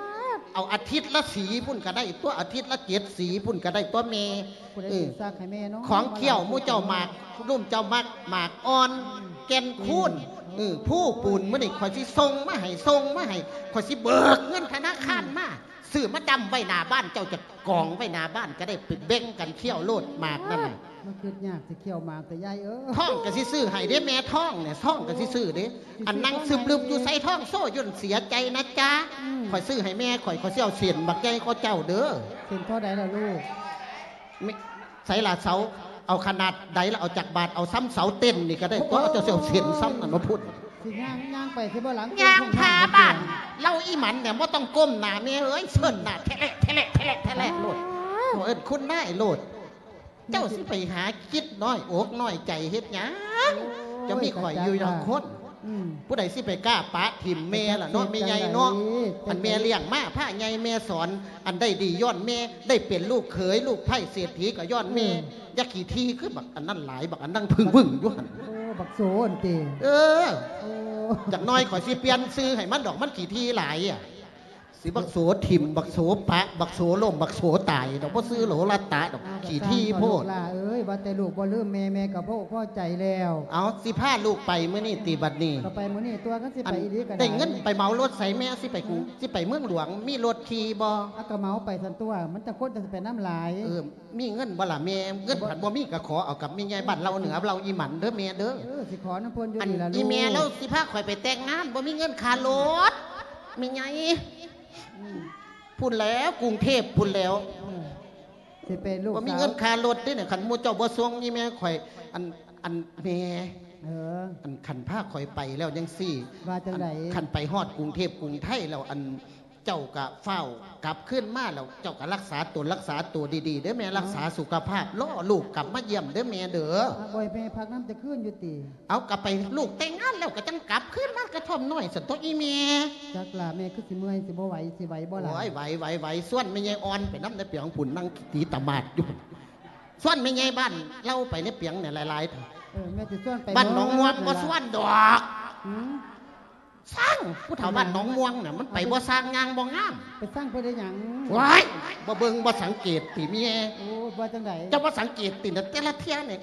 ເອົາອາທິດລະສີພຸ້ນກະໄດ້ຕົວະ ອາທິດລະເຈັດສີພຸ້ນກະໄດ້ຕົວະແມ່. ຜູ້ໃດ ເອີ ຊິຊັກໃຫ້ແມ່ເນາະ? ຂອງຂ້ຽວໝູ່ເຈົ້າໝາກ ລຸ້ມເຈົ້າໝາກ ໝາກອ່ອນ ອືມ ແກ່ນຄູນ ເອີ ພູປູນ ມື້ນີ້ຂ້ອຍຊິສົ່ງມາໃຫ້ ສົ່ງມາໃຫ້ ຂ້ອຍຊິເບີກເງິນທະນາຄານມາ ອືມ ຊື້ມາດຳໄວ້ໜ້າບ້ານ ເຈົ້າຈະກອງໄວ້ໜ້າບ້ານກະໄດ້ ໄປແບ່ງກັນຄ້ຽວໂລດໝາກນັ້ນນະ. ມັນຄຶດຍາກຊິຄ້ຽວໝາກແຕ່ຍາຍເອີຍ. ທອງກະຊິຊື້ໃຫ້ເດ້ແມ່ ທອງນີ້ ທອງກະຊິຊື້ເດ້. ໂອ້ຍ ອັນນັ່ງຊຶມລຶບຢູ່ໃສ ທອງໂຊຢູ່ນັ້ນ ເສຍໃຈນະຈາ. ອືມ ຂ້ອຍຊື້ໃຫ້ແມ່ຂ້ອຍ ຂ້ອຍຊິເອົາເສັ້ນບັກໃຫຍ່ກວ່າເຈົ້າເດີ. ເສັ້ນທໍ່ໃດລະລູກ? ແມ່ ໃສລະເສົາ ເອົາຂະໜາດໃດລະ ເອົາຈັກບາດ ເອົາຊ່ຳເສົາເຕັ້ນນີ້ກະໄດ້ຕົວະ. ໂອ້ຍ ເຈົ້າຊິເອົາເສັ້ນຊ່ຳນັ້ນມາພຸ້ນ. ຊິຍ່າງ ຍ່າງໄປຊິບໍ່ຫຼັງ ຍ່າງພາບ້ານເລົ່າອີ່ໝັນແຫຼະ ບໍ່ຕ້ອງກົ້ມໜ້າແມ່ເອີຍ ເຊີນໜ້າແທະແລະ ແທະແລະ ແທະແລະ ແທະແລະໂລດ. ໂອ້ຍ ເອີ້ນຄຸນນາຍໂລດ. ເຈົ້າຊິໄປຫາຄິດນ້ອຍອົກນ້ອຍໃຈເຮັດຫຍັງ? ໂອ້ຍ ເຈົ້າມີຂ້ອຍຢູ່ຢ່າງຄົນ. ອືມ ຜູ້ໃດຊິໄປກ້າປະຖິ້ມແມ່ລະເນາະ ແມ່ໃຫຍ່ເນາະ. ອັນແມ່ລ້ຽງມາພາໃຫຍ່ແມ່ສອນ ອັນໄດ້ດີຍ້ອນແມ່ ໄດ້ເປັນລູກເຂີຍລູກໃພ້ເສດຖີກະຍ້ອນແມ່. ເອີ ຢ່າຂີ້ຖີ່ຄືບັກອັນນັ້ນຫຼາຍ ບັກອັນນັ້ນວຶ່ງໆຢູ່ຫັ້ນ. ໂອ້ ບັກໂສນຕິ. ເອີ ໂອ້ ຈັກໜ້ອຍຂ້ອຍຊິປ່ຽນຊື່ໃຫ້ມັນດອກ ມັນຂີ້ຖີ່ຫຼາຍອະ. ຊິບັກໂສຖິ້ມ ບັກໂສປະ ບັກໂສລົ້ມ ບັກໂສຕາຍດອກ ບໍ່ຊື່ໂຫຼລະຕະດອກ ເອົາ ຂີ້ຖີ່ໂພດ. ລູກຫຼ້າເອີຍ ວ່າແຕ່ລູກບໍ່ລືມແມ່ ແມ່ກໍພໍອົກພໍໃຈແລ້ວ. ເອົາ ຊິພາລູກໄປມື້ນີ້ຕິບັດນີ້? ກໍໄປມື້ນີ້ຕົວະ ຄັນຊິໄປອີ່ຫຼີກໍໄດ້. ໄດ້ເງິນໄປເໝົາລົດໃສແມ່ ຊິໄປກຸງ ຊິໄປເມືອງຫຼວງ ມີລົດຂີ່ບໍ່? ເອົາ ກໍເໝົາໄປຊັ້ນຕົວະ ມັນຈັກຄົນ ຈະໄປນຳຫຼາຍ. ເອີ ມີເງິນບໍ່ລະແມ່? ເງິນພັນບໍ່ມີ ກໍຂໍເອົາກັບແມ່ໃຫຍ່ບ້ານເລົ່າເໜືອເລົ່າອີ່ໝັນເດີແມ່ເດີ. ເອີ ຊິຂໍນຳເພິ່ນຢູ່ນີ້ລະລູກ. ອັນອີ່ແມ່ລາວຊິພາຂ້ອຍໄປແຕ່ງງານ ບໍ່ມີເງິນຄ່າລົດ ແມ່ໃຫຍ່. ອືມ ພຸ້ນແຫຼ້ວ ກຸງເທບພຸ້ນແຫຼ້ວ. ເອີ ຊິໄປລູກ ບໍ່ມີເງິນຄ່າລົດເດ້ນີ້ ຄັນໝູ່ເຈົ້າບໍ່ສົ່ງອີ່ແມ່ຂ້ອຍ. ອັນ ອັນແມ່ ເອີ ອັນຄັນພາຂ້ອຍໄປແລ້ວຈັ່ງຊີ້ ວ່າຈັ່ງໃດ? ອັນຄັນໄປຮອດກຸງເທບກຸງໄທແລ້ວ ອັນ ເຈົ້າກະຟ້າວກັບຄືນມາ ແລ້ວເຈົ້າກະລັກສາຕົນ ລັກສາຕົວດີໆເດີແມ່. ເອົ້າ ລັກສາສຸຂະພາບ ລໍລູກກັບມາຢ້ຽມເດີແມ່ເດີ. ອາ ບໍ່ໃຫ້ແມ່ພັກນຳຈັກຄືນຢູ່ຕິ? ເອົາ ກະໄປ ລູກແຕ່ງງານແລ້ວກະຈັ່ງກັບຄືນມາກະທ່ອມນ້ອຍຊັ້ນຕົວະອີ່ແມ່. ຈັກລະແມ່ຄືຊິເມື່ອຍ ຊິບໍ່ໄຫວ ຊິໄຫວບໍ່ລະ? ໂອ້ຍ ໄຫວ ໄຫວ ໄຫວ. ຊວນແມ່ໃຫຍ່ອ່ອນໄປນຳໃນປຽງພຸ້ນ ນັ່ງຕີຕະໝາດຢູ່ ຊວນແມ່ໃຫຍ່ບ້ານເລົ່າໄປໃນປຽງນີ້ຫຼາຍໆ. ເອີ ແມ່ຊິຊວນໄປ ບ້ານໜອງມ່ວງ ບໍ່ຊວນດອກ. ຫືມ ຊ່າງ ຜູ້ເຖົ້າບ້ານໜອງມ່ວງນະ ມັນໄປບໍ່ຊ່າງ ຍ່າງບໍ່ງາມ. ໄປຊ່າງເພິ່ນໄດ້ຫຍັງ? ວ້າຍ ບໍ່ເບິ່ງບໍ່ສັງເກດຕິແມ່? ໂອ້ ວ່າຈັ່ງໃດ? ເຈົ້າບໍ່ສັງເກດຕິນະ ແຕ່ລະເທື່ອນີ້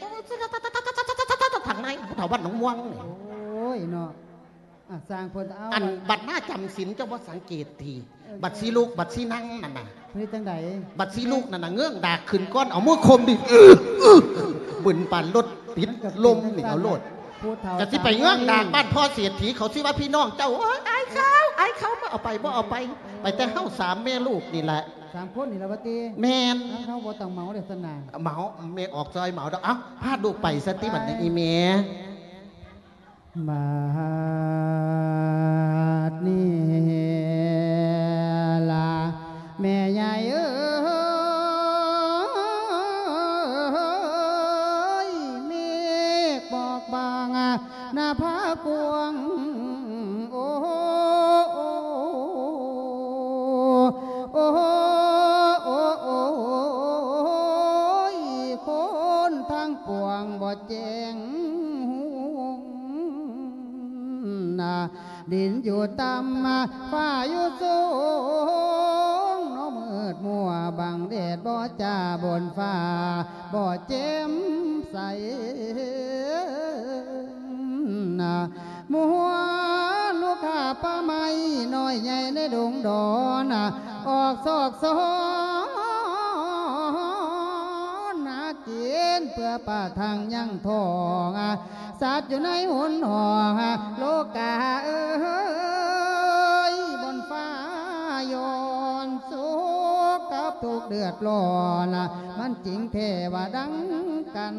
ທາງໃນ ຜູ້ເຖົ້າບ້ານໜອງມ່ວງນີ້. ໂອ້ຍເນາະ ອາ ຊ່າງເພິ່ນ. ເອົາ ອັນບັດມາຈຳສິນ ເຈົ້າບໍ່ສັງເກດຕິ? ບັດຊິລຸກ ບັດຊິນັ່ງນັ້ນນະ ເຮັດຈັ່ງໃດ? ບັດຊິລຸກນັ້ນນະ ເງື້ອງດາກຂຶ້ນກ່ອນ ເອົາມືຂົ່ມດິ ບຶນປານລົດຕິດລົມນີ້ ເອົາໂລດ. ຜູ້ເຖົ້າ ກະຊິໄປເງື້ອງດາກບ້ານພໍ່ເສດຖີ ເຂົາຊິວ່າພີ່ນ້ອງເຈົ້າ. ໂອ້ຍ ອາຍເຂົາ ອາຍເຂົາ ບໍ່ເອົາໄປ ບໍ່ເອົາໄປ. ໄປແຕ່ເຮົາສາມແມ່ລູກນີ້ແຫຼະ ສາມຄົນນີ້ລະວ່າຕິ? ແມ່ນ. ເຮົາບໍ່ຕ້ອງເໝົາເດ້ຊັ້ນນະ. ເໝົາ ແມ່ອອກຊ່ອຍເໝົາດອກ. ເອົ້າ ພາລູກໄປຊະຕິບັດນີ້ ອີ່ແມ່. ບາດນີ້ລະແມ່ໃຫຍ່ເອີຍ ເມກໝອກບາງນະພາກວ້າງ ໂອ້ ໂອ້ ໂອ້ ໂອ້ ໂອ້ຍ ຄົນທັງປວງບໍ່ແຈ້ງຫຸງ ນະ ດິນຢູ່ຕ່ຳ ຟ້າຢູ່ສູງ ເນາະມືດມົວ ບັງແດດບໍ່ຈ້າ ບົນຟ້າບໍ່ແຈ່ມໃສ ນະ ມົວລູກຄ້າປ່າໄມ້ ນ້ອຍໃຫຍ່ໃນດົງດອນ ອອກຊອກຊອນ ຫາກິນເພື່ອປະທັງຍັງທ້ອງ ສັດຢູ່ໃນຫົນຫ້ອງ ໂລກາເອີຍ ບົນຟ້າຍ້ອນໂສກກັບທຸກເດືອດຮ້ອນ ມັນຈິງແທ້ວ່າດັ່ງກັນ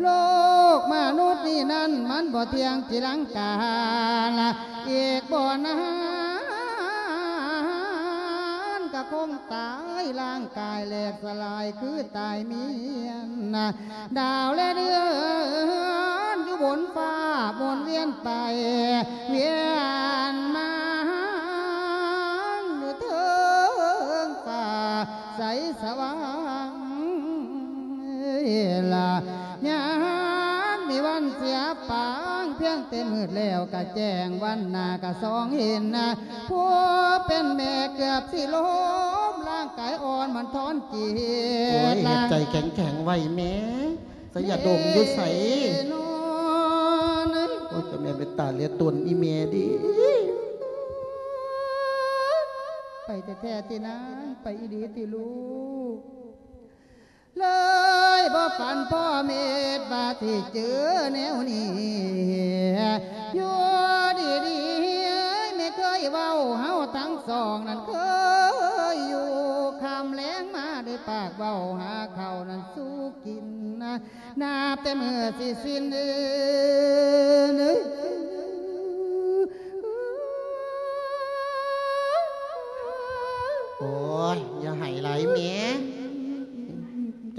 ໂລກມະນຸດນີ້ນັ້ນ ມັນບໍ່ທ່ຽງຈີລັງການ ອີກບໍ່ນານກະຄົງຕາຍ ຮ່າງກາຍແຫຼກສະຫຼາຍຄືຕາຍມຽນ ດາວແລະເດືອນຢູ່ບົນຟ້າໝູນວຽນໄປວຽນມາ ຢູ່ເທິງຟ້າໃສສະຫວ່າງ ລະ ຍາມມີວັນເສຍປາງ ພຽງແຕ່ມືດແລ້ວກະແຈ້ງ ວັນໜ້າກະສ່ອງເຫັນ ຜູ້ເປັນແມ່ເກືອບຊິລົ້ມ ຮ່າງກາຍອ່ອນມັນທອນຈີດ ໂອ້ຍ ເຮັດໃຈແຂງໆໄວ້ແມ່ ສະຍາດົມຢູ່ໃສ? ໂອ້ຍ ເຈົ້າແມ່ເປັນຕາເຫຼືອຕົນອີ່ແມ່ເດ້ ໄປແທ້ໆຕິນາງ ໄປອີ່ຫຼີຕິລູກ? ເລີຍບໍ່ຝັນພໍເມດວ່າຊິເຈີແນວນີ້ ຢູ່ດີໆ ແມ່ເຄີຍເວົ້າ ເຮົາທັງສອງນັ້ນເຄີຍຢູ່ ຄ່ຳແລງມາໄດ້ປາກເວົ້າ ຫາເຂົ້ານັ້ນສູ່ກິນ ນັບແຕ່ມື້ຊິສິ້ນເອີຍ ໂອ້ຍ ຢ່າໄຫ້ຫຼາຍແມ່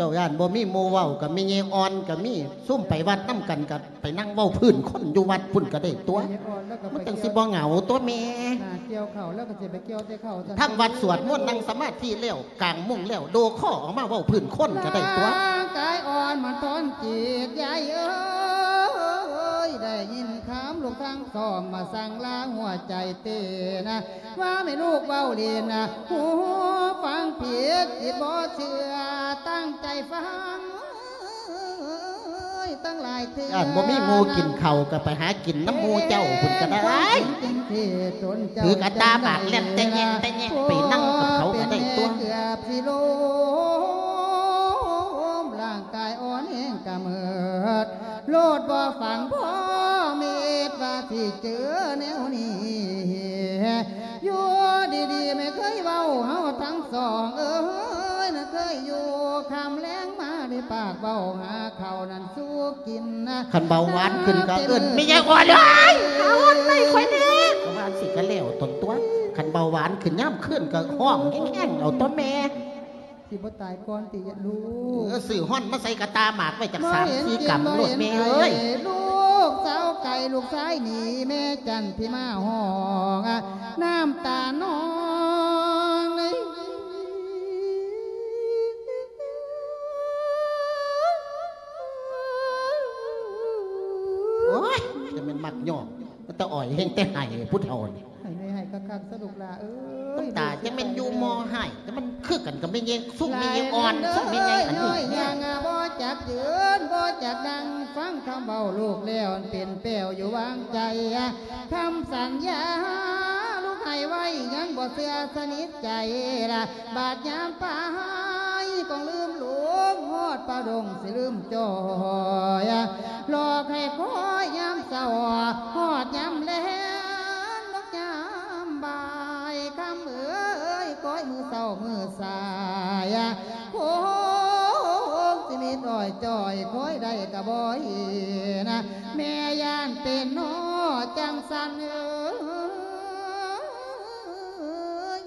ເຈົ້າຢ້ານບໍ່ມີໝູ່ເວົ້າ ກະແມ່ໃຫຍ່ອ່ອນກະມີ ຊຸມໄປວັດນຳກັນກະໄປນັ່ງເວົ້າພື້ນຄົນຢູ່ວັດພຸ້ນກະໄດ້ຕົວະ ມັນຈັ່ງຊິບໍ່ເຫງົາຕົວະແມ່. ທຳວັດສວດມົນ ນັ່ງສະມາທິແລ້ວ ກາງມຸ້ງແລ້ວ ໂດຄໍອອກມາເວົ້າພື້ນຄົນກະໄດ້ຕົວະ. ຮ່າງກາຍອ່ອນມັນທອນຈີດ ຍາຍເອີຍ ໄດ້ຍິນຄຳລູກທັງສອງມາສັ່ງລາຫົວໃຈເຕັ້ນນະ ວ່າແມ່ລູກເວົ້າຫຼິ້ນນະ ຫູຟັງຜິດ ຈິດບໍ່ເຊື່ອ ຕັ້ງໃຈຟັງ ເອີຍ ຕັ້ງຫຼາຍເທື່ອ ຢ້ານບໍ່ມີໝູ່ກິນເຂົ້າ ກໍໄປຫາກິນນຳໝູ່ເຈົ້າພຸ້ນກໍໄດ້ ຖືກກະຕ່າໝາກແລ່ນແຕະແຍະແຕະແຍະ ໄປນັ່ງກັບເຂົາກໍໄດ້ຕົວະ ເກືອບຊິລົ້ມ ຮ່າງກາຍອ່ອນແຮງກະເມີດ ໂລດບໍ່ຝັງພໍ່ເມດວ່າຊິເຈີແນວນີ້ ຢູ່ດີໆ ແມ່ເຄີຍເວົ້າເຮົາທັງສອງເອີຍ ນະເຄີຍຢູ່ຄ່ຳແລງມາ ໄດ້ປາກເວົ້າຫາເຂົ້ານັ້ນສູ່ກິນນະ ຄັນເບົາຫວານຂຶ້ນກໍເອີ້ນແມ່ຍາຍອ່ອນເອີຍ ເອົາໄປຂ້ອຍແດ່ ເອົາວ່າຊິກະແລ້ວຕົນຕົວະ ຄັນເບົາຫວານຂຶ້ນຍາມຄືນກໍຮ້ອງແຮງໆ ເອົາຕົວະແມ່. ຊິບໍ່ຕາຍກ່ອນຕິຍະລູກ ເອີ ຊື້ຮ່ອນມາໃສ່ກະຕ່າໝາກໄວ້ຈັກສາມສີ່ກຳໂລດແມ່ເອີຍ ລູກສາວໄກ່ລູກຊາຍໜີ ແມ່ຈັນທິມາຮ້ອງ ນ້ຳຕານອງ ໂອ້ຍ ຈະແມ່ນມັກຍ້ອງ ແຕ່ອ້ອຍແຮ່ງແຕ່ໄຫ້ ຜູ້ເຖົ້ານີ້ ໃຫ້ແມ່ໃຫ້ຄັກໆ ຊະລູກຫຼ້າເອີຍ ນ້ຳຕາຈະແມ່ນຢູ່ມໍໃຫ້ ແຕ່ມັນຄືກັນກັບແມ່ຍາຍ ຊຸມແມ່ຍາຍອ່ອນ ຊຸມແມ່ຍາຍອັນນີ້ ຍ່ອຍຍ່າງບໍ່ຈັກຢືນ ບໍ່ຈັກນັ່ງ ຟັງຄຳເວົ້າລູກແລ້ວເປັນແປ້ວຢູ່ວາງໃຈ ຄຳສັນຍາລູກໃຫ້ໄວ້ ຍັງບໍ່ເຊື່ອສະໜິດໃຈລະ ບາດຍາມປາຍ ຕ້ອງລືມຫຼວງ ຮອດປ່າດົງຊິລືມຈ່ອຍ ຫຼອກໃຫ້ຄອຍຍາມເຊົ້າ ຮອດຍາມແລງ ນອກຍາມບ່າຍ ຄຳເອີຍ ຄອຍມື້ເຊົ້າມື້ສາຍ ຄົງຊິມີອ້ອຍຈ່ອຍ ຄອຍໄດ້ກະບໍ່ເຫັນ ແມ່ຢ້ານເປັນນໍຈັ່ງຊັ້ນເອີ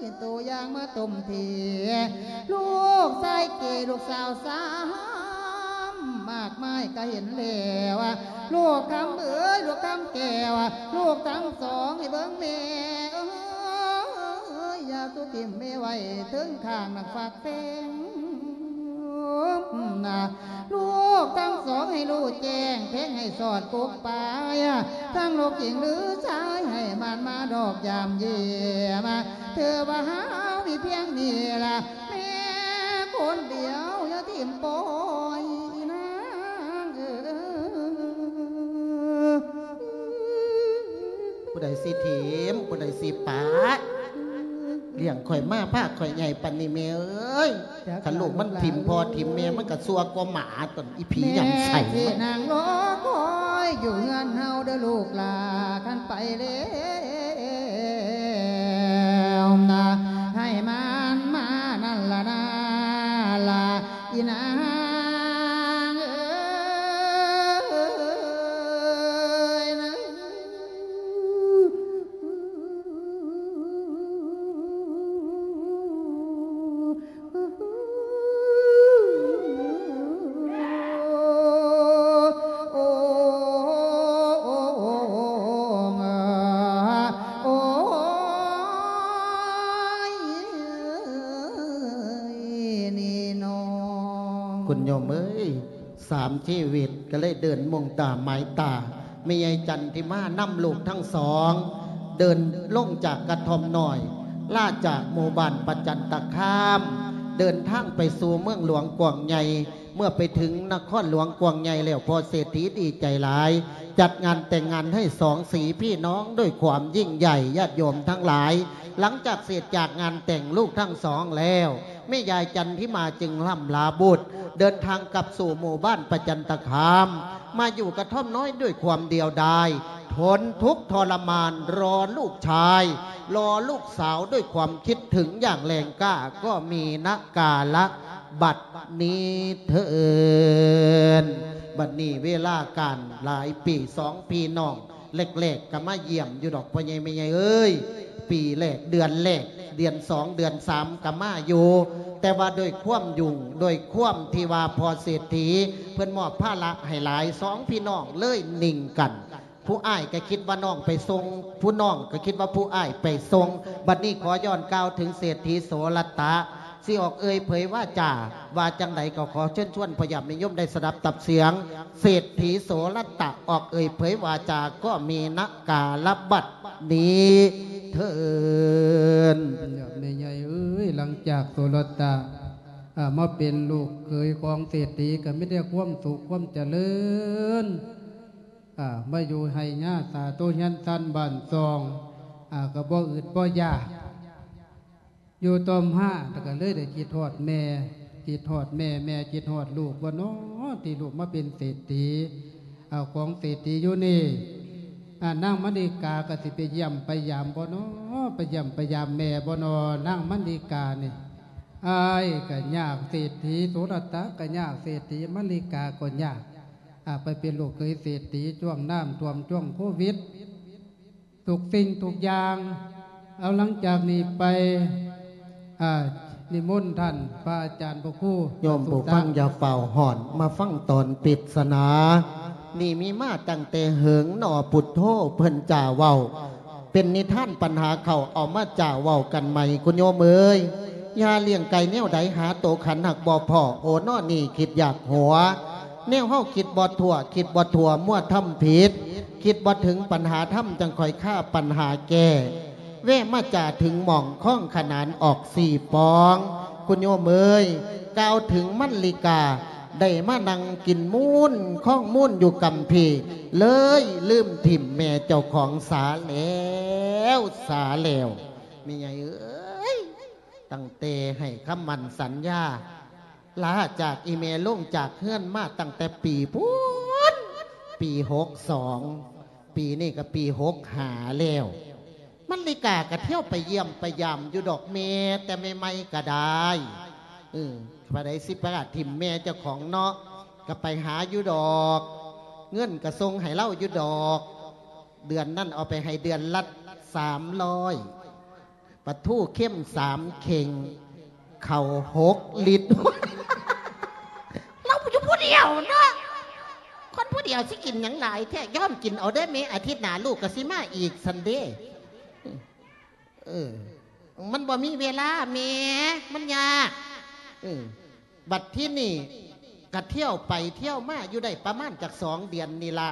ຍ ໂຕຢ່າງມາຕົມເທ ລູກຊາຍເກ ລູກສາວຊ້ຳ ມາກມາຍກະເຫັນແລ້ວ ລູກຄຳເອີຍ ລູກຄຳແກ້ວ ລູກທັງສອງໃຫ້ເບິ່ງແມ່ເອີຍ ຢ່າສູ່ຖິ້ມແມ່ໄວ້ເທິງຂ້າງນັກຟັກແພງນະ ລູກທັງສອງໃຫ້ຮູ້ແຈ້ງ ແພງໃຫ້ສອດກົກປາຍ ທັງລູກຍິງຫຼືຊາຍ ໃຫ້ໝັ່ນມາດອກຢາມຢ້ຽມ ຖືວ່າເຮົາມີພຽງນີ້ລະ ແມ່ຄົນດຽວ ຢ່າຖິ້ມປ່ອຍນາງເອີຍ ຜູ້ໃດຊິຖິ້ມ ຜູ້ໃດຊິປະ ລ້ຽງຂ້ອຍມາ ພາຂ້ອຍໃຫຍ່ປານນີ້ແມ່ເອີຍ ຄັນລູກມັນຖິ້ມພໍ່ຖິ້ມແມ່ ມັນກະຊົ່ວກວ່າໝາຕົນ ອີຜີຫຍັງໃສ່ ແມ່ຊິນັ່ງລໍຄອຍຢູ່ເຮືອນເຮົາເດີລູກຫຼ້າ ຄັນໄປແລ້ວນະ ໃຫ້ມັນມານັ້ນລະນາລະ ອີນາງເອີຍນະ ໂອ້ ໂອ້ຍ ນີ້ນ້ອງ ຄຸນໂຍມເອີຍ ສາມຊີວິດກໍເລີຍເດີນມຸ່ງຕາໝາຍຕາ ແມ່ໃຫຍ່ຈັນທິມານຳລູກທັງສອງ ເດີນລົງຈາກກະທ່ອມນ້ອຍ ລາຈາກໝູ່ບ້ານປະຈັນຕະຄາມ ເດີນທາງໄປສູ່ເມືອງຫຼວງກວ້າງໃຫຍ່ ເມື່ອໄປເຖິງນະຄອນຫຼວງກວ້າງໃຫຍ່ແລ້ວ ພໍ່ເສດຖີດີໃຈຫຼາຍ ຈັດງານແຕ່ງງານໃຫ້ສອງສີພີ່ນ້ອງດ້ວຍຄວາມຍິ່ງໃຫຍ່ ຍາດໂຍມທັງຫຼາຍ ຫຼັງຈາກເສດຈາກງານແຕ່ງລູກທັງສອງແລ້ວ ແມ່ຍາຍຈັນທິມາຈຶ່ງລ່ຳລາບຸດ ເດີນທາງກັບສູ່ໝູ່ບ້ານປະຈັນຕະຄາມ ມາຢູ່ກະທ່ອມນ້ອຍດ້ວຍຄວາມດຽວດາຍ ທົນທຸກທໍລະມານ ລໍລູກຊາຍ ລໍລູກສາວດ້ວຍຄວາມຄິດເຖິງຢ່າງແຮງກ້າ ກໍມີນະກາລະບັດນີ້ເທີ້ນ. ບັດນີ້ເວລາການຫຼາຍປີ ສອງພີ່ນ້ອງ ແລກໆ ກໍມາຢ້ຽມຢູ່ດອກ ພໍ່ໃຫຍ່ແມ່ໃຫຍ່ເອີຍ ປີແລກ ເດືອນແລກ ເດືອນສອງ ເດືອນສາມ ກໍມາຢູ່ ແຕ່ວ່າດ້ວຍຄວາມຫຍຸ້ງ ດ້ວຍຄວາມທີ່ວ່າພໍ່ເສດຖີເພິ່ນມອບພາລະໃຫ້ຫຼາຍ ສອງພີ່ນ້ອງເລີຍນິ່ງກັນ ຜູ້ອ້າຍກໍຄິດວ່ານ້ອງໄປສົ່ງ ຜູ້ນ້ອງກໍຄິດວ່າຜູ້ອ້າຍໄປສົ່ງ. ບັດນີ້ຂໍຍ້ອນກ່າວເຖິງເສດຖີໂສລະຕະ ຊິອອກເອີ່ຍເຜີຍວາຈາ ວ່າຈັ່ງໃດກໍຂໍເຊີນຊວນພໍ່ຍາດແມ່ໂຍມໄດ້ສະດັບຕັບສຽງ ເສດຖີໂສລະຕະອອກເອີ່ຍເຜີຍວາຈາ ກໍມີນະກາລະບັດນີ້ເທີ້ນ. ຍາດແມ່ໃຫຍ່ເອີຍ ຫຼັງຈາກໂສລະຕະ ອາ ມາເປັນລູກເຂີຍຂອງເສດຖີ ກໍມີແຕ່ຄວາມສຸກຄວາມຈະເລີນ ອາ ມາຢູ່ໄຮ່ຍາສາໂຕເຮືອນຊານບ້ານຊ່ອງ ອາ ກໍບໍ່ອຶດບໍ່ຢາກ ຢູ່ຕໍ່ມາກໍເລີຍໄດ້ຄິດຮອດແມ່ ຄິດຮອດແມ່ ແມ່ຄິດຮອດລູກວ່ານໍ ທີ່ລູກມາເປັນເສດຖີ ເອົາຂອງເສດຖີຢູ່ນີ້ ອາ ນາງມະລິກາກໍຊິໄປຢ້ຽມໄປຢາມບໍ່ນໍ ໄປຢ້ຽມໄປຢາມແມ່ບໍ່ນໍ ນາງມະລິການີ້ ອ້າຍກໍຍາກ ເສດຖີໂສລະຕະກໍຍາກ ເສດຖີມະລິກາກໍຍາກ ອາ ໄປເປັນລູກເຂີຍເສດຖີ ຊ່ວງນ້ຳຖ້ວມ ຊ່ວງໂຄວິດ ທຸກສິ່ງທຸກຢ່າງ. ເອົາ ຫຼັງຈາກນີ້ໄປ ອາ ນິມົນທ່ານພະອາຈານພະຄູ ໂຍມຜູ້ຟັງຢ່າຟ້າວຮ້ອນ ມາຟັງຕອນປິດສະໜາ. ນີ້ມີມາຕັ້ງແຕ່ເຫິງໜໍ່ ພຸດໂທເພິ່ນຈາເວົ້າ ເປັນນິທານປັນຫາເຂົາ ເອົາມາຈາເວົ້າກັນໃໝ່ ຄຸນໂຍມເອີຍ. ຢ່າລ້ຽງໄກ່ແນວໃດ ຫາໂຕຂັນຫາກບໍ່ພໍ້ ໂອນໍນີ້ຄິດຢາກຫົວ ແນວເຮົາຄິດບໍ່ທົ່ວ ຄິດບໍ່ທົ່ວ ມົວທຳຜິດ ຄິດບໍ່ເຖິງປັນຫາທຳ ຈັ່ງຄ່ອຍຄາປັນຫາແກ້ ແວະມາຈາເຖິງໝ່ອງ ຄອງຂະໜານອອກສີ່ປອງ ຄຸນໂຍມເອີຍ. ກ່າວເຖິງມັນລິກາ ໄດ້ມານັ່ງກິນມູນຄອງມູນຢູ່ກຳພີ ເລີຍລືມຖິ້ມແມ່ເຈົ້າຂອງສາແລ້ວ ສາແລ້ວ ແມ່ໃຫຍ່ເອີຍ. ຕັ້ງແຕ່ໃຫ້ຄຳໝັ້ນສັນຍາ ລາຈາກອີ່ແມ່ລົງຈາກເຮືອນມາຕັ້ງແຕ່ປີພຸ້ນ ປີຫົກສອງ ປີນີ້ກໍປີຫົກຫ້າແລ້ວ ມັນລິກາກໍທ່ຽວໄປຢ້ຽມໄປຢາມຢູ່ດອກແມ່ ແຕ່ໃໝ່ໆກໍໄດ້ ເອີ ຜູ້ໃດຊິປະກາດຖິ້ມແມ່ເຈົ້າຂອງເນາະ ກໍໄປຫາຢູ່ດອກ ເງິນກໍສົ່ງໃຫ້ລາວຢູ່ດອກ ເດືອນນັ້ນເອົາໄປໃຫ້ເດືອນລະສາມຮ້ອຍ ປາທູເຄັມສາມເຄັ່ງ ເຂົ້າຫົກລິດ ລາວຢູ່ຜູ້ດຽວເນາະ ຄົນຜູ້ດຽວຊິກິນຫຍັງຫຼາຍແທ້ ຍອມກິນເອົາເດີແມ່ ອາທິດໜ້າລູກກໍຊິມາອີກຊັ້ນເດ. ເອີ ມັນບໍ່ມີເວລາແມ່ ມັນຍາກ ເອີ ບັດທີນີ້ກະທ່ຽວໄປທ່ຽວມາຢູ່ໄດ້ປະມານຈັກສອງເດືອນນີ້ລະ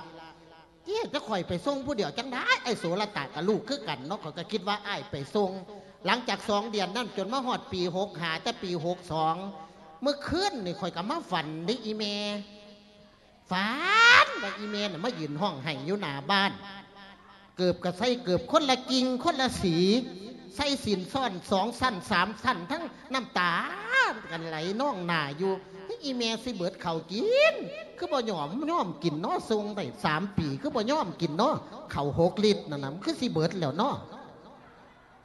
ເອີ ຈະຂ້ອຍໄປສົ່ງຜູ້ດຽວຈັ່ງໃດ ອ້າຍໂສລະຕະກະລູກຄືກັນເນາະ ຂ້ອຍກະຄິດວ່າອ້າຍໄປສົ່ງ. ຫຼັງຈາກສອງເດືອນນັ້ນຈົນມາຮອດປີຫົກຫ້າ ແຕ່ປີຫົກສອງ ມື້ຄືນນີ້ຂ້ອຍກະມາຝັນເດ້ອີ່ແມ່ ຝັນວ່າອີ່ແມ່ນະມາຢືນຮ້ອງໄຫ້ຢູ່ໜ້າບ້ານ ເກີບກະໃສ່ເກີບຄົນລະກິ່ງຄົນລະສີ ໃສ່ສິ້ນຊ້ອນສອງຊັ້ນສາມຊັ້ນ ທັງນ້ຳຕາກັນໄຫຼນອງໜ້າຢູ່. ອີ່ແມ່ຊິເບິດເຂົ້າກິນ ຄືບໍ່ຍອມ ຍອມກິນເນາະ ສົ່ງໄດ້ສາມປີ ຄືບໍ່ຍອມກິນເນາະ ເຂົ້າຫົກລິດນັ້ນນະ ມັນຄືຊິເບິດແລ້ວເນາະ.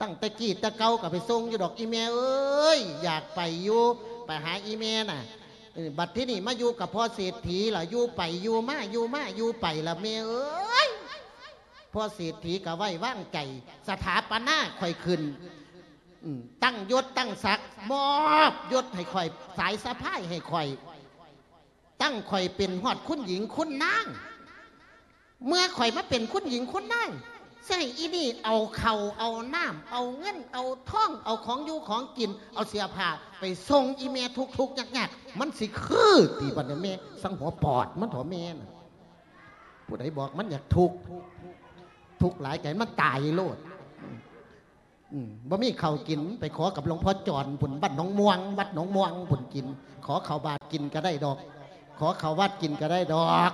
ຕັ້ງແຕ່ກີ້ແຕ່ເກົ່າກໍໄປສົ່ງຢູ່ດອກ ອີ່ແມ່ເອີຍ ຢາກໄປຢູ່ ໄປຫາອີ່ແມ່ນະ. ເອີ ບັດທີນີ້ມາຢູ່ກັບພໍ່ເສດຖີລະ ຢູ່ໄປຢູ່ມາ ຢູ່ມາຢູ່ໄປລະແມ່ເອີຍ. ພໍ່ເສດຖີກໍໄວ້ວາງໃຈ ສະຖາປະນາຂ້ອຍຂຶ້ນ ອືມ ຕັ້ງຍົດຕັ້ງສັກ ມອບຍົດໃຫ້ຂ້ອຍ ສາຍສະພາຍໃຫ້ຂ້ອຍ ຕັ້ງຂ້ອຍເປັນຮອດຄຸນຍິງຄຸນນາງ. ເມື່ອຂ້ອຍມາເປັນຄຸນຍິງຄຸນນາງ ຊິໃຫ້ອີ່ນີ້ເອົາເຂົ້າເອົານ້ຳ ເອົາເງິນເອົາທອງ ເອົາຂອງຢູ່ຂອງກິນ ເອົາເສື້ອຜ້າໄປສົ່ງອີ່ແມ່ທຸກໆຍາກໆ ມັນຊິຄືຕິບັດນີ້ແມ່? ສັງຫົວປອດມັນເຖາະແມ່ນະ. ຜູ້ໃດບອກມັນຢາກທຸກ ທຸກຫຼາຍໃຈມັນຕາຍໂລດ. ອືມ ບໍ່ມີເຂົ້າກິນ ໄປຂໍກັບຫຼວງພໍ່ຈອນພຸ້ນ ວັດໜອງມ່ວງ ວັດໜອງມ່ວງພຸ້ນກິນ. ຂໍເຂົ້າບາດກິນກໍໄດ້ດອກ ຂໍເຂົ້າວັດກິນກໍໄດ້ດອກ.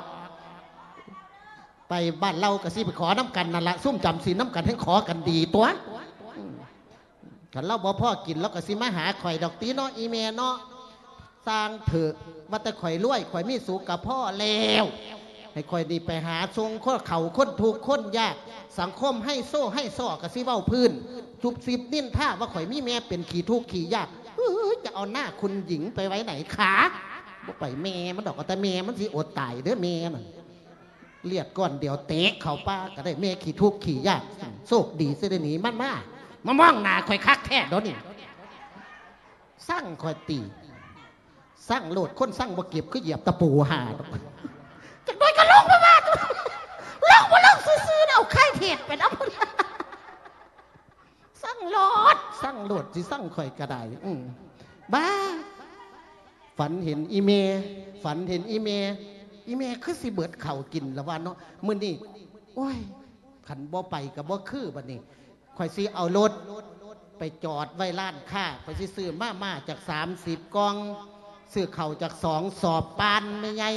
ໄປບ້ານລາວກໍຊິໄປຂໍນຳກັນນັ້ນລະ ຊຸມຈຳສິນນຳກັນແຮ່ງຂໍກັນດີຕົວະ. ອືມ ຄັນລາວບໍ່ພໍກິນ ລາວກໍຊິມາຫາຂ້ອຍດອກຕິເນາະ ອີ່ແມ່ເນາະ. ຊ່າງເຖາະ ວ່າແຕ່ຂ້ອຍລວຍ ຂ້ອຍມີສຸກກະພໍແລ້ວ. ໃຫ້ຂ້ອຍນີ້ໄປຫາສົ່ງຄົນເຂົາ ຄົນທຸກຄົນຍາກ ສັງຄົມໄຮໂຊໄຮຊໍກໍຊິເວົ້າພື້ນ ຊຸບຊິບນິນທາວ່າຂ້ອຍມີແມ່ເປັນຂີ້ທຸກຂີ້ຍາກ. ເອີຍ ຈະເອົາໜ້າຄຸນຍິງໄປໄວ້ໃນຄາ? ບໍ່ໄປແມ່ມັນດອກ ເອົາແຕ່ແມ່ມັນຊິອົດຕາຍເດີແມ່ນັ້ນ. ລຽດກ້ອນດຽວເຕະເຂົ້າປ່າກໍໄດ້ ແມ່ຂີ້ທຸກຂີ້ຍາກ. ໂຊກດີຊິໄດ້ໜີມັນມາ ມາມອງໜ້າຂ້ອຍຄັກແທ້ດອກນີ້. ຊັງຂ້ອຍຕິ ຊັງໂລດ ຄົນຊັງບໍ່ເກັບ ຄືຢຽບຕະປູຫາດອກ. ຈັກໜ້ອຍກໍລົງມາວ່າ ລົງບໍ່ລົງຊື່ໆ ເອົາໄຂ່ເທດໄປນຳ. ຊັງໂລດ ຊັງໂລດ ຊິຊັງຂ້ອຍກໍໄດ້. ອືມ ບ້າ! ຝັນເຫັນອີ່ແມ່ ຝັນເຫັນອີ່ແມ່ ອີ່ແມ່ຄືຊິເບິດເຂົ້າກິນລະວ່າເນາະ ມື້ນີ້. ໂອ້ຍ ຄັນບໍ່ໄປກໍບໍ່ຄືບັດນີ້. ຂ້ອຍຊິເອົາລົດໄປຈອດໄວ້ຮ້ານຄ້າ ຂ້ອຍຊິຊື້ມາມ່າຈັກສາມສິບກ່ອງ ຊື້ເຂົ້າຈັກສອງສອບ ປານແມ່ໃຫຍ່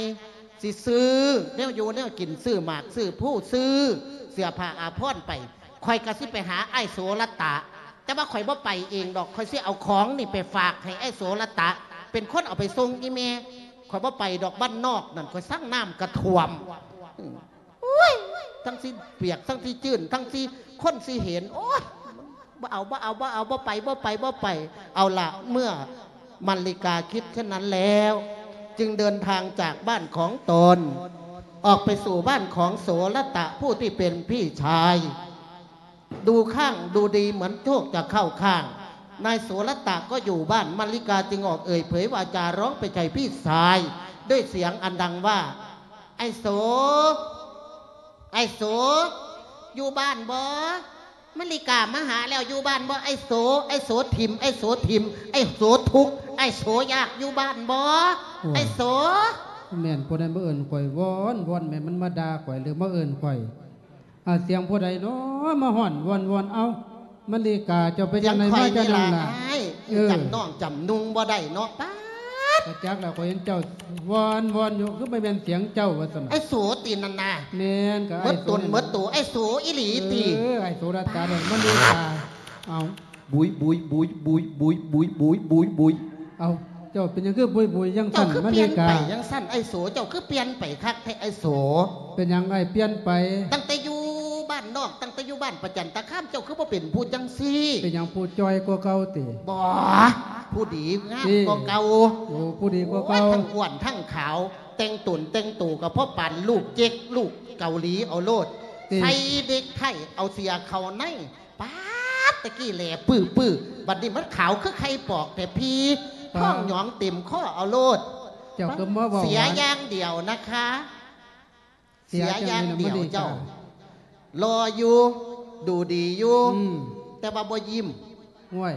ຊິຊື້ແນວຢູ່ແນວກິນ ຊື້ໝາກ ຊື້ພູ ຊື້ເສື້ອຜ້າອາພອນໄປ. ຂ້ອຍກໍຊິໄປຫາອ້າຍໂສລະຕະ ແຕ່ວ່າຂ້ອຍບໍ່ໄປເອງດອກ ຂ້ອຍຊິເອົາຂອງນີ້ໄປຝາກໃຫ້ອ້າຍໂສລະຕະ ເປັນຄົນເອົາໄປສົ່ງອີ່ແມ່. ຂ້ອຍບໍ່ໄປດອກ ບ້ານນອກນັ້ນ ຂ້ອຍຊັງນ້ຳກະຖ້ວມ. ອືມ ໂອ້ຍ ທັງຊິປຽກ ທັງຊິຈືນ ທັງຊິ ຄົນຊິເຫັນ ໂອ້ຍ ບໍ່ເອົາ ບໍ່ເອົາ ບໍ່ເອົາ ບໍ່ໄປ ບໍ່ໄປ ບໍ່ໄປ. ເອົາລະ ເມື່ອມະລິກາຄິດເຊັ່ນນັ້ນແລ້ວ ຈຶ່ງເດີນທາງຈາກບ້ານຂອງຕົນ ອອກໄປສູ່ບ້ານຂອງໂສລະຕະ ຜູ້ທີ່ເປັນພີ່ຊາຍ. ດູຂ້າງດູດີເໝືອນໂຊກຈະເຂົ້າຂ້າງ ນາຍໂສລະຕະກໍຢູ່ບ້ານ. ມະລິກາຈຶ່ງອອກເອີ່ຍເຜີຍວາຈາຮ້ອງໄປໃສ່ພີ່ຊາຍ ດ້ວຍສຽງອັນດັງວ່າ ອ້າຍໂສ ອ້າຍໂສ ຢູ່ບ້ານບໍ່? ມະລິກາມາຫາແລ້ວ ຢູ່ບ້ານບໍ່? ອ້າຍໂສ ອ້າຍໂສຖິ້ມ ອ້າຍໂສຖິ້ມ ອ້າຍໂສທຸກ ອ້າຍໂສຍາກ ຢູ່ບ້ານບໍ່? ໂອ້ຍ ອ້າຍໂສ. ແມ່ນຜູ້ໃດມາເອີ້ນຂ້ອຍ ວອນ ວອນ ແມ່ນມັນມາດ່າຂ້ອຍ ຫຼືມາເອີ້ນຂ້ອຍ? ອາ ສຽງຜູ້ໃດເນາະ ມາຮ້ອງວອນໆ. ເອົ້າ ມະລິກາ ເຈົ້າເປັນຈັ່ງໃດມາຈັ່ງນັ້ນລະ? ເອີ ຈຳນ້ອງຈຳນຸ່ງບໍ່ໄດ້ເນາະ ປາດ. ກະຈັກລະ ຂ້ອຍເຫັນເຈົ້າວອນໆຢູ່ ຄືບໍ່ແມ່ນສຽງເຈົ້າວ່າຊັ້ນ. ອ້າຍໂສຕິນັ້ນນະ? ແມ່ນ ກະເໝິດຕົນເໝິດໂຕ ອ້າຍໂສອີ່ຫຼີຕິ? ເອີ ອ້າຍໂສລະຕາ ມະລິກາ. ເອົ້າ ບຸຍ ບຸຍ ບຸຍ ບຸຍ ບຸຍ ບຸຍ ບຸຍ ບຸຍ ບຸຍ ບຸຍ. ເອົ້າ ເຈົ້າເປັນຫຍັງຄືບຸຍໆຈັ່ງຊັ້ນ ມະລິກາ? ເຈົ້າຄືປ່ຽນໄປຈັ່ງຊັ້ນ ອ້າຍໂສ? ເຈົ້າຄືປ່ຽນໄປຄັກແທ້ ອ້າຍໂສ? ເປັນຫຍັງອ້າຍປ່ຽນໄປ? ຕັ້ງແຕ່ຢູ່ບ້ານນອກ ຕັ້ງແຕ່ຢູ່ບ້ານປະຈັນຕະຄາມ ເຈົ້າຄືບໍ່ເປັນຜູ້ຈັ່ງຊີ້? ເປັນຫຍັງ ຜູ້ຈ່ອຍກວ່າເກົ່າຕິ? ບໍ່ ຜູ້ດີງາມກວ່າເກົ່າ. ໂອ້ ຜູ້ດີກວ່າເກົ່າ. ໂອ້ຍ ທັງອ້ວນທັງຂາວ ແຕ່ງຕົນແຕ່ງໂຕກໍພໍປານລູກເຈັກ ລູກເກົາຫຼີເອົາໂລດ. ໃສ່ເນັກໄທ ເອົາເສື້ອເຂົ້າໃນ ປາດ ຕະກີ້ແຫຼປືໆ ບັດນີ້ມັນຂາວຄືໄຂ່ປອກແທ້ພີ່. ປາດ ທ້ອງຫຍອງເຕັມຄໍເອົາໂລດ. ເຈົ້າກໍມາເວົ້າ ເສຍຢ່າງດຽວນະຄະ ເສຍຢ່າງດຽວ. ເຈົ້າຫຼໍ່ຢູ່ ດູດີຢູ່ ອືມ ແຕ່ວ່າບໍ່ຍິ້ມ. ໂອ້ຍ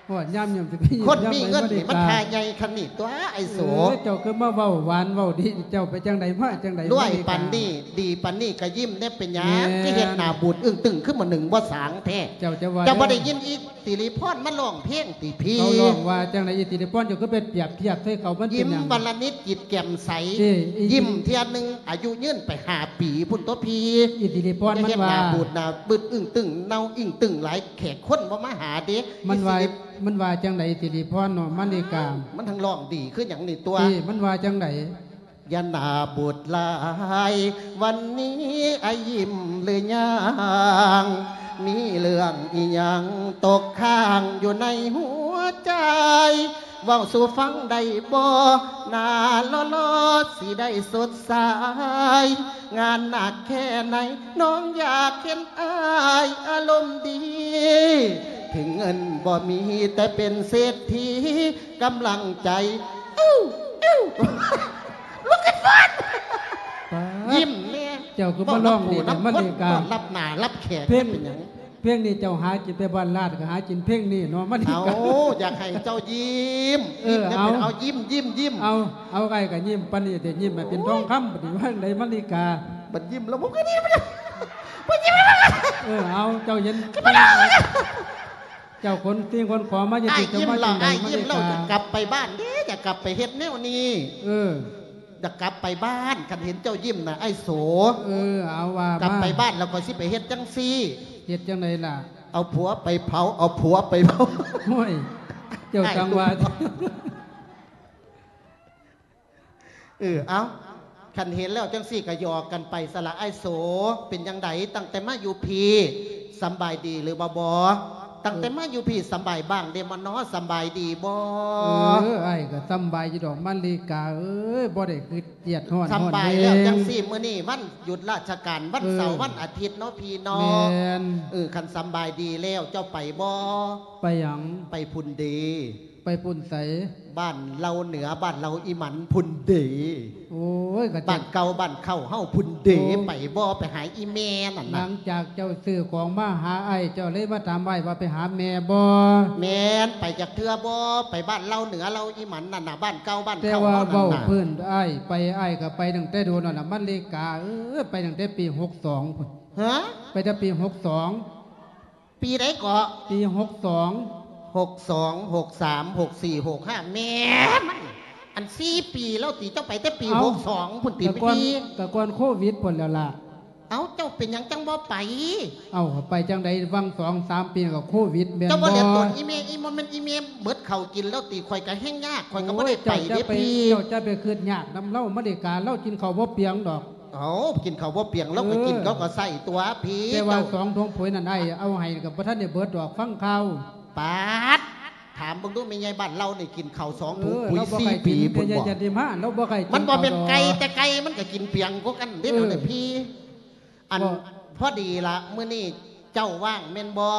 ໂອ້ຍ ຍາມຍິ້ມຊິໄປຍິ້ມ ຄົນມີເງິນນີ້ມັນທ່າໃຫຍ່ຄັນນີ້ຕົວະ ອ້າຍໂສ. ເອີ ເຈົ້າຄືມາເວົ້າຫວານເວົ້າດີ ເຈົ້າໄປຈັ່ງໃດມາຈັ່ງໃດ? ລວຍປານນີ້ ດີປານນີ້ກະຍິ້ມແດ່ ເປັນຫຍັງ ແມ່ນ ຄືເຮັດໜ້າບູດອຶ້ງຕຶ້ງ ຄືໝໍໜຶ່ງບໍ່ສາງແທ້? ເຈົ້າຈະວ່າ ເຈົ້າບໍ່ໄດ້ຍິນອີ່ຕິລິພອນມາຮ້ອງເພງຕິພີ່? ເຂົາຮ້ອງວ່າຈັ່ງໃດ ອີ່ຕິລິພອນ? ເຈົ້າຄືໄປປຽບທຽບໃສ່ເຂົາ ມັນເປັນຫຍັງ? ຍິ້ມວັນລະນິດຈິດແຈ່ມໃສ ເອີ ຍິ້ມເທື່ອໜຶ່ງ ອາຍຸຍືນໄປຫ້າປີພຸ້ນຕົວະພີ່. ອີ່ຕິລິພອນມັນວ່າ ຢ່າເຮັດໜ້າບູດໜ້າບຶດອຶ້ງຕຶ້ງ ເນົ່າອິ້ງຕຶ້ງຫຼາຍ ແຂກຄົນບໍ່ມາຫາເດ້. ມັນວ່າ ອີ່ຕິລິ ມັນວ່າຈັ່ງໃດ ອີ່ຕິລິພອນເນາະ ມະລິກາ? ມັນທັງຮ້ອງດີຄືຫຍັງນີ້ຕົວະ. ເອີ ມັນວ່າຈັ່ງໃດ? ຢ່າໜ້າບູດຫຼາຍ ວັນນີ້ອ້າຍຍິ້ມຫຼືຍັງ? ມີເລື່ອງອີ່ຫຍັງຕົກຄ້າງຢູ່ໃນຫົວໃຈ ເວົ້າສູ່ຟັງໄດ້ບໍ່? ໜ້າຫຼໍ່ໆຊິໄດ້ສົດໃສ ງານໜັກແຄ່ໃດ ນ້ອງຢາກເຫັນອ້າຍອາລົມດີ ເຖິງເງິນບໍ່ມີແຕ່ເປັນເສດຖີ ກຳລັງໃຈ ອິ້ວ ອິ້ວ ລຸກຂຶ້ນຟ້ອນ ປາດ ຍິ້ມແດ່. ເຈົ້າຄືມາຮ້ອງດີແທ້ ມະລິກາ ເວົ້ານຳຜູ້ນຳຄົນ ຕ້ອນຮັບໜ້າຮັບແຂກ ເພງ ເປັນຫຍັງ? ເພງນີ້ເຈົ້າຫາກິນແຕ່ບ້ານລາດ ກໍຫາກິນເພງນີ້ເນາະ ມັນ ເອົາ ຢາກໃຫ້ເຈົ້າຍິ້ມ ເອີ ຍິ້ມແດ່ ເອົາ ເອົາ ຍິ້ມ ຍິ້ມ ຍິ້ມ ເອົາ ເອົາ ອ້າຍກໍຍິ້ມປານນີ້ແຕ່ ຍິ້ມໃຫ້ເປັນ ໂອ້ຍ ທອງຄຳ ບັດນີ້ວ່າຈັ່ງໃດ ມະລິກາ? ບັດຍິ້ມແລ້ວ ບໍ່ຍິ້ມ ບໍ່ຍິ້ມ ເອີ ເອົາ ເຈົ້າເຫັນ ເຈົ້າຂົນສິ່ງຂົນຂອງມາຢູ່ ອ້າຍ ເຈົ້າ ຍິ້ມແລ້ວ ອ້າຍຍິ້ມແລ້ວ ຢາກກັບໄປບ້ານເດ້ ຢາກກັບໄປເຮັດແນວນີ້ ເອີ ຢາກກັບໄປບ້ານ ຄັນເຫັນເຈົ້າຍິ້ມນະ ອ້າຍໂສ. ເອີ ເອົາ ວ່າມາ ກັບໄປບ້ານແລ້ວຂ້ອຍຊິໄປເຮັດຈັ່ງຊີ້. ເຮັດຈັ່ງໃດລະ? ເອົາຜົວໄປເຜົາ ເອົາຜົວໄປເຜົາ. ໂອ້ຍ ເຈົ້າຈັ່ງວ່າ ເອີ ເອົາ ຄັນເຫັນແລ້ວຈັ່ງຊີ້ກໍຫຍອກກັນໄປຊະລະ ອ້າຍໂສ. ເປັນຈັ່ງໃດ ຕັ້ງແຕ່ມາຢູ່ພີ້ ສຳບາຍດີຫຼືວ່າບໍ່? ຕັ້ງແຕ່ມາຢູ່ພີ້ສຳບາຍບ້າງເດບໍ່ນໍ? ສຳບາຍດີບໍ່? ເອີ ອ້າຍກໍສຳບາຍຢູ່ດອກ ມະລິກາເອີຍ ບໍ່ໄດ້ຄຶດຄຽດຮ້ອນ ສຳບາຍແລ້ວຈັ່ງຊີ້. ມື້ນີ້ວັນຢຸດລາຊະການ ວັນເສົາ ເອີ ວັນອາທິດເນາະ ພີ່ເນາະ. ແມ່ນ ເອີ ຄັນສຳບາຍດີແລ້ວ ເຈົ້າໄປບໍ່? ໄປຫຍັງ? ໄປພຸ້ນເດ. ໄປພຸ້ນໃສ? ບ້ານເຫຼົ່າເໜືອ ບ້ານເຫຼົ່າອີ່ໝັນພຸ້ນເດ. ໂອ້ຍ ກໍ ບ້ານເກົ່າບ້ານເກົ່າເຮົາພຸ້ນເດ. ໂອ້ ໄປບໍ່ ໄປຫາອີ່ແມ່ນັ້ນນະ? ຫຼັງຈາກເຈົ້າຊື້ຂອງມາຫາອ້າຍ ເຈົ້າເລີຍມາຖາມອ້າຍວ່າໄປຫາແມ່ບໍ່? ແມ່ນ. ໄປຈັກເທື່ອບໍ່? ໄປບ້ານເຫຼົ່າເໜືອເຫຼົ່າອີ່ໝັນນັ້ນນະ ບ້ານເກົ່າບ້ານເກົ່າເຮົານັ້ນນະ. ແຕ່ວ່າເວົ້າພື້ນອ້າຍໄປ ອ້າຍກໍໄປຕັ້ງແຕ່ດົນແລ້ວລະ ມະລິກາເອີຍ ໄປຕັ້ງແຕ່ປີຫົກສອງພຸ້ນ. ຮະ? ໄປແຕ່ປີຫົກສອງ. ປີໃດເກາະ? ປີຫົກສອງ ຫົກສອງ ຫົກສາມ ຫົກສີ່ ຫົກຫ້າ ແມ່ນ ອັນສີ່ປີແລ້ວຕິ. ເຈົ້າໄປແຕ່ປີຫົກສອງພຸ້ນຕິ? ກໍກ່ອນ ແມ່ນຕິ ກໍກ່ອນໂຄວິດພຸ້ນແລ້ວລະ. ເອົ້າ ເຈົ້າເປັນຫຍັງຈັ່ງບໍ່ໄປ? ເອົ້າ ໄປຈັ່ງໃດ ຫວ່າງສອງສາມປີກໍໂຄວິດແມ່ນບໍ່? ເຈົ້າບໍ່ເຫຼືອຕົນອີ່ແມ່ ອີ່ ບໍ່ແມ່ນອີ່ແມ່ເບິດເຂົ້າກິນແລ້ວຕິ? ຂ້ອຍກໍແຮ່ງຍາກ ຂ້ອຍກໍບໍ່ໄດ້ໄປເດ້ພີ່. ໂອ້ຍ ເຈົ້າ ເຈົ້າໄປຄິດຍາກນຳລາວ ມະລິກາ ລາວກິນເຂົ້າບໍ່ປຽງດອກ. ເອົ້າ ກິນເຂົ້າບໍ່ປຽງ ລາວກໍກິນ ເອີ ເຂົາກໍໃສ່ຕົວະພີ່. ແຕ່ວ່າ ເຈົ້າ ສອງຖົງປຸ໋ຍນັ້ນ ອ້າຍເອົາໃຫ້ກໍບໍ່ທັນໄດ້ເບິດດອກ ຟັງຂ່າວ. ປາດ ຖາມເບິ່ງດູ ແມ່ໃຫຍ່ບ້ານລາວນີ້ກິນເຂົ້າສອງ ເອີ ຖົງປຸ�ຍ ລາວບໍ່ຄ່ອຍກິນ ສີ່ປີພຸ້ນບໍ່? ແມ່ໃຫຍ່ຈັນທິມາ ລາວບໍ່ຄ່ອຍກິນ ມັນບໍ່ແມ່ນໄກ່ແຕ່ໄກ່ ມັນກໍກິນປຽງກວ່າກັນເດ້ ເອີ ແນວນີ້ພີ່. ອັນ ກໍ ພໍດີລະ ມື້ນີ້ເຈົ້າວ່າງແມ່ນບໍ່?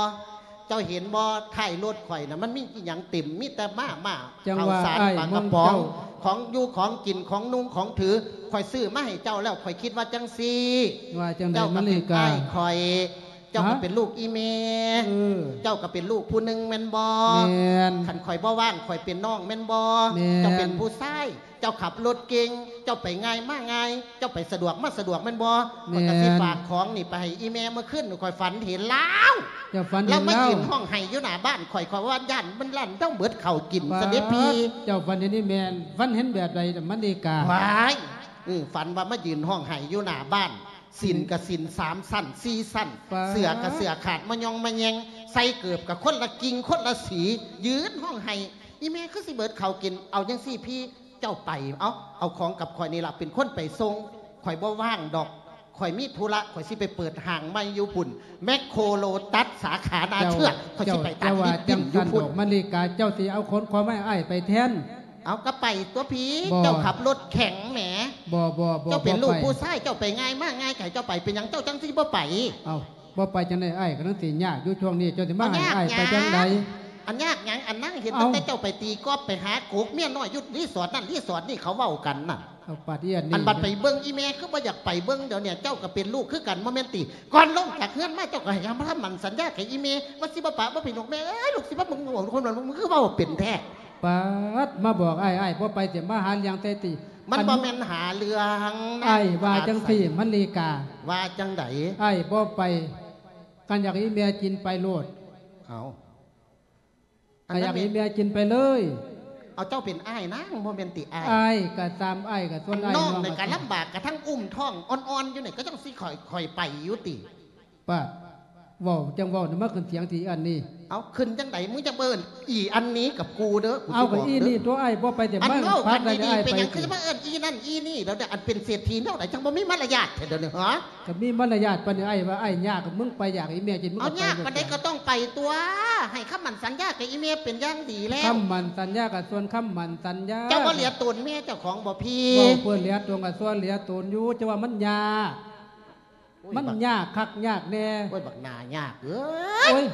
ເຈົ້າເຫັນບໍ່ ທ້າຍລົດຂ້ອຍນະ ມັນມີອີ່ຫຍັງເຕັມ ມີແຕ່ມາ ມາ ຈັ່ງວ່າ ເຂົ້າສານ ອ້າຍ ປາກະປ໋ອງ ຂອງຢູ່ຂອງກິນ ຂອງນຸ່ງຂອງຖື ຂ້ອຍຊື້ມາໃຫ້ເຈົ້າແລ້ວ. ຂ້ອຍຄິດວ່າຈັ່ງຊີ້ ວ່າຈັ່ງໃດ ເຈົ້າກໍເປັນ ມະລິກາ ອ້າຍຂ້ອຍ ເຈົ້າກໍ ຮະ ເປັນລູກອີ່ແມ່ ເອີ ເຈົ້າກໍເປັນລູກຜູ້ໜຶ່ງແມ່ນບໍ່? ແມ່ນ. ຄັນຂ້ອຍບໍ່ວ່າງ ຂ້ອຍເປັນນ້ອງແມ່ນບໍ່? ແມ່ນ. ເຈົ້າເປັນຜູ້ຊາຍ ເຈົ້າຂັບລົດເກັ່ງ ເຈົ້າໄປງ່າຍມາງ່າຍ ເຈົ້າໄປສະດວກມາສະດວກແມ່ນບໍ່? ແມ່ນ. ຂ້ອຍກໍຊິຝາກຂອງນີ້ໄປໃຫ້ອີ່ແມ່. ມື້ຄືນຂ້ອຍຝັນເຫັນລາວ ເຈົ້າຝັນເຫັນລາວ ລາວມາຢືນຮ້ອງໄຫ້ຢູ່ໜ້າບ້ານຂ້ອຍ ຂ້ອຍວ່າຢ້ານມັນລ້ານເຈົ້າເບິດເຂົ້າກິນ ປາດ ຊະເດພີ່. ເຈົ້າຝັນເຫັນອີ່ແມ່ ຝັນເຫັນແບບໃດລະ ມະລິກາ? ວ້າຍ ເອີ ຝັນວ່າມາຢືນຮ້ອງໄຫ້ຢູ່ໜ້າບ້ານ ສິ້ນກໍສິ້ນສາມຊັ້ນ ສີ່ຊັ້ນ ປາດ ເສື້ອກໍເສື້ອຂາດມະຍອງມະແຍງ ໃສ່ເກີບກໍຄົນລະກິ່ງຄົນລະສີ ຢືນຮ້ອງໄຫ້. ອີ່ແມ່ຄືຊິເບິດເຂົ້າກິນ? ເອົາຈັ່ງຊີ້ພີ່ ເຈົ້າໄປ ເອົາ ເອົາຂອງກັບຂ້ອຍນີ້ລະ ເປັນຄົນໄປສົ່ງ. ຂ້ອຍບໍ່ວ່າງດອກ ຂ້ອຍມີທຸລະ ຂ້ອຍຊິໄປເປີດຫ້າງໃໝ່ຢູ່ພຸ້ນ ແມັກໂຄ ໂລຕັສ ສາຂານາເຊື່ອ ຂ້ອຍຊິໄປຕັດລິບກິນຢູ່ພຸ້ນ. ມະລິກາ ເຈົ້າຊິເອົາຂອງຂອງມາໃຫ້ອ້າຍໄປແທນ? ເອົາ ກໍໄປຕົວະພີ່ ບໍ່ ເຈົ້າຂັບລົດແຂງແໝ. ບໍ່ ບໍ່ ບໍ່ ເຈົ້າເປັນລູກ ບໍ່ໄປ ຜູ້ຊາຍ ເຈົ້າໄປງ່າຍມາງ່າຍ ໃຜເຈົ້າໄປ ເປັນຫຍັງເຈົ້າຈັ່ງຊິບໍ່ໄປ? ເອົ້າ ບໍ່ໄປຈັ່ງໃດ ອ້າຍກຳລັງຊິຍາກຢູ່ຊ່ວງນີ້ ເຈົ້າຊິມາໃຫ້ອ້າຍໄປຈັ່ງໃດ? ເອົາ ຍາກຫຍັງ ອັນນາງເຫັນ ເອົ້າ ຕັ້ງແຕ່ເຈົ້າໄປຕີກອບ ໄປຫາໂກກເມຍນ້ອຍຢູ່ຣີສອດນັ້ນຣີສອດນີ້ ເຂົາເວົ້າກັນນະ. ເອົາ ປາດອີ່ອັນນີ້ ອັນບັດໄປເບິ່ງອີ່ແມ່ຄືບໍ່ຢາກໄປເບິ່ງ. ດຽວນີ້ເຈົ້າກໍເປັນລູກຄືກັນ ບໍ່ແມ່ນຕິ? ກ່ອນລົງຈາກເຮືອນມາ ເຈົ້າກໍໃຫ້ຄຳໝັ້ນສັນຍາກັບອີ່ແມ່ວ່າຊິບໍ່ປະບໍ່ຖິ້ມ. ລູກແມ່ເອີຍ ລູກຊິມາເບິ່ງ ຄົນນັ້ນ ມຶງຄືເວົ້າເປັນແທ້. ປາດ ມາບອກອ້າຍ ອ້າຍບໍ່ໄປ ຊິມາຫາເລື່ອງໃສ່ຕິ? ມັນບໍ່ແມ່ນຫາເລື່ອງນະ ອ້າຍວ່າຈັ່ງຊີ້ ມະລິກາ. ວ່າຈັ່ງໃດ? ອ້າຍບໍ່ໄປ ຄັນຢາກໃຫ້ແມ່ກິນໄປໂລດ. ເອົາ ຄັນຢາກໃຫ້ແມ່ກິນໄປເລີຍ. ເອົາ ເຈົ້າເປັນອ້າຍນາງ ບໍ່ແມ່ນຕິອ້າຍ? ອ້າຍກໍຕາມ ອ້າຍກໍສ່ວນອ້າຍ ນ້ອງນີ້ກໍລຳບາກ ກະທັງອຸ້ມທ້ອງອ່ອນໆຢູ່ນີ້ ກໍຈັ່ງຊິຄ່ອຍ ຄ່ອຍໄປຢູ່ຕິ? ປາດ ເວົ້າຈັ່ງເວົ້ານະ ມາຂຶ້ນສຽງອີ່ອັນນີ້. ເອົາ ຂຶ້ນຈັ່ງໃດ? ມຶງຈະເອີ້ນອີ່ອັນນີ້ກັບກູເດີ ກູຊິບອກເດີ. ເອົາ ກໍອີ່ນີ້ຕົວະ ອ້າຍບໍ່ໄປແຕ່ ອັນເວົ້າກັນດີໆ ເປັນຫຍັງຄືຊິມາເອີ້ນອີ່ນັ້ນອີ່ນີ້? ແລ້ວອັນເປັນເສດຖີແນວໃດ ຈັ່ງບໍ່ມີມາລະຍາດແທ້ດຽວນີ້ ຫະ? ກໍມີມາລະຍາດປານນີ້ ອ້າຍວ່າອ້າຍຍາກ ກໍມຶງໄປຢາກອີ່ແມ່ກິນ ມຶງກໍໄປ. ເອົາ ຍາກປານໃດກໍຕ້ອງໄປຕົວະ ໃຫ້ຄຳໝັ້ນສັນຍາກັບອີ່ແມ່ເປັນຢ່າງດີແລ້ວ. ຄຳໝັ້ນສັນຍາກໍສ່ວນຄຳໝັ້ນສັນຍາ. ເຈົ້າບໍ່ເຫຼືອຕົນແມ່ເຈົ້າຂອງບໍ່ພີ້? ເວົ້າເພື່ອເຫຼືອຕົນກໍສ່ວນເຫຼືອຕົນຢູ່ ແຕ່ວ່າມັນຍາກ. ໂອ້ຍ ມັນຍາກຄັກຍາກແນ່. ໂອ້ຍ ບັກໜ້າຍາກເອີຍ. ໂອ້ຍ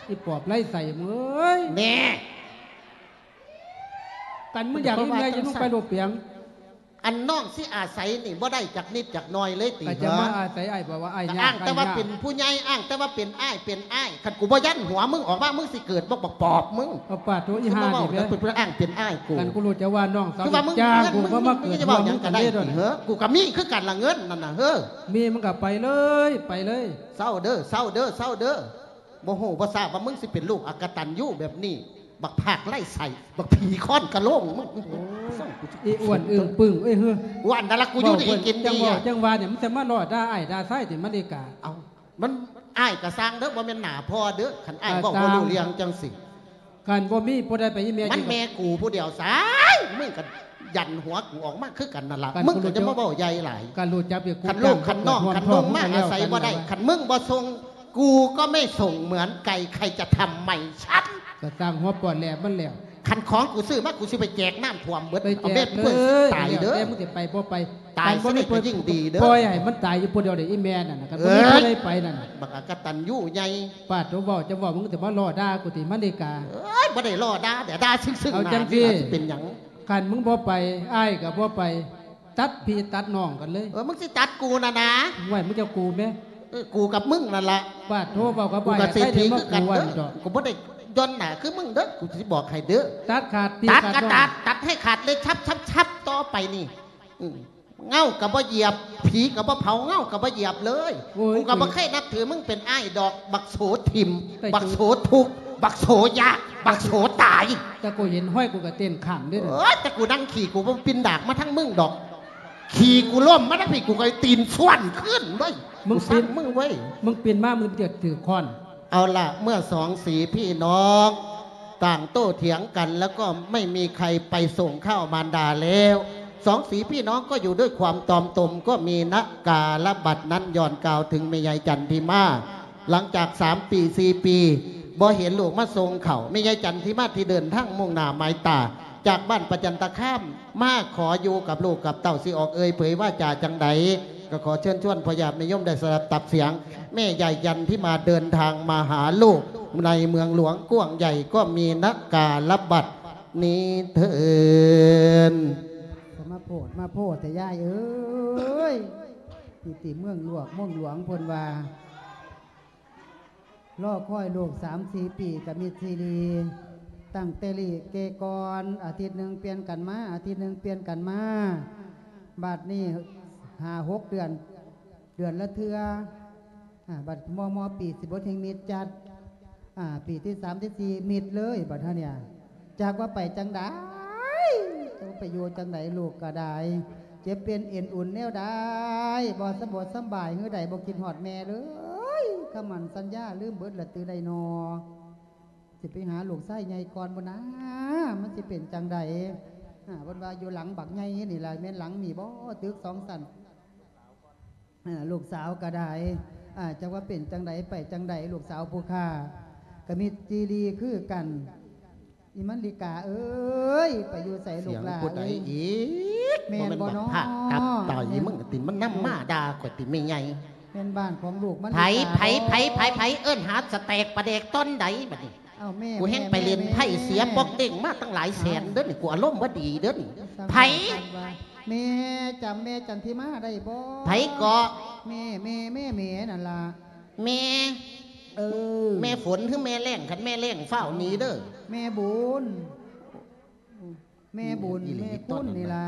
ອີປອບໄຮ້ໃສເອີຍ. ແນ່ ຄັນມຶງຢາກອີ່ແມ່ ຢ່າລົງໄປໂລດປຽງ. ອັນນ້ອງຊິອາໄສນີ້ບໍ່ໄດ້ຈັກນິດຈັກໜ້ອຍເລີຍຕິ? ກໍຈະມາອາໄສອ້າຍ ບອກວ່າອ້າຍຍາກ ອ້າງແຕ່ວ່າເປັນຜູ້ໃຫຍ່ ອ້າງແຕ່ວ່າເປັນອ້າຍ ເປັນອ້າຍ. ຄັນກູບໍ່ຢັນຫົວມຶງອອກມາ ມຶງຊິເກີດບໍ່ບັກປອບມຶງ. ເອົາປາດໂທ ອີ່ຫ່ານີ້ແມ່ ອ້າງເປັນອ້າຍກູ. ຄັນກູຮູ້ຈະວ່ານ້ອງສາວ ຄືວ່າມຶງ ຈ້າງກູບໍ່ມາເກີດຫົວມຶງກັນເດ້. ເຮີ ກູກໍມີຄືກັນລະເງິນນັ້ນນະ ເຮີ. ມີມຶງກໍໄປເລີຍ ໄປເລີຍ. ເຊົາເດີ ເຊົາເດີ ເຊົາເດີ. ບໍ່ຮູ້ບໍ່ຊາບວ່າມຶງຊິເປັນລູກອະກະຕັນຍູແບບນີ້ ບັກພາກໄຮ້ໃສ ບັກຜີຄ້ອນກະໂຫຼງມຶງ. ໂອ້ຍ ອີອ້ວນອຶ້ງປຶ້ງເອີຍ ເຮີ. ວ່າອັນນັ້ນລະ ກູຢູ່ດີກິນດີ. ຈັ່ງວ່າ ຈັ່ງວ່ານີ້ ມັນຈະມາລໍ້ດ່າອ້າຍດ່າຊາຍຕິ ມະລິກາ? ເອົ້າ ມັນ ອ້າຍກະຊ່າງເດີ ບໍ່ແມ່ນໜ້າພໍ່ເດີ. ຄັນອ້າຍເວົ້າບໍ່ຮູ້ເລື່ອງຈັ່ງຊີ້ ຄັນບໍ່ມີຜູ້ໃດໄປອີ່ແມ່ ມັນແມ່ກູຜູ້ດຽວຊາຍ ມຶງກະຢັນຫົວກູອອກມາຄືກັນນັ້ນລະ. ມຶງກໍຈະມາເວົ້າໃຫຍ່ຫຼາຍ. ຄັນລູກ ຄັນນ້ອງ ຄັນນຸ່ງມາອາໄສບໍ່ໄດ້ ຄັນມຶງບໍ່ສົ່ງ ກູກໍໄມ່ສົ່ງເໝືອນໄກ່ ໃຄຈະທຳໄມຊັ້ນ? ກໍຊ່າງຫົວປອດແຫຼບມັນແລ້ວ. ໃຄ ຄັນຂອງກູຊື້ມາ ກູຊິໄປແຈກນ້ຳຖ້ວມເບິດ ໄປແຈກເອົາແມ່ເພິ່ນ ເລີຍ ຕາຍເດີ ແລ້ວແຕ່ມຶງຊິໄປບໍ່ໄປ ຕາຍຊະໄດ້ກໍຍິ່ງດີເດີ ຄັນບໍ່ມີຜູ້ໃດໄປ ປ່ອຍໃຫ້ມັນຕາຍຢູ່ຜູ້ດຽວເດ ອີແມ່ນັ້ນນະ ຄັນບໍ່ມີ ເອີຍ ຜູ້ໃດໄປນັ້ນນະ ບັກອະກະຕັນຍູໃຫຍ່ ປາດໂທ ເວົ້າ ຈະເວົ້າ ມຶງຈະມາລໍ້ດ່າກູຕິ ມາລິກາ ເອີຍ ບໍ່ໄດ້ລໍ້ດ່າເດ ດ່າຊຶ້ງໆ ເອົາ ໜ້າ ຈັ່ງຊີ້ ຊິເປັນຫຍັງ ຄັນມຶງບໍ່ໄປ ອ້າຍກໍບໍ່ໄປ ຕັດພີ່ຕັດນ້ອງກັນເລີຍ ເອີ ມຶງຊິຕັດກູນະນະ ໂອ້ຍ ມຶງຈະກູແມ ເອີ ກູກັບມຶງນັ້ນລະ ປາດໂທ ເວົ້າກັບອ້າຍ ກູກໍເສດຖີຄືກັນເດີ ກູບໍ່ໄດ້ຢ່ອນໜ້າຄືມຶງເດີ ກູຊິບອກໃຫ້ເດີ ຕັດຂາດພີ່ ຕັດ ຕັດນ້ອງ ຕັດ ຕັດໃຫ້ຂາດເລີຍ ຊັບໆໆ ຕໍ່ໄປນີ້ ອືມ ເງົາກໍບໍ່ຢຽບ ຜີກໍບໍ່ເຜົາ ເງົາກໍບໍ່ຢຽບເລີຍ ໂອ້ຍ ກູກໍບໍ່ເຄີຍນັບຖືມຶງເປັນອ້າຍດອກ ບັກໂສຖິ້ມ ບັກໂສທຸກ ບັກໂສຢາກ ບັກໂສຕາຍ ແຕ່ກູເຫັນຫ້ອຍ ກູກໍເຕັ້ນຄ້າງເດ້ ໂອ້ຍ ແຕ່ກູນັ່ງຂີ້ ກູບໍ່ປິ່ນດາກມາທາງມຶງດອກ ຂີ່ກູລົ້ມມາທາງພີ້ ກູກໍຕີນຊວນຄືນເວີຍ ມຶງ ກູຊັງມຶງເວີຍ ມຶງປິ່ນມາ ມຶງຈະຖືກຄ້ອນ ເອົາລະ ເມື່ອສອງສີພີ່ນ້ອງຕ່າງໂຕ້ຖຽງກັນ ແລ້ວກໍໄມ່ມີໃຄໄປສົ່ງຂ້າວມານດາແລ້ວ ສອງສີພີ່ນ້ອງກໍຢູ່ດ້ວຍຄວາມຕອມຕົມ ກໍມີນະກາລະບັດນັ້ນ ຍ້ອນກ່າວເຖິງແມ່ໃຫຍ່ຈັນທິມາ ຫຼັງຈາກສາມປີ ສີ່ປີ ບໍ່ເຫັນລູກມາສົ່ງເຂົ້າ ແມ່ໃຫຍ່ຈັນທິມາທີ່ເດີນທາງມຸ່ງໜ້າໝາຍຕາ ຈາກບ້ານປະຈັນຕະຄາມ ມາຂໍຢູ່ກັບລູກກັບເຕົ້າ ຊິອອກເອີ່ຍເຜີຍວາຈາຈັ່ງໃດ ກໍຂໍເຊີນຊວນພໍ່ຍາດແມ່ໂຍມໄດ້ສະດັບຕັບສຽງ ແມ່ໃຫຍ່ຈັນທິມາເດີນທາງມາຫາລູກ ໃນເມືອງຫຼວງກວ້າງໃຫຍ່ ກໍມີນະກາລະບັດນີ້ເທີນ ສະມາໂພດມາໂພດແທ້ຍາຍເອີຍ ຢູ່ຕິເມືອງຫຼວງ ເມືອງຫຼວງເພິ່ນວ່າ ລໍຄອຍລູກສາມສີ່ປີກະມິດຊີດີ ຕັ້ງແຕ່ລີ້ເກກ່ອນ ອາທິດໜຶ່ງປ່ຽນກັນມາ ອາທິດໜຶ່ງປ່ຽນກັນມາ ບາດນີ້ຫ້າຫົກເດືອນ ເດືອນລະເທື່ອ ອາ ບາດມໍ່ໆປີຊິບໍ່ແຮ່ງມິດຈັດ ອາ ປີທີສາມທີສີ່ມິດເລີຍ ບາດເຮົານີ້ ຈັກວ່າໄປຈັ່ງໃດ ຈັກວ່າໄປຢູ່ຈັ່ງໃດ ລູກກໍໄດ້ ເຈັບເປັນເອັນອຸ່ນແນວໃດ ບໍ່ສະບົດສຳບາຍ ຫຼືໃດ ບໍ່ຄິດຮອດແມ່ເລີຍ ຄຳໝັ້ນສັນຍາລືມເບິດລະຕິໃດນໍ ຊິໄປຫາລູກຊາຍໃຫຍ່ກ່ອນບໍ່ນາ ມັນຊິເປັນຈັ່ງໃດ ອາ ເພິ່ນວ່າຢູ່ຫຼັງບັກໃຫຍ່ນີ້ລະ ແມ່ນຫຼັງນີ້ບໍ່ ຕຶກສອງຊັ້ນ ເອີ ລູກສາວກໍໄດ້ ອາ ຈັກວ່າເປັນຈັ່ງໃດ ໄປຈັ່ງໃດ ລູກສາວຜູ້ຂ້າ ກໍມີຈີລີຄືກັນ ອີມັນລິກາເອີຍ ໄປຢູ່ໃສລູກຫຼ້າ ສຽງຜູ້ໃດອີກ ແມ່ນບໍ່ນໍ ພາກຕັບໄຕ ແມ່ນ ມຶງຕິ ມັນນຳມາດ່າຂ້ອຍຕິແມ່ໃຫຍ່ ແມ່ນບ້ານຂອງລູກມັນ ໃຜ ໃຜ ໃຜ ໃຜ ໃຜ ເອີ້ນຫາສະແຕກປາແດກຕອນໃດບັດນີ້ ເອົ້າ ແມ່ ກູແຮ່ງໄປຫຼິ້ນໄພ້ເສຍປອກເດ້ງມາຕັ້ງຫຼາຍແສນເດີນີ້ ກູອາລົມບໍ່ດີເດີນີ້ ໃຜ ແມ່ຈຳ ແມ່ຈັນທິມາໄດ້ບໍ່ ໃຜເກາະ ແມ່ ແມ່ ແມ່ ແມ່ນັ້ນລະ ແມ່ ເອີ ແມ່ຝົນ ຫຼື ແມ່ແລ້ງ ຄັນແມ່ແລ້ງຟ້າວໜີເດີ ແມ່ບຸນ ແມ່ບຸນ ແມ່ຄຸນນີ້ລະ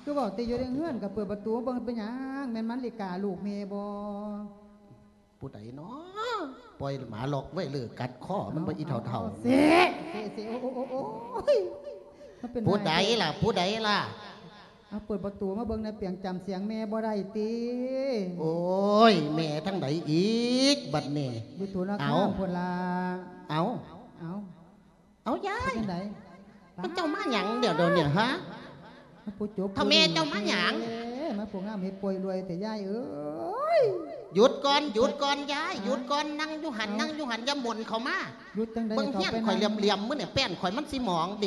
ເອົ້າ ຄືເວົ້າແຕ່ຢູ່ໃນເຮືອນ ກໍເປີດປະຕູເບິ່ງ ເປັນຫຍັງ ແມ່ນມັນລິກາລູກແມ່ບໍ່ ຜູ້ໃດນໍ ປ່ອຍໝາລັອກໄວ້ເລີກກັດຄໍມັນບໍ່ ອີ່ເຖົ້າໆ ເສະ ເສະ ເສະ ໂອ້ ໂອ້ ໂອ້ຍ ມັນເປັນ ຜູ້ໃດລະ ຜູ້ໃດລະ ເອົາ ເປີດປະຕູມາເບິ່ງແດ່ ປຽງຈຳສຽງແມ່ບໍ່ໄດ້ຕິ ໂອ້ຍ ແມ່ທາງໃດອີກບັດນີ້ ຢູ່ໂທລະຄາມພຸ້ນລະ ເອົາ ເອົາ ເອົາ ເອົາຍາຍ ເປັນຈັ່ງໃດ ມັນເຈົ້າມາຫຍັງດຽວ ດຽວນີ້ ຮະ ມາຜູ້ຈົບ ເຖົ້າແມ່ເຈົ້າມາຫຍັງ ມາຜູ້ງາມເຮັດປ່ວຍລວຍແຕ່ຍາຍເອີຍ ຢຸດກ່ອນ ຢຸດກ່ອນຍາຍ ຢຸດກ່ອນ ນັ່ງຢູ່ຫັ້ນ ນັ່ງຢູ່ຫັ້ນ ຢ່າໝົນເຂົ້າມາ ຢຸດຈັ່ງໃດ ເບິ່ງເຮືອນຂ້ອຍຫຼຽມໆ ມື້ນີ້ແປ້ນຂ້ອຍມັນຊິໝອງເດ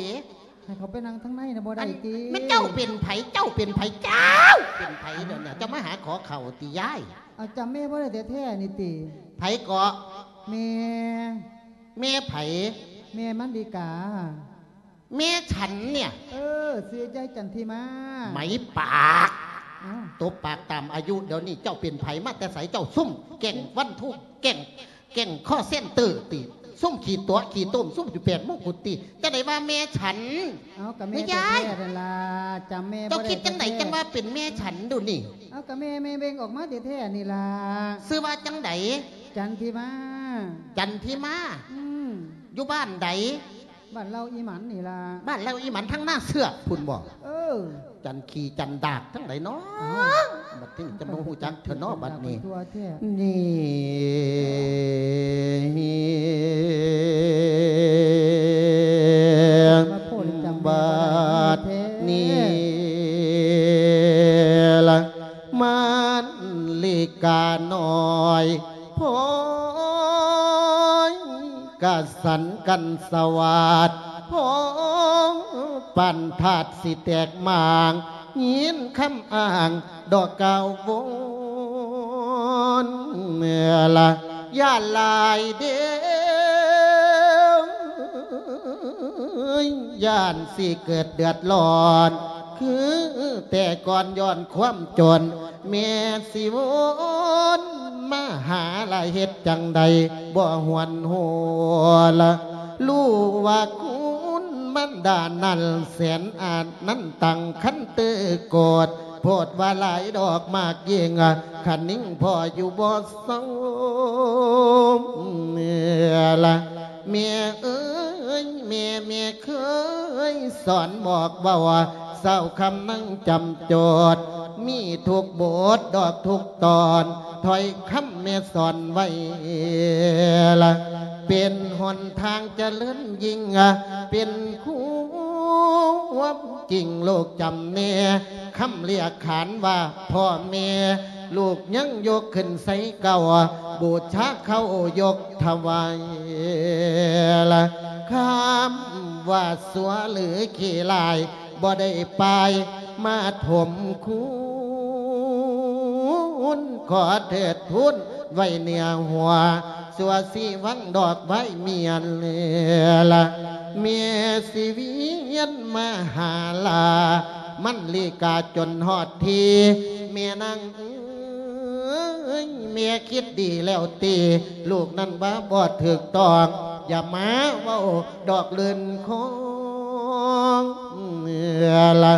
ໃຫ້ເຂົາໄປນັ່ງທາງໃນນະບໍ່ໄດ້ຕິ ແມ່ນເຈົ້າເປັນໃຜ ເຈົ້າເປັນໃຜ ເຈົ້າເປັນໃຜ ດຽວນີ້ເຈົ້າມາຫາຂໍເຂົ້າຕິຍາຍ ເອົາ ຈຳແມ່ບໍ່ໄດ້ແທ້ໆນີ້ຕິ ໃຜເກາະ ແມ່ ແມ່ໃຜ ແມ່ມັນດີກາ ແມ່ສັນເນຍ ເອີ ຊື່ຍາຍຈັນທິມາ ໄໝປາກ ເອົ້າ ຕົບປາກຕາມອາຍຸ ດຽວນີ້ເຈົ້າເປັນໃຜ ມາແຕ່ໃສ ເຈົ້າຊຸມແກ້ງວັນທຸກ ແກ້ງ ແກ້ງຄໍເຊັນເຕີຕິ ຊຸມຂີ້ຕົວະຂີ້ຕົມ ຊຸມຢູ່ແປດມົງກຸດຕິ ຈັ່ງໃດວ່າແມ່ສັນ ເອົ້າ ກໍແມ່ແທ້ໆນັ້ນລະ ຈຳແມ່ບໍ່ໄດ້ແທ້ໆ ເຈົ້າຄິດຈັ່ງໃດ ຈັ່ງວ່າເປັນແມ່ສັນດູນີ້ ເອົ້າ ກໍແມ່ ແມ່ເບັ່ງອອກມາແທ້ໆນີ້ລະ ຊື່ວ່າຈັ່ງໃດ ຈັນທິມາ ຈັນທິມາ ອືມ ຢູ່ບ້ານໃດ ບ້ານເລົ່າອີ່ໝັນນີ້ລະ ບ້ານເລົ່າອີ່ໝັນທາງໜ້າເຊືອກພຸ້ນບໍ່ ເອີ ຈັນຂີ້ຈັນດາກທັງໃດເນາະ ເອົ້າ ບັດນີ້ຈະບໍ່ຮູ້ຈັກເທື່ອເນາະບັດນີ້ ທົ່ວແທ້ ນີ້ ມາໂພດຈຳບໍ່ໄດ້ແທ້ ບັດນີ້ລະ ມັນລິການ້ອຍ ໂພຍ ກະ ສັນກັນສະຫວາດ ໂພງປານທາດຊິແຕກໝາງ ຍິນຄຳອ້າງດອກກ່າວວົນລະ ຢ້ານຫຼາຍເດ້ ຢ້ານຊິເກີດເດືອດຮ້ອນ ຄືແຕ່ກ່ອນຍ້ອນຄວາມຈົນ ແມ່ຊິວົນມາຫາລະເຮັດຈັ່ງໃດບໍ່ຫວນຫົວລະ ຮູ້ວ່າຄຸນມານດານັ້ນແສນອາດນັ້ນຕັ້ງຄັນຕື່ໂກດ ໂພດວ່າຫຼາຍດອກມາກຍິ່ງ ຄະນິງພໍ່ຢູ່ບໍ່ເຊົາລະ ແມ່ເອີຍ ແມ່ ແມ່ເຄີຍສອນບອກເວົ້າ ເຊົ້າຄ່ຳນັ່ງຈຳໂຈດ ມີທຸກບົດດອກທຸກຕອນ ຖ້ອຍຄຳແມ່ສອນໄວ້ລະ ເປັນຫົນທາງຈະເລີນຍິ່ງ ເປັນຄວາມຈິງໂລກຈຳແນ ຄຳລຽກຂານວ່າພໍ່ແມ່ ລູກຍັງຍົກຂຶ້ນໃສ່ເກົ່າ ບູຊາເຂົ້າຍົກຖວາຍລະ ຄຳວ່າຊົ່ວຫຼືຂີ້ຮ້າຍ ບໍ່ໄດ້ປາຍມາຖົມຄູນ ຂໍເທີດທູນໄວ້ເໜືອຫົວ ຊົ່ວຊິຫວັງດອກໄວ້ມຽນລະ ແມ່ຊິວຽນມາຫາລາ ມັນລີກາຈົນຮອດທີ່ ແມ່ນາງເອີຍ ແມ່ຄິດດີແລ້ວຕິ ລູກນັ້ນວ່າບໍ່ຖືກຕ້ອງ ຢ່າມາເວົ້າດອກລື່ນຄອງລະ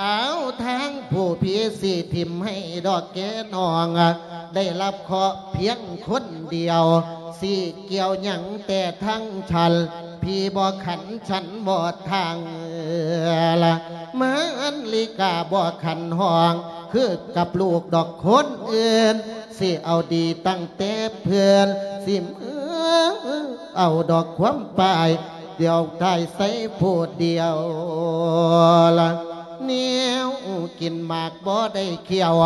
ອ້າວ ທາງຜູ້ຜີຊິຖິ້ມໃຫ້ດອກແກ່ນ້ອງ ໄດ້ຮັບເຄາະພຽງຄົນດຽວ ຊິກ່ຽວຫຍັງແຕ່ທາງຊັ້ນ ຜີບໍ່ຂັນຊັ້ນບໍ່ທາງລະ ມາອັນລິກາບໍ່ຂັນຫ້ອງ ຄືກັບລູກດອກຄົນອື່ນ ຊິເອົາດີຕັ້ງແຕ່ເພື່ອນ ຊິມາເອົາດອກຄວາມປາຍ ດຽວຕາຍໃສ່ຜູ້ດຽວລະ ແນວກິນໝາກບໍ່ໄດ້ຂ້ຽວ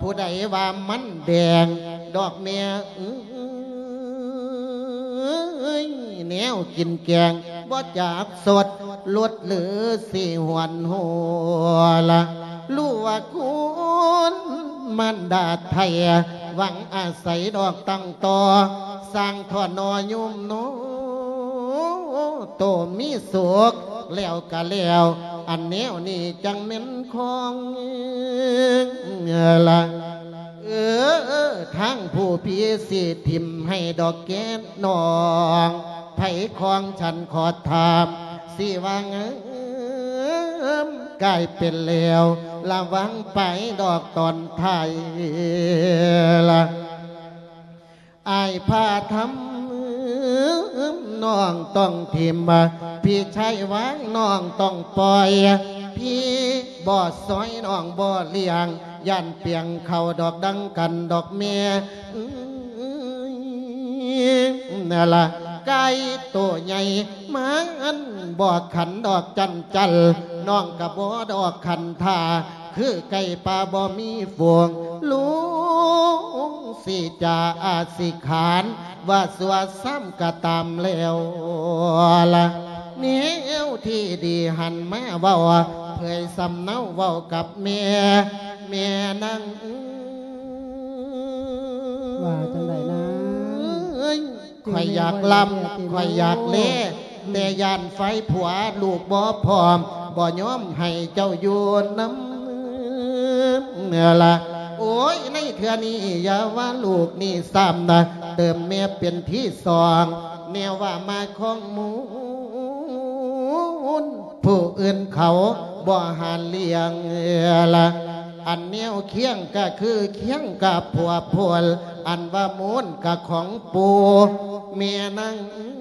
ຜູ້ໃດວ່າມັນແດງ ດອກແມ່ເອີຍ ແນວກິນແກງບໍ່ຈັກສົດ ລົດຫຼືຊິຫວນຫົວລະ ຮູ້ວ່າຄຸນມານດາໄທ ຫວັງອາໄສດອກຕັ້ງຕໍ່ ສ້າງທໍ່ໜໍ່ໂຍມໜໍ່ ໂຕມີສຸກແລ້ວກະແລ້ວ ອັນແນວນີ້ຈັ່ງແມ່ນຂອງລະ ເອີ ທາງຜູ້ຜີຊິຖິ້ມໃຫ້ດອກແກ່ນ້ອງ ໃຜຂອງສັນຂໍຖາມ ຊິວ່າງາມກາຍເປັນແລ້ວ ລະວັງໄປດອກຕອນທ້າຍລະ ອ້າຍພາທຳ ນ້ອງຕ້ອງຖິ້ມ ພີ່ຊາຍວ່າງ ນ້ອງຕ້ອງປ່ອຍ ພີ່ບໍ່ຊ່ອຍ ນ້ອງບໍ່ລ້ຽງ ຢ້ານປຽງເຂົ້າດອກ ດັ່ງກັນດອກແມ່ ນະລະ ໄກ່ໂຕໃຫຍ່ ມັນບໍ່ຂັນດອກຈັນຈັນ ນ້ອງກະບໍ່ດອກຂັນທ່າ ຄືໄກ່ປ່າບໍ່ມີຝູງ ລຸງຊິຈາອາຊິຂານ ວ່າຊົ່ວຊ້ຳກະຕາມແລ້ວລະ ແນວທີ່ດີຫັນມາເວົ້າ ເຜີຍສຳເນົາເວົ້າກັບແມ່ ແມ່ນາງເອີຍ ວ່າຈັ່ງໃດນາງ ຂ້ອຍຢາກລຳ ຂ້ອຍຢາກແລ ແຕ່ຢ້ານໄຟຜົວລູກບໍ່ພ້ອມ ບໍ່ຍອມໃຫ້ເຈົ້າຢູ່ນຳລະ ໂອ້ຍ ໃນເທື່ອນີ້ຢ່າວ່າລູກນີ້ຊ້ຳນະ ເຕີມແມ່ເປັນທີສອງ ແນວວ່າມາຂອງມູນ ຜູ້ອື່ນເຂົາບໍ່ຫາລ້ຽງລະ ອັນແນວຄຽງກະຄືຄຽງກັບຜົວໂພນ ອັນວ່າມູນກະຂອງປູ່ແມ່ນາງເອີຍ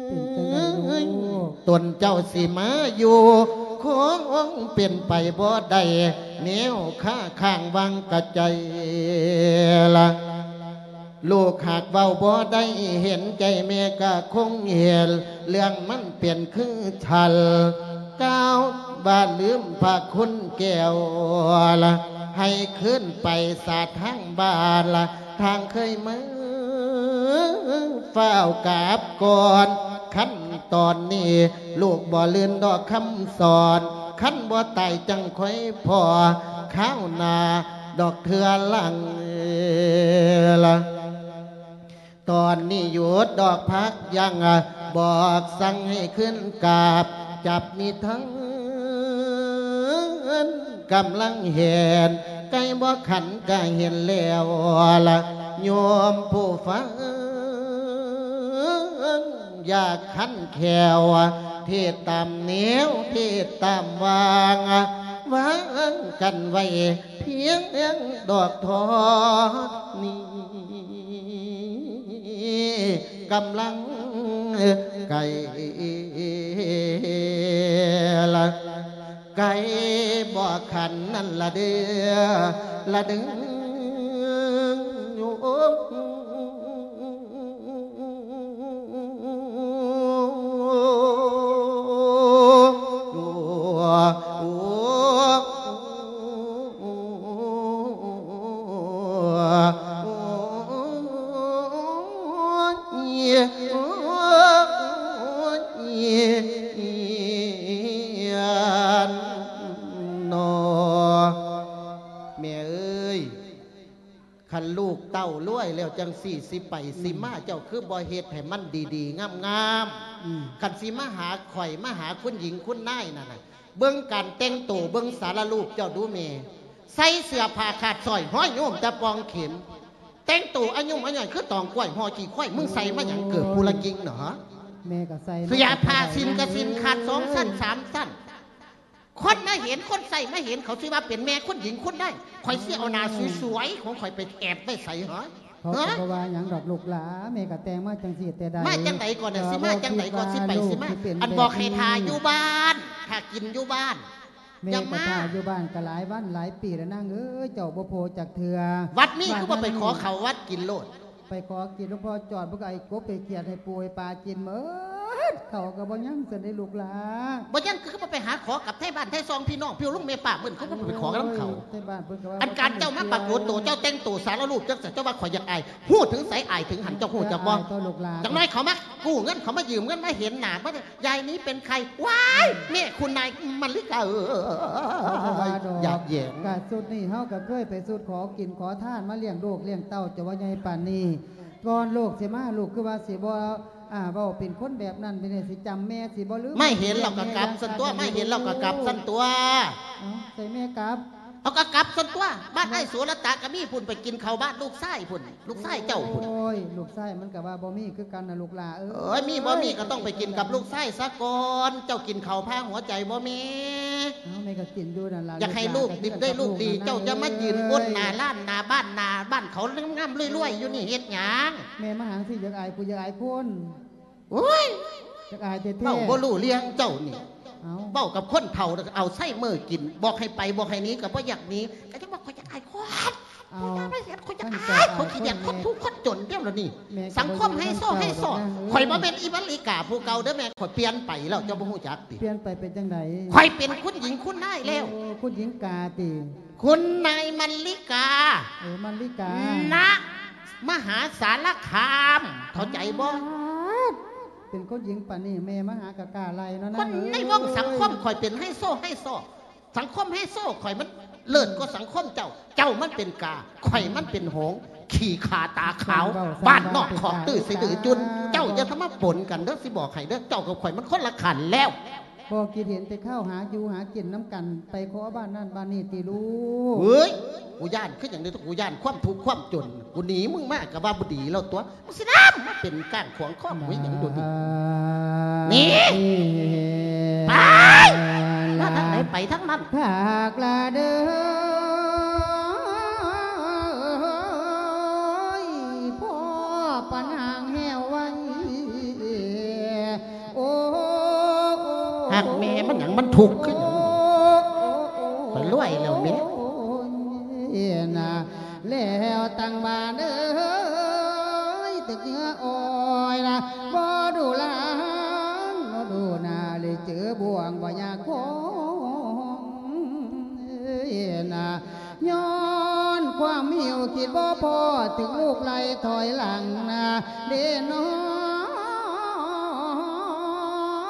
ເປັນຈັ່ງໃດລູກ ຕົນເຈົ້າຊິມາຢູ່ ຄົງເປັນໄປບໍ່ໄດ້ ແນວຄາຄ້າງວັງກະໃຈລະ ລູກຫາກເວົ້າບໍ່ໄດ້ ເຫັນໃຈແມ່ກະຄົງເຫັນ ເລື່ອງມັນເປັນຄືສັນ ກ່າວວ່າລືມພະຄຸນແກ້ວລະ ໃຫ້ຄືນໄປສາທາງບ້ານລະ ທາງເຄີຍມາ ฟ้าวกลับก่อน คันตอนนี้ลูกบ่ลืมดอกคำสอน คันบ่ตายจั่งค่อยพ้อ คราวหน้าดอกเทื่อหลัง ตอนนี้หยุดดอกพักยั้ง บอกสั่งให้ขึ้นกราบ จับมีทั้งกำลังแหน ไก่บ่ขันก็เห็นแล้วละ โยมผู้ฟัง อยากขันแคล้ว เทศน์ตามแนว เทศน์ตามวาง วางกันไว้เพียงดอกเท่านี้ กำลังไก่ละ ไก่บ่ขันนั่นละเด้อ ละเด้อ แม่เอ้ย คันลูกเต้ารวยแล้วจั่งซี้ สิไปสิมา เจ้าคือบ่เฮ็ดให้มันดีๆ งามๆ อืม คันสิมาหาข้อย มาหาคุณหญิงคุณนายนั่นน่ะ เบิ่งการแต่งโต เบิ่งสารรูปเจ้าดูแม่ ใส่เสื้อผ้าขาดสร้อย ห้อยโยมแต่ปองเข็ม แต่งโตอายุ่มอาย่อยคือตองกล้วย ห่อขี้ควาย มึงใส่มาหยัง เกิดปุระกิงเหรอ แม่ก็ใส่ เสื้อผ้าสิ้นก็สิ้น ขาดสองชั้นสามชั้น คนมาเห็น คนใส่มาเห็น เขาสิว่าเป็นแม่คุณหญิงคุณนาย ข้อยสิเอาหน้าสวยๆ ของข้อยไปแอบไว้ใสเหรอ เขาก็บ่ว่าหยังดอกลูกหลา แม่ก็แต่งมาจั่งซี้แต่ใด มาจั่งใดก่อนน่ะ สิมาจั่งใดก่อน สิไปสิมา อันบอกให้ท่าอยู่บ้าน ท่ากินอยู่บ้าน แม่ก็ท่าอยู่บ้านก็หลายวันหลายปีแล้วนางเอ้ย เจ้าบ่โผจักเทื่อ วัดมีคือบ่ไปขอข้าววัดกินโลด ไปขอกินหลวงพ่อจอด เพิ่นก็ไอ้กบไอ้เขียดให้ปูให้ปลากินหมด เขาก็บ่ยังซั่นเด้ลูกหลา บ่ยังคือบ่ไปหาขอกับไทบ้านไทซองพี่น้องพี่ลุงแม่ป้าเพิ่น เขาบ่ไปขอกับเขา โอ้ย ไทบ้านเพิ่นก็ว่า อันการเจ้ามาปรากฏตัว เจ้าแต่งตัวสารรูปจังซั่น เจ้าว่าข้อยอยากอาย ฮู้ถึงไสอายถึงหั่น เจ้าฮู้จักบ่ อายตัวลูกหลา จักหน่อยเขามากู้เงิน เขามายืมเงิน มาเห็นหน้า มายายนี้เป็นใคร ว้าย แม่คุณนายมะลิกา เอ้ย เขาก็ว่าดอก อยากแหย่ง กะชุดนี้เฮาก็เคยไปชุดขอกินขอทานมาเลี้ยงลูกเลี้ยงเต้า เจ้าว่าใหญ่ปานนี้ ก่อนลูกสิมา ลูกคือว่าสิบ่ อ่า เว้าเป็นคนแบบนั้น เป็นจั่งซี้ จำแม่สิบ่ลืม มาเห็นแล้วก็กลับซั่นตั๊ว มาเห็นแล้วก็กลับซั่นตั๊ว เอ้า ใส่แม่กลับ เอาก็กลับซั่นตั๊ว บ้านอ้ายโสรตะก็มีพุ้น ไปกินข้าวบ้านลูกชายพุ้น ลูกชายเจ้าพุ้น โอ้ย ลูกชายมันก็ว่าบ่มีคือกันน่ะลูกหล่าเอ้ย เอ้ย มีบ่มีก็ต้องไปกินกับลูกชายซะก่อน เจ้ากินข้าวพาหัวใจบ่แม่ เอ้า แม่ก็กินอยู่นั่นล่ะ อยากให้ลูกดิบได้ลูกดี ลูกหลาน เจ้าอย่ามายืนก้นหน้าร้านหน้าบ้านหน้าบ้านเขางามๆรวยๆอยู่นี่เฮ็ดหยัง แม่มาหาสิอยากอายผู้อยากอายคน โอ๊ย จักอายแท้ๆ เว้าบ่รู้เรื่องเจ้านี่ เอ้า เว้ากับคนเฒ่าแล้วก็อัลไซเมอร์กิน บอกให้ไปบอกให้หนีก็บ่อยากหนี ก็จังว่าข้อยอยากอายคน เอ้า ข้อยอยากมาเห็น ข้อยอยากอาย มันก็อาย ข้อยขี้เดียดคนทุกข์คนจนเดียวแล้วนี่ แม่ก็ สังคมไฮโซ บ่อยู่นำเจ้าดอกนางเอ้ย ไฮโซ ข้อยบ่แม่นอีมะลิกาผู้เก่าเด้อแม่ ข้อยเปลี่ยนไปแล้ว เจ้าบ่ฮู้จักติ เปลี่ยนไปเป็นจังใด ข้อยเป็นคุณหญิงคุณนายแล้ว โอ้ คุณหญิงกาติ คุณนายมะลิกา เออ มะลิกา ณ มหาสารคาม เข้าใจบ่ ป๊าด เป็นคนหญิงปานนี้ แม่มาหากะกล้าไล่เนาะ คนในวงสังคมข้อยเป็นไฮโซ ไฮโซ สังคมไฮโซข้อยมันเลิศกว่าสังคมเจ้า เจ้ามันเป็นกา ข้อยมันเป็นหงส์ ขี้ข้าตาขาว บ้านนอกคอกตื้อสะดือจุน เจ้าอย่าทำมาปนกันเด้อ สิบอกให้เด้อ เจ้ากับข้อยมันคนละขั้นแล้ว บ่คิดเห็นแต่ข้าวหาอยู่หากินนำกัน ไปขอบ้านนั่นบ้านนี่ติลูก เฮ้ย กูย้านคือหยังเด้ กูย้านความทุกข์ความจน กูหนีมึงมาก็ว่าบ่ดีแล้วตั๊ว มึงสินำมาเป็นก้างขวางคอกูหยังโดดนี้ หนี ไป มาทางไหนไปทางนั้น คักละเด้อ พ่อปะนางแฮวไว้ โอ้ ฮักแม่มันหยัง มันทุกข์คือหยัง ข้อยรวยแล้วแม่ นะ แล้วตั้งบ้านเอ้ย ตึกเงืออ้อยนะ บ่ดูหลาน บ่ดูหน้า เลยเจอบ่วงบ่อยากคง เอ้ยนะ ย้อนความหิว ຄິດບໍ່ພໍ ຖືກລູກໄລ່ຖອຍຫຼັງນະເດ້ນ້ອ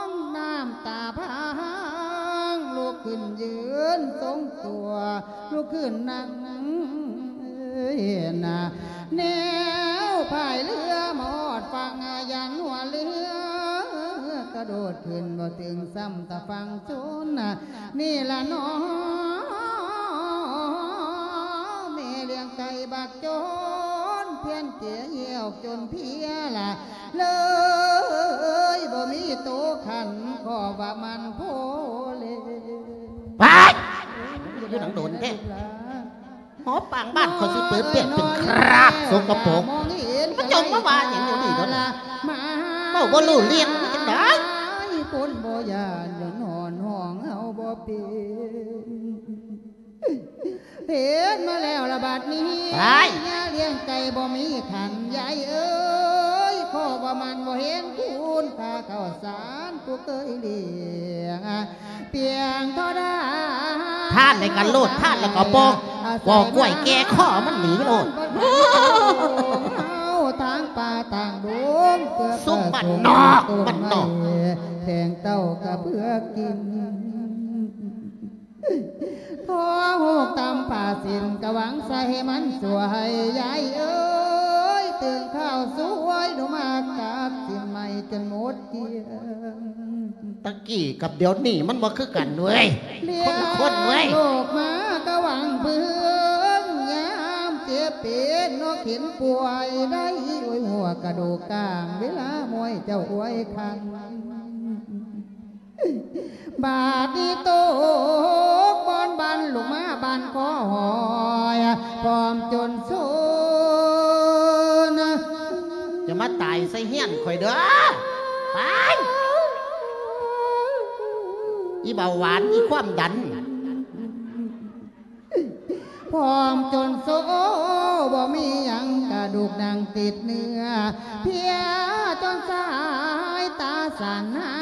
ງ ນ້ຳຕາພາງ ລຸກຂຶ້ນຢືນຊົງຕົວ ລຸກຂຶ້ນນັ່ງນະ ແນວພາຍເຮືອມາຮອດຝັ່ງ ຢ້ານຫົວເຮືອກະໂດດຂຶ້ນບໍ່ເຖິງ ຊ້ຳຕາຝັ່ງຊົນ ນີ້ລະໜໍ ແມ່ລ້ຽງໄກ່ບັກຈົນ ພຽນເຈຍອອກຈົນເພຍລະ ເລີຍບໍ່ມີໂຕຂັນ ຂໍວ່າມັນໂພເລ. ໄປ! ຢູ່ໜັງໂດນແທ້ ຫໍປາງບ້ານຂ້ອຍຊິເປີດເປຍເປັນຄຣາບສົກກະປົກ ມາຈົ່ງມາວ່າຫຍັງຢູ່ນີ້ເນາະ ເວົ້າບໍ່ຮູ້ເລື່ອງ ມັນຈັ່ງໃດ ຄົນບໍ່ຢ້ານຍ້ອນຮ້ອນຮ້ອງເຮົາບໍ່ເປັນ ເຮັດມາແລ້ວລະບາດນີ້ ໄປ ຍາລ້ຽງໄກ່ບໍ່ມີຂັນ ຍາຍເອີຍ ຂໍວ່າມັນບໍ່ເຫັນຄຸນຄ່າເຂົ້າສານ ຜູ້ເຄີຍລ້ຽງ ປຽງທໍ່ດາ ທານໃນກັນໂລດ ທານແລ້ວກໍບໍ່ ບໍ່ກ້ວຍແກ່ຄໍມັນໜີໂລດ ທາງປ່າທາງດົງ ຊຸມບ້ານນອກ ບ້ານນອກ ແທງເຕົ້າກະເພື່ອກິນ ຂໍໂຮກຕຳຜ້າສິ້ນ ກະຫວັງໃສ່ໃຫ້ມັນສວຍ ຍາຍເອີຍ ຕື່ນຂ່າວສວຍ ໜູມາກັດສິ້ນໃໝ່ຈົນໝົດ ຕະກີ້ກັບດຽວນີ້ມັນບໍ່ຄືກັນເວີຍ ຄົນລະຄົນເວີຍ ໂລກມາກະຫວັງເພິ່ງ ຍາມເຈັບເປັນເນາະ ເຂັນປ່ວຍໄດ້ ໂອ້ຍ ຫົວກະດູກກາງ ເວລາມວຍເຈົ້າອວຍຄັນ ບາດນີ້ຕົກບ່ອນບັນ ລູກມາບ້ານຂໍຫອຍ ພ້ອມຈົນຊົນ ຢ່າມາຕາຍໃສ່ເຮືອນຂ້ອຍເດີ້ ໄປ ອີເບົາຫວານ ອີຄວາມດັນ ພ້ອມຈົນໂຊ ບໍ່ມີຫຍັງກະດູກໜັງຕິດເນື້ອ ເພຍຈົນສາຍຕາສັ່ນ ຫາ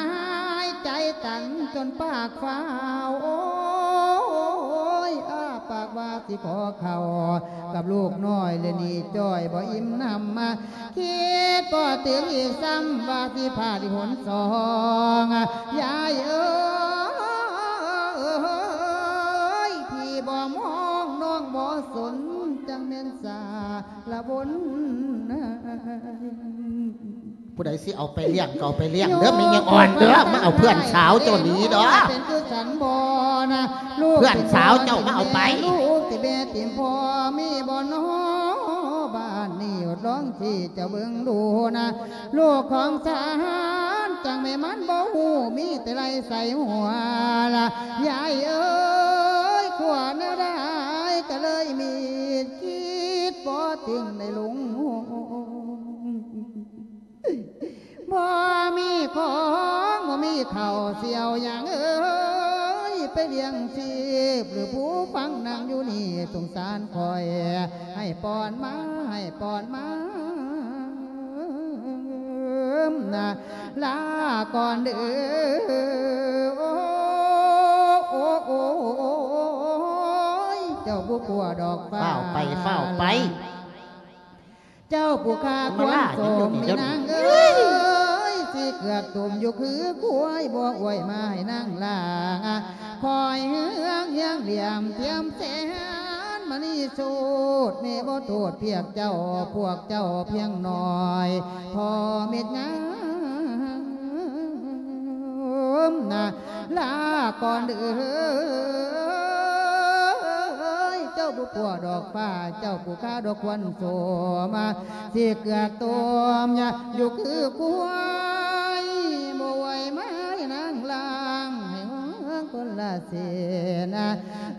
ຍໃຈຕັນຈົນປາກຟ້າວ ໂອ້ຍ ອ້າປາກວ່າ ຊິຂໍເຂົ້າກັບລູກນ້ອຍ ແລະນີ້ຈ້ອຍບໍ່ອີ່ມນຳ ຄິດບໍ່ເຖິງອີກຊ້ຳ ວ່າຊິພາດອີກຫົນສອງ ຍາຍເອີຍ ພີ່ບໍ່ມອງ ນ້ອງບໍ່ສົນ ຈັ່ງແມ່ນສາລະວົນ ຜູ້ໃດຊິເອົາໄປລ້ຽງກໍເອົາໄປລ້ຽງເດີ້ ແມ່ຍາອ່ອນເດີ້ ມາເອົາເພື່ອນສາວເຈົ້າໜີເດີ້ ເປັນຄືສັນບໍ່ນະ ລູກ ເພື່ອນສາວເຈົ້າມາເອົາໄປ ລູກຕິແມ່ຕິມພໍ່ ມີບໍ່ນໍ ບ້ານນີ້ ອດລອງຊິເຈົ້າເບິ່ງດູນະ ລູກຂອງສານ ຈັ່ງແມ່ມັນບໍ່ຮູ້ ມີແຕ່ໄລ່ໃສ່ຫົວລະ ຍາຍເອີຍ ຂົວແນວໃດກໍເລີຍມີ ຄິດບໍ່ເຖິງໄດ້ຫຼົງ ບໍ່ມີຂອງ ບໍ່ມີເຂົ້າ ຊິເອົາຫຍັງເອີຍ ໄປລ້ຽງຊີບ ຫຼືຜູ້ຟັງນັ່ງຢູ່ນີ້ ສົງສານຂ້ອຍ ໃຫ້ປ່ອນມາ ໃຫ້ປ່ອນມາ ລາກ່ອນເດີ້ ໂອ້ ໂອ້ ໂອ້ຍ ເຈົ້າບໍ່ກົວດອກຟ້າ ຟ້າວໄປ ຟ້າວໄປ ເຈົ້າຜູ້ຂ້າຄວນສົມ ແມ່ນາງເອີຍ ຊິເກືອກຕຸ່ມຢູ່ຄືຄວາຍ ບໍ່ອວຍມາໃຫ້ນາງລ້າງ ຄອຍເຮືອງຮຽງຫຼຽມທຽມແສນ ມະນີສູດ ແມ່ບໍ່ໂທດພຽກເຈົ້າ ພວກເຈົ້າພຽງນ້ອຍ ພໍເມັດງາມນະ ລາກ່ອນເອີຍ ເຈົ້າຜູ້ປົວດອກຟ້າ ເຈົ້າຜູ້ຂ້າດອກຄວັນໂສມາ ຊິເກືອກຕຸ່ມຢູ່ຄືຄວາຍ ບໍ່ໄຫວມາໃຫ້ນາງລ້າງ ໃຫ້ເຮືອງຄົນລະເສນ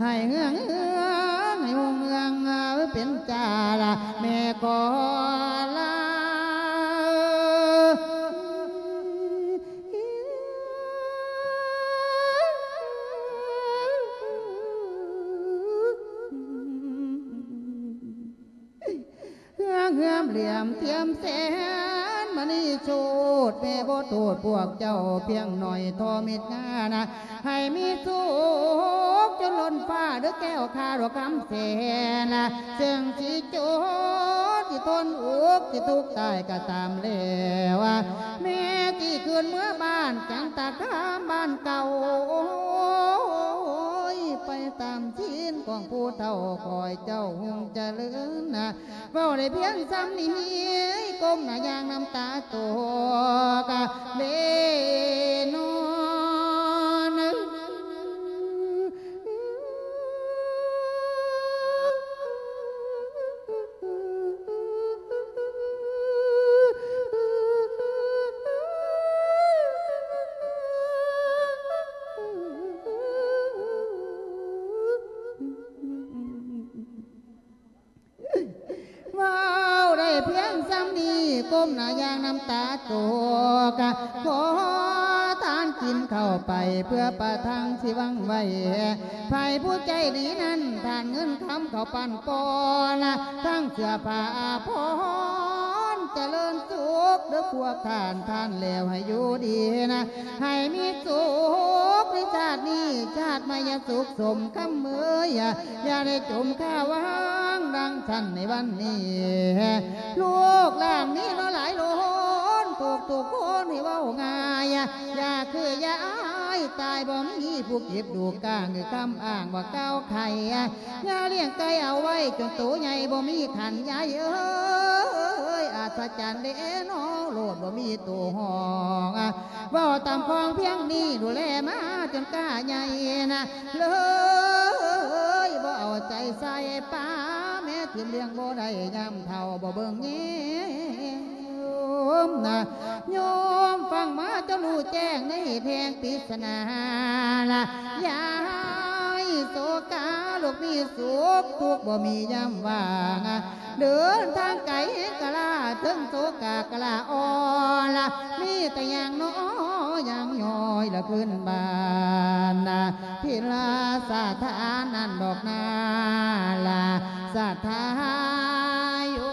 ໃຫ້ເຮືອງ ເຮືອງ ໃຫ້ຮຸ່ງເຮືອງເປັນຈ້າລະ ແມ່ຂໍລາ ເຮືອງເຮືອມຫຼຽມທຽມແສນ ນີ້ໂທດແມ່ບໍ່ໂທດພວກເຈົ້າພຽງໜ້ອຍທໍ່ມິດງານະ ໃຫ້ມີສຸກຈົນລົ້ນຟ້າເດີແກ້ວຂ້າດອກຄຳແສນນະ ເຊິ່ງຊິຈົນຊິທົນອຸກຊິທຸກຕາຍກໍຕາມແລ້ວ ແມ່ຊິຄືນເມືອບ້ານຈັນຕະຄາມບ້ານເກົ່າ ໂອ້ຍ ໄປຕາມສິນຂອງຜູ້ເຖົ້າ ຂໍໃຫ້ເຈົ້າຮຸ່ງຈະເລີນນະ ເວົ້າໄດ້ພຽງສ່ຳນີ້ ກົ້ມໜ້າຢ່າງນ້ຳຕາຕົກເລນອນ. ເວົ້າໄດ້ພຽງສ່ຳນີ້ ກົ້ມໜ້າຢ່າງນ້ຳຕາຕົກ ຂໍທານກິນເຂົ້າໄປ ເພື່ອປະທັງຊິຫວັງໄວ້ ໃຜຜູ້ໃຈດີນັ້ນ ທານເງິນຄຳເຂົ້າປັ້ນປ້ອນ ທັງເສື້ອຜ້າອາພອນ ຈະເລີນສຸກເດີພວກທ່ານ ທານແລ້ວໃຫ້ຢູ່ດີນະ ໃຫ້ມີສຸກໃນຊາດນີ້ ຊາດໃໝ່ຢ່າສຸກສົມຄຳເອີຍ ຢ່າໄດ້ຈົ່ມຄາວາງດັ່ງຊັ້ນໃນວັນນີ້ ລູກຫຼານມີເນາະຫຼາຍລ້ນ ທຸກໆຄົນໃຫ້ເວົ້າງ່າຍ ຢ່າຄືຢ່າອາຍ ຕາຍບໍ່ມີຜູ້ເກັບ ລູກກ້າງຄືຄຳອ້າງວ່າກ່າວໄຂ ຢ່າລ້ຽງໄກ່ເອົາໄວ້ຈົນໂຕໃຫຍ່ ບໍ່ມີຂັນຍາຍເອີຍ ອັດສະຈັນເດ້ເນາະ ໂລດບໍ່ມີໂຕຮ້ອງ ເວົ້າຕາມຄວາມພຽງນີ້ ດູແລມາຈົນກ້າໃຫຍ່ນະ ເລີຍບໍ່ເອົາໃຈໃສ່ປ້າ ແມ່ຖິ້ມລ້ຽງບໍ່ໄດ້ ຍາມເຖົ້າບໍ່ເບິ່ງແຍມນະ ໂຍມຟັງມາເຈົ້າຮູ້ແຈ້ງໃນແທ່ງປິດສະໜາລະ ຢ່າໃຫ້ໂສກາ ລູກມີສຸກ ທຸກບໍ່ມີຍາມວ່າງ ເດີນທາງໄກແຮງກະລາ ເທິງໂສກາກະລາອ່ອນລະ ມີແຕ່ຍ່າງນ້ອຍຍ່າງຍ້ອຍລະຄືນບ້ານນະ ທີ່ລາສະຖານນັ້ນດອກນາລະ ສະຖາຍໂອ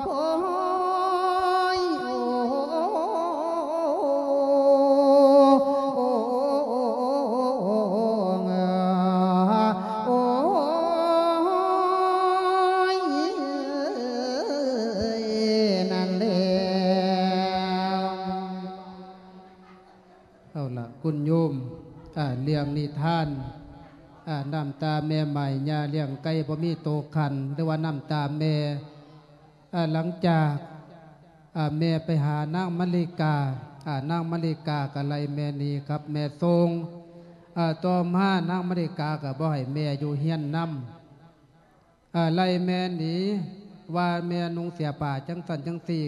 ໂອ້ຍ ໂອ້ ໂອ້ ໂອ້ຍ ນັ້ນແຫຼະ ເອົາລະ ຄຸນໂຍມ ອາ ເລື່ອງນິທານ ອາ ນ້ຳຕາແມ່ໃໝ່ ຍ່າລ້ຽງໄກ່ບໍ່ມີໂຕຂັນ ຫຼືວ່ານ້ຳຕາແມ່ ອາ ຫຼັງຈາກ ອາ ແມ່ໄປຫານາງມະລິກາ ອາ ນາງມະລິກາກໍໄລ່ແມ່ໜີກັບແມ່ຊົງ ອາ ຕໍ່ມານາງມະລິກາກໍບໍ່ໃຫ້ແມ່ຢູ່ເຮືອນນຳ ອາ ໄລ່ແມ່ໜີ ວ່າແມ່ນຸ່ງເສື້ອຜ້າຈັ່ງຊັ້ນຈັ່ງຊີ້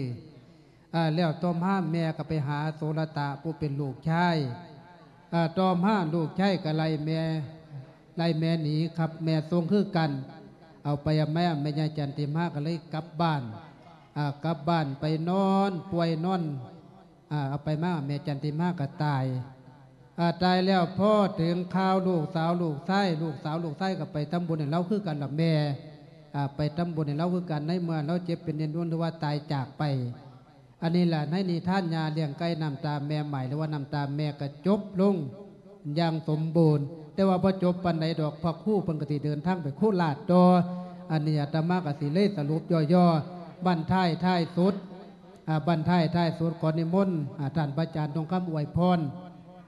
ອາ ແລ້ວຕໍ່ມາແມ່ກໍໄປຫາໂສລະຕະຜູ້ເປັນລູກຊາຍ ອາ ຕໍ່ມາລູກຊາຍກໍໄລ່ແມ່ ໄລ່ແມ່ໜີກັບແມ່ຊົງຄືກັນ ເອົາໄປເອົາມາແມ່ຍາຈັນຕິມາກໍເລີຍກັບບ້ານ ອາ ກັບບ້ານໄປນອນປ່ວຍນອນ ອາ ເອົາໄປມາແມ່ຈັນຕິມາກໍຕາຍ ອາ ຕາຍແລ້ວ ພໍເຖິງຄາວລູກສາວລູກຊາຍ ລູກສາວລູກຊາຍກໍໄປທຳບຸນໃຫ້ລາວຄືກັນລະແມ່ ອາ ໄປທຳບຸນໃຫ້ລາວຄືກັນ ໃນເມື່ອລາວເຈັບເປັນເປັນຈົນ ຫຼືວ່າຕາຍຈາກໄປ ອັນນີ້ລະ ໃນນິທານຍ່າລ້ຽງໄກ່ນ້ຳຕາແມ່ໃໝ່ ຫຼືວ່ານ້ຳຕາແມ່ກໍຈົບລົງຢ່າງສົມບູນ ແຕ່ວ່າບໍ່ຈົບປານໃດດອກ ພະຄູເພິ່ນກໍຊິເດີນທາງໄປໂຄລາດຕໍ່ ອັນນີ້ອາດຕະມາກໍຊິເລີຍສະຫຼຸບຫຍໍ້ໆ ບັ້ນທ້າຍທ້າຍສຸດ ອາ ບັ້ນທ້າຍທ້າຍສຸດ ຂໍນິມົນ ອາ ທ່ານພະອາຈານທອງຄຳອວຍພອນ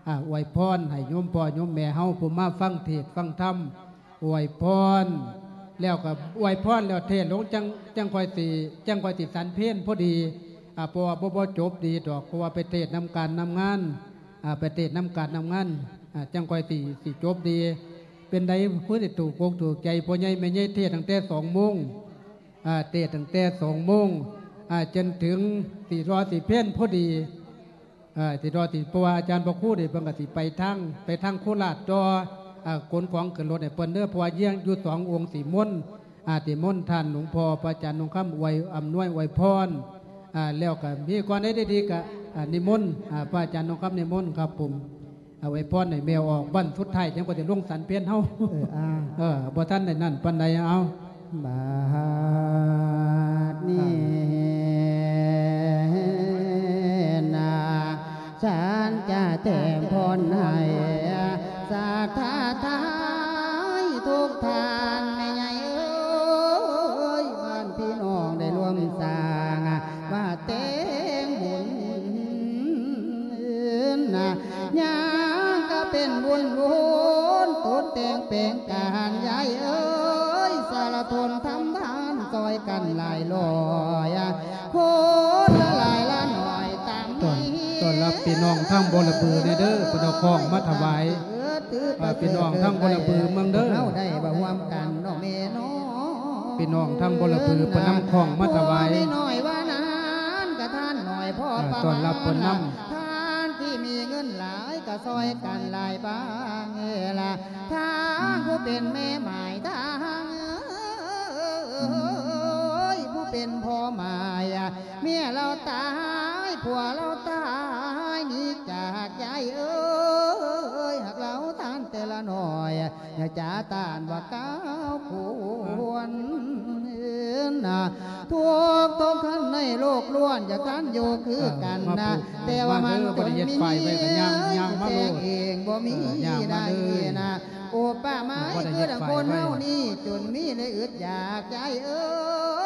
ອາ ອວຍພອນໃຫ້ໂຍມພໍ່ໂຍມແມ່ເຮົາຜູ້ມາຟັງເທດຟັງທຳ ອວຍພອນ ແລ້ວກໍອວຍພອນແລ້ວເທດລົງ ຈັ່ງ ຈັ່ງຄ່ອຍຊິ ຈັ່ງຄ່ອຍຊິສັນເພນພໍດີ ອາ ເພາະວ່າບໍ່ ບໍ່ຈົບດີດອກ ເພາະວ່າໄປເທດນຳການນຳງານ ອາ ໄປເທດນຳການນຳງານ ອາ ຈັ່ງຄ່ອຍຊິ ຊິຈົບດີ ເປັນໃດ ຄືໄດ້ຖືກອົກຖືກໃຈ ພໍ່ໃຫຍ່ແມ່ໃຫຍ່ເທດຕັ້ງແຕ່ສອງໂມງ ອາ ເທດຕັ້ງແຕ່ສອງໂມງ ອາ ຈົນເຖິງ ຊິລໍຊິເພນພໍດີ ເອີ ຊິລໍຊິ ເພາະວ່າອາຈານພະຄູນີ້ເພິ່ນກໍຊິໄປທາງ ໄປທາງໂຄລາດຕໍ່ ອາ ຂົນຂອງຂຶ້ນລົດໃຫ້ເພິ່ນເດີ ເພາະວ່າຍັງຢູ່ສອງອົງ ຊິມົນ ອາ ຊິມົນທ່ານຫຼວງພໍ່ພະອາຈານທອງຄຳອວຍ ອຳນວຍອວຍພອນ ອາ ແລ້ວກໍມີກ່ອນໃດດີໆ ກໍ ອາ ນິມົນ ອາ ພະອາຈານທອງຄຳນິມົນຄັບຜົມ ອາ ອວຍພອນໃຫ້ແມ່ອອກບັ້ນສຸດທ້າຍ ຈັ່ງກວ່າຈະລົງສັນເພນເຮົາ ເອີ ອາ ເອີ ບໍ່ທັນໄດ້ນັ້ນປານໃດ ເອົາ ບາດນີ້ນາ ສັນຈະແຕ້ມພົນໃຫ້ສັດທາທັງທຸກທ່ານ ແມ່ໃຫຍ່ເອີຍ ບ້ານພີ່ນ້ອງໄດ້ລວມສ້າງ ວ່າແຕ່ງບຸນນະ ຍາມກະເປັນບຸນວົນ ຕົກແຕ່ງແປງການ ຍາຍເອີຍ ສາລະທົນທຳທານ ຊ່ອຍກັນຫຼາຍຮ້ອຍ ຄົນລະຫຼາຍລະໜ້ອຍຕາມ ຕ້ອນ ມີ ຕ້ອນຮັບພີ່ນ້ອງທາງບໍລະບືແດ່ເດີ ເພິ່ນເອົາຂອງມາຖະຫວາຍ ເອີ ຖື ອ່າ ພີ່ນ້ອງທາງບໍລະບືເມືອງເດີ ເຮົາໄດ້ມາຮ່ວມກັນເນາະແມ່ເນາະ ພີ່ນ້ອງທາງບໍລະບືເພິ່ນນຳຂອງມາຖະຫວາຍ ພໍ່ແມ່ນ້ອຍວ່ານັ້ນກະທ່ານນ້ອຍພໍປະມານ ອ່າ ຕ້ອນຮັບເພິ່ນນຳ ທ່ານທີ່ມີເງິນຫຼາຍກະຊ່ອຍກັນຫຼາຍບາງເອີລະ ທາງຜູ້ເປັນແມ່ໝ້າຍ ທາງ ເອີຍ ຜູ້ເປັນພໍ່ໝ້າຍ ເມຍລາວຕາຍ ຜົວລາວຕາຍ ໜີຈາກ ຍາຍເອີຍ ຮັກລາວທ່ານແຕ່ລະໜ້ອຍ ຢ່າຈາຕ້ານວ່າກ້າວຄວນນະ ທຸກທຸກທ່ານໃນໂລກລ້ວນ ຢາກທ່ານຢູ່ຄືກັນນະ ເອີ ແຕ່ວ່າມັນຈົນມີ ມາປູກ ບໍ່ໄດ້ເຮັດຝ້າຍໄວ້ກະຍ່າງ ຍ່າງມາໂລດ ແຕ່ງເອງບໍ່ມີ ເອີ ຍ່າງມາເລີຍ ໄດ້ນະ ອຸປະມາຄືດັ່ງຄົນເຮົານີ້ ຈົນມີແລະອຶດຢາກ ຍາຍເອີ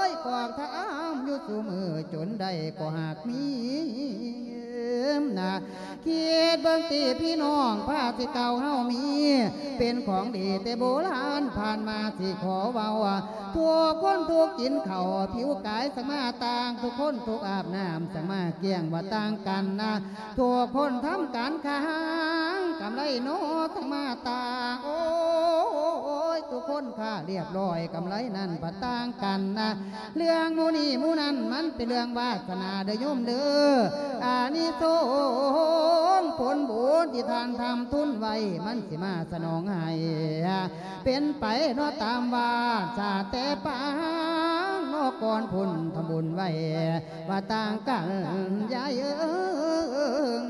ຍ ກອກຖາມຢູ່ຊຸມື້ ຈົນໄດ້ກໍຫາກມີນະ ຄິດເບິ່ງຕິພີ່ນ້ອງ ພາທີ່ເກົ່າເຮົາມີ ເປັນຂອງດີແຕ່ໂບລານ ຜ່ານມາຊິຂໍເວົ້າ ທຸກຄົນທຸກກິນເຂົ້າ ຜິວກາຍສັງມາຕ່າງ ທຸກຄົນທຸກອາບນ້ຳ ສັງມາກ້ຽງວ່າຕ່າງກັນນະ ທຸກຄົນທຳການຄ້າງ ກຳໄລໜໍສັງມາຕ່າງ ໂອ້ຍ ທຸກຄົນຄ້າລຽບຮ້ອຍ ກຳໄລນັ້ນພັດຕ່າງກັນນະ ເລື່ອງໝູ່ນີ້ໝູ່ນັ້ນ ມັນເປັນເລື່ອງວາສະໜາເດີໂຍມເດີ ອານິສົງຜົນບຸນທີ່ທ່ານທຳທຸນໄວ້ ມັນຊິມາສະໜອງໃຫ້ ເປັນໄປເນາະຕາມວາດ ຊາດແຕ່ປາງເນາະ ກ່ອນພຸ້ນທຳບຸນໄວ້ ວ່າຕ່າງກັນ ຍາຍເອີຍ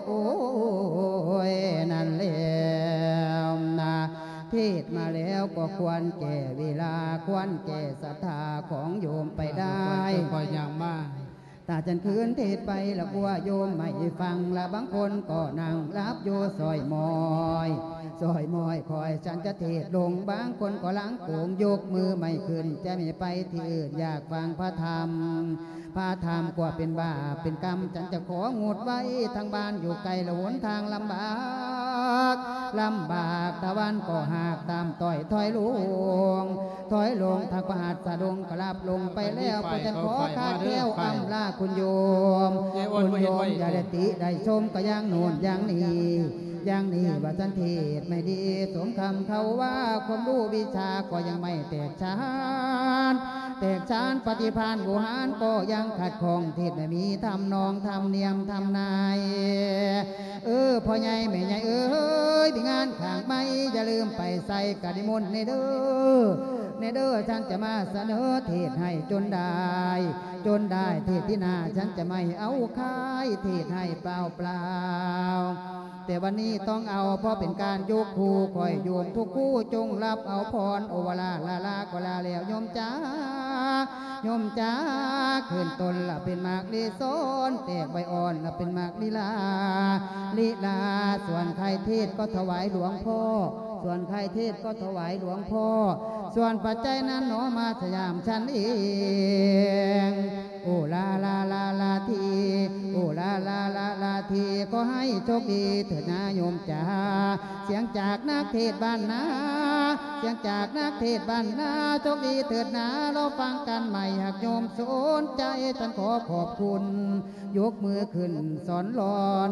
ໂອ້ຍ ນັ້ນແລ້ວນະ ເທດມາແລ້ວກໍຄວນແກ່ເວລາ ຄວນແກ່ສັດທາຂອງໂຍມໄປໄດ້ ຄ່ອຍໆຍ່າງມາ ຕາຈັນຄືນເທດໄປລະກົວໂຍມໄມ່ຟັງ ລະບາງຄົນກໍນັ່ງຫຼັບຢູ່ ຊ່ອຍໝ້ອຍ ຊ່ອຍໝ້ອຍ ຂ້ອຍສັນຈະເທດລົງ ບາງຄົນກໍຫຼັງໂກງ ຍົກມືໄມ່ຂຶ້ນ ຈະໄມ່ໄປທີ່ອື່ນ ຢາກຟັງພະທຳ ພະທຳກວ່າເປັນບາບເປັນກຳ ສັນຈະຂໍງົດໄວ້ ທາງບ້ານຢູ່ໄກ ລະຫົນທາງລຳບາກ ລຳບາກ ຕາວັນກໍຫາກຕາມຕ້ອຍ ຖອຍລົງ ຖອຍລົງ ທາງພະຫັດສະດົງກໍລັບລົງໄປແລ້ວ ພະຈັນຂໍຂາດແຄ້ວ ອຳລາຄຸນໂຍມ ຄຸນໂຍມຢ່າໄດ້ຕິໄດ້ຊົມ ກໍຢ່າງໂນ້ນຢ່າງນີ້ ຢ່າງນີ້ວ່າສັນເທດໄມ່ດີ ສົມຄຳເຂົາວ່າ ຄວາມຮູ້ວິຊາກໍຍັງໄມ່ແຕກສານ ແຕກສານ ປະຕິພານບູຮານກໍຍັງຂັດຂ້ອງ ເທດໄມ່ມີທຳນອງ ທຳນຽມ ທຳນາຍ ເອີ ພໍ່ໃຫຍ່ແມ່ໃຫຍ່ເອີຍ ມີງານຂ້າງໄມ້ ຢ່າລືມໄປໃສ່ກະນິມົນແດ່ເດີ ແດ່ເດີ ສັນຈະມາສະເໜີເທດໃຫ້ຈົນໄດ້ ຈົນໄດ້ ເທດທີ່ໜ້າ ສັນຈະໄມ່ເອົາຂາຍ ເທດໃຫ້ເປົ່າໆ ແຕ່ວັນນີ້ຕ້ອງເອົາ ເພາະເປັນການຍົກຄູ່ ຂໍໃຫ້ໂຍມທຸກຄູ່ ຈົ່ງຮັບເອົາພອນ ໂອວາລາລາລາ ຂໍລາແລ້ວໂຍມຈ໋າ ໂຍມຈ໋າ ຂຶ້ນຕົ້ນລະເປັນໝາກລີສອນ ແຕກໃບອ່ອນລະເປັນໝາກລີລາ ລີລາ ສ່ວນໃຜເທດກໍຖວາຍຫຼວງພໍ່ ສ່ວນໃຜເທດກໍຖວາຍຫຼວງພໍ່ ສ່ວນປັດໄຈນັ້ນໜໍ ມາສະຫຍາມສັນເອງ ໂອລາລາລາລາທີ ໂອລາລາລາລາທີ ຂໍໃຫ້ໂຊກດີເທີດນາໂຍມຈ໋າ ສຽງຈາກນັກເທດບ້ານນາ ສຽງຈາກນັກເທດບ້ານນາ ໂຊກດີເທີດນາ ລໍຟັງກັນໃໝ່ ຫາກໂຍມສົນໃຈ ສັນຂໍຂອບຄຸນ ຍົກມືຂຶ້ນສອນລອນ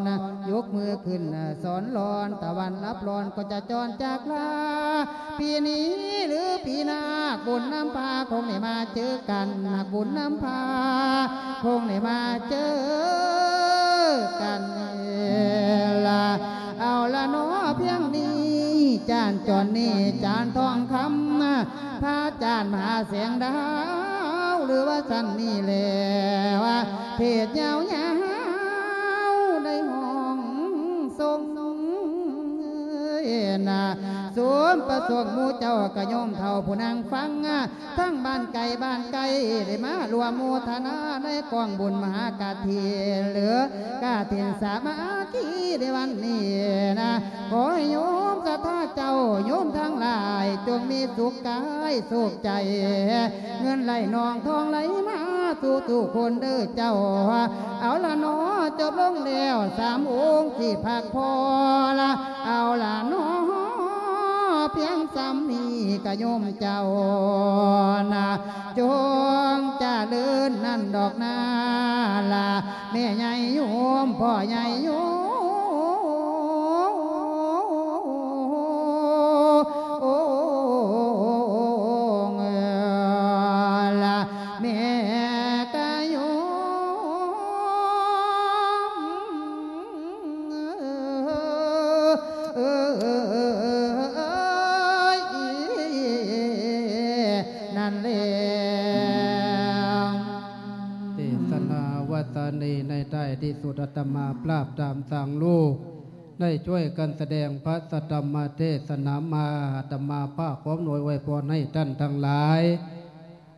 ຍົກມືຂຶ້ນສອນລອນ ຕາວັນລັບລອນກໍຈະຈອນຈາກລາ ປີນີ້ຫຼືປີໜ້າ ບຸນນຳພາຄົງໄດ້ມາເຈີກັນ ຫາກບຸນນຳພາຄົງໄດ້ມາເຈີກັນລະ ເອົາລະເນາະ ພຽງນີ້ ຈານຈອນນີ້ ຈານທອງຄຳ ພະຈານມະຫາແສງດາວ ຫຼືວ່າຊັ້ນນີ້ແລ້ວ ເທດຍາວໆ ໄດ້ຮ້ອງຊົງ ນະ ສົມປະສົງໝູ່ເຈົ້າກະໂຍມເຖົ້າຜູ້ນັ່ງຟັງ ທັງບ້ານໄກບ້ານໄກ ໄດ້ມາຮ່ວມໂມທະນາໃນກອງບຸນມະຫາກະຖິນ ຫຼື ກະຖິນສາມັກຄີໃນວັນນີ້ນະ ຂໍໃຫ້ໂຍມສັດທາເຈົ້າໂຍມທັງຫຼາຍ ຈົ່ງມີສຸກກາຍສຸກໃຈ ເງິນໄຫຼນອງທອງໄຫຼມາສູ່ທຸກຄົນເດີເຈົ້າ. ເອົາລະເນາະ ຈົບລົງແລ້ວສາມອົງທີ່ພັກພໍລະ ເອົາລະເນາະ ພຽງສ່ຳນີ້ກະໂຍມເຈົ້ານະ ຈົ່ງຈະເລີນນັ້ນດອກນາລະ ແມ່ໃຫຍ່ໂຍມ ພໍ່ໃຫຍ່ໂຍມ ລະ ແມ່ກະໂຍມ ເອີ ນັ້ນແຫຼະ. ເທດສະນາວັດຕະນີໃນທ້າຍທີ່ສຸດ ອາດຕະມາພາບຕາມທາງລູກ ໄດ້ຊ່ວຍກັນສະແດງພະສັດທຳມະເທດສະນາມາ ອາດຕະມາພາບຂໍອຳນວຍອວຍພອນໃຫ້ທ່ານທັງຫຼາຍ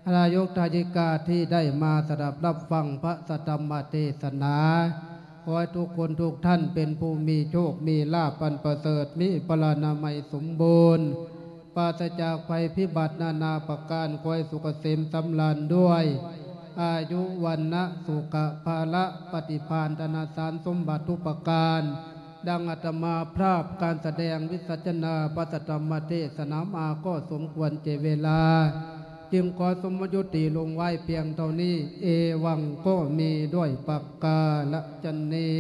ທາຍົກທາຍິກາທີ່ໄດ້ມາສະດັບຮັບຟັງພະສັດທຳມະເທດສະນາ ຂໍໃຫ້ທຸກຄົນທຸກທ່ານເປັນຜູ້ມີໂຊກມີລາບອັນປະເສີດ ມີພະລານາໄມສົມບູນ ປາສະຈາກໄພພິບັດນານາປະການ ຂໍໃຫ້ສຸກກະເສມສຳລານດ້ວຍອາຍຸ ວັນນະ ສຸຂະ ພະລະ ປະຕິພານ ທະນະທານສົມບັດທຸກປະການ. ດັ່ງອາດຕະມາພາບການສະແດງວິສັດຊະນາພະສັດທຳມະເທດສະນາມາກໍສົມຄວນແກ່ເວລາ ຈຶ່ງຂໍສົມມຸດຍຸຕິລົງໄວ້ພຽງເທົ່ານີ້ ເອວັງກໍມີດ້ວຍປະກາລະຊະນີ.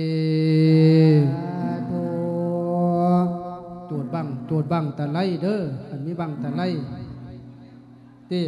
ສາທຸ. ຈູດບັ້ງ ຈູດບັ້ງຕະໄລເດີ ຄັນມີບັ້ງຕະໄລ ຕິ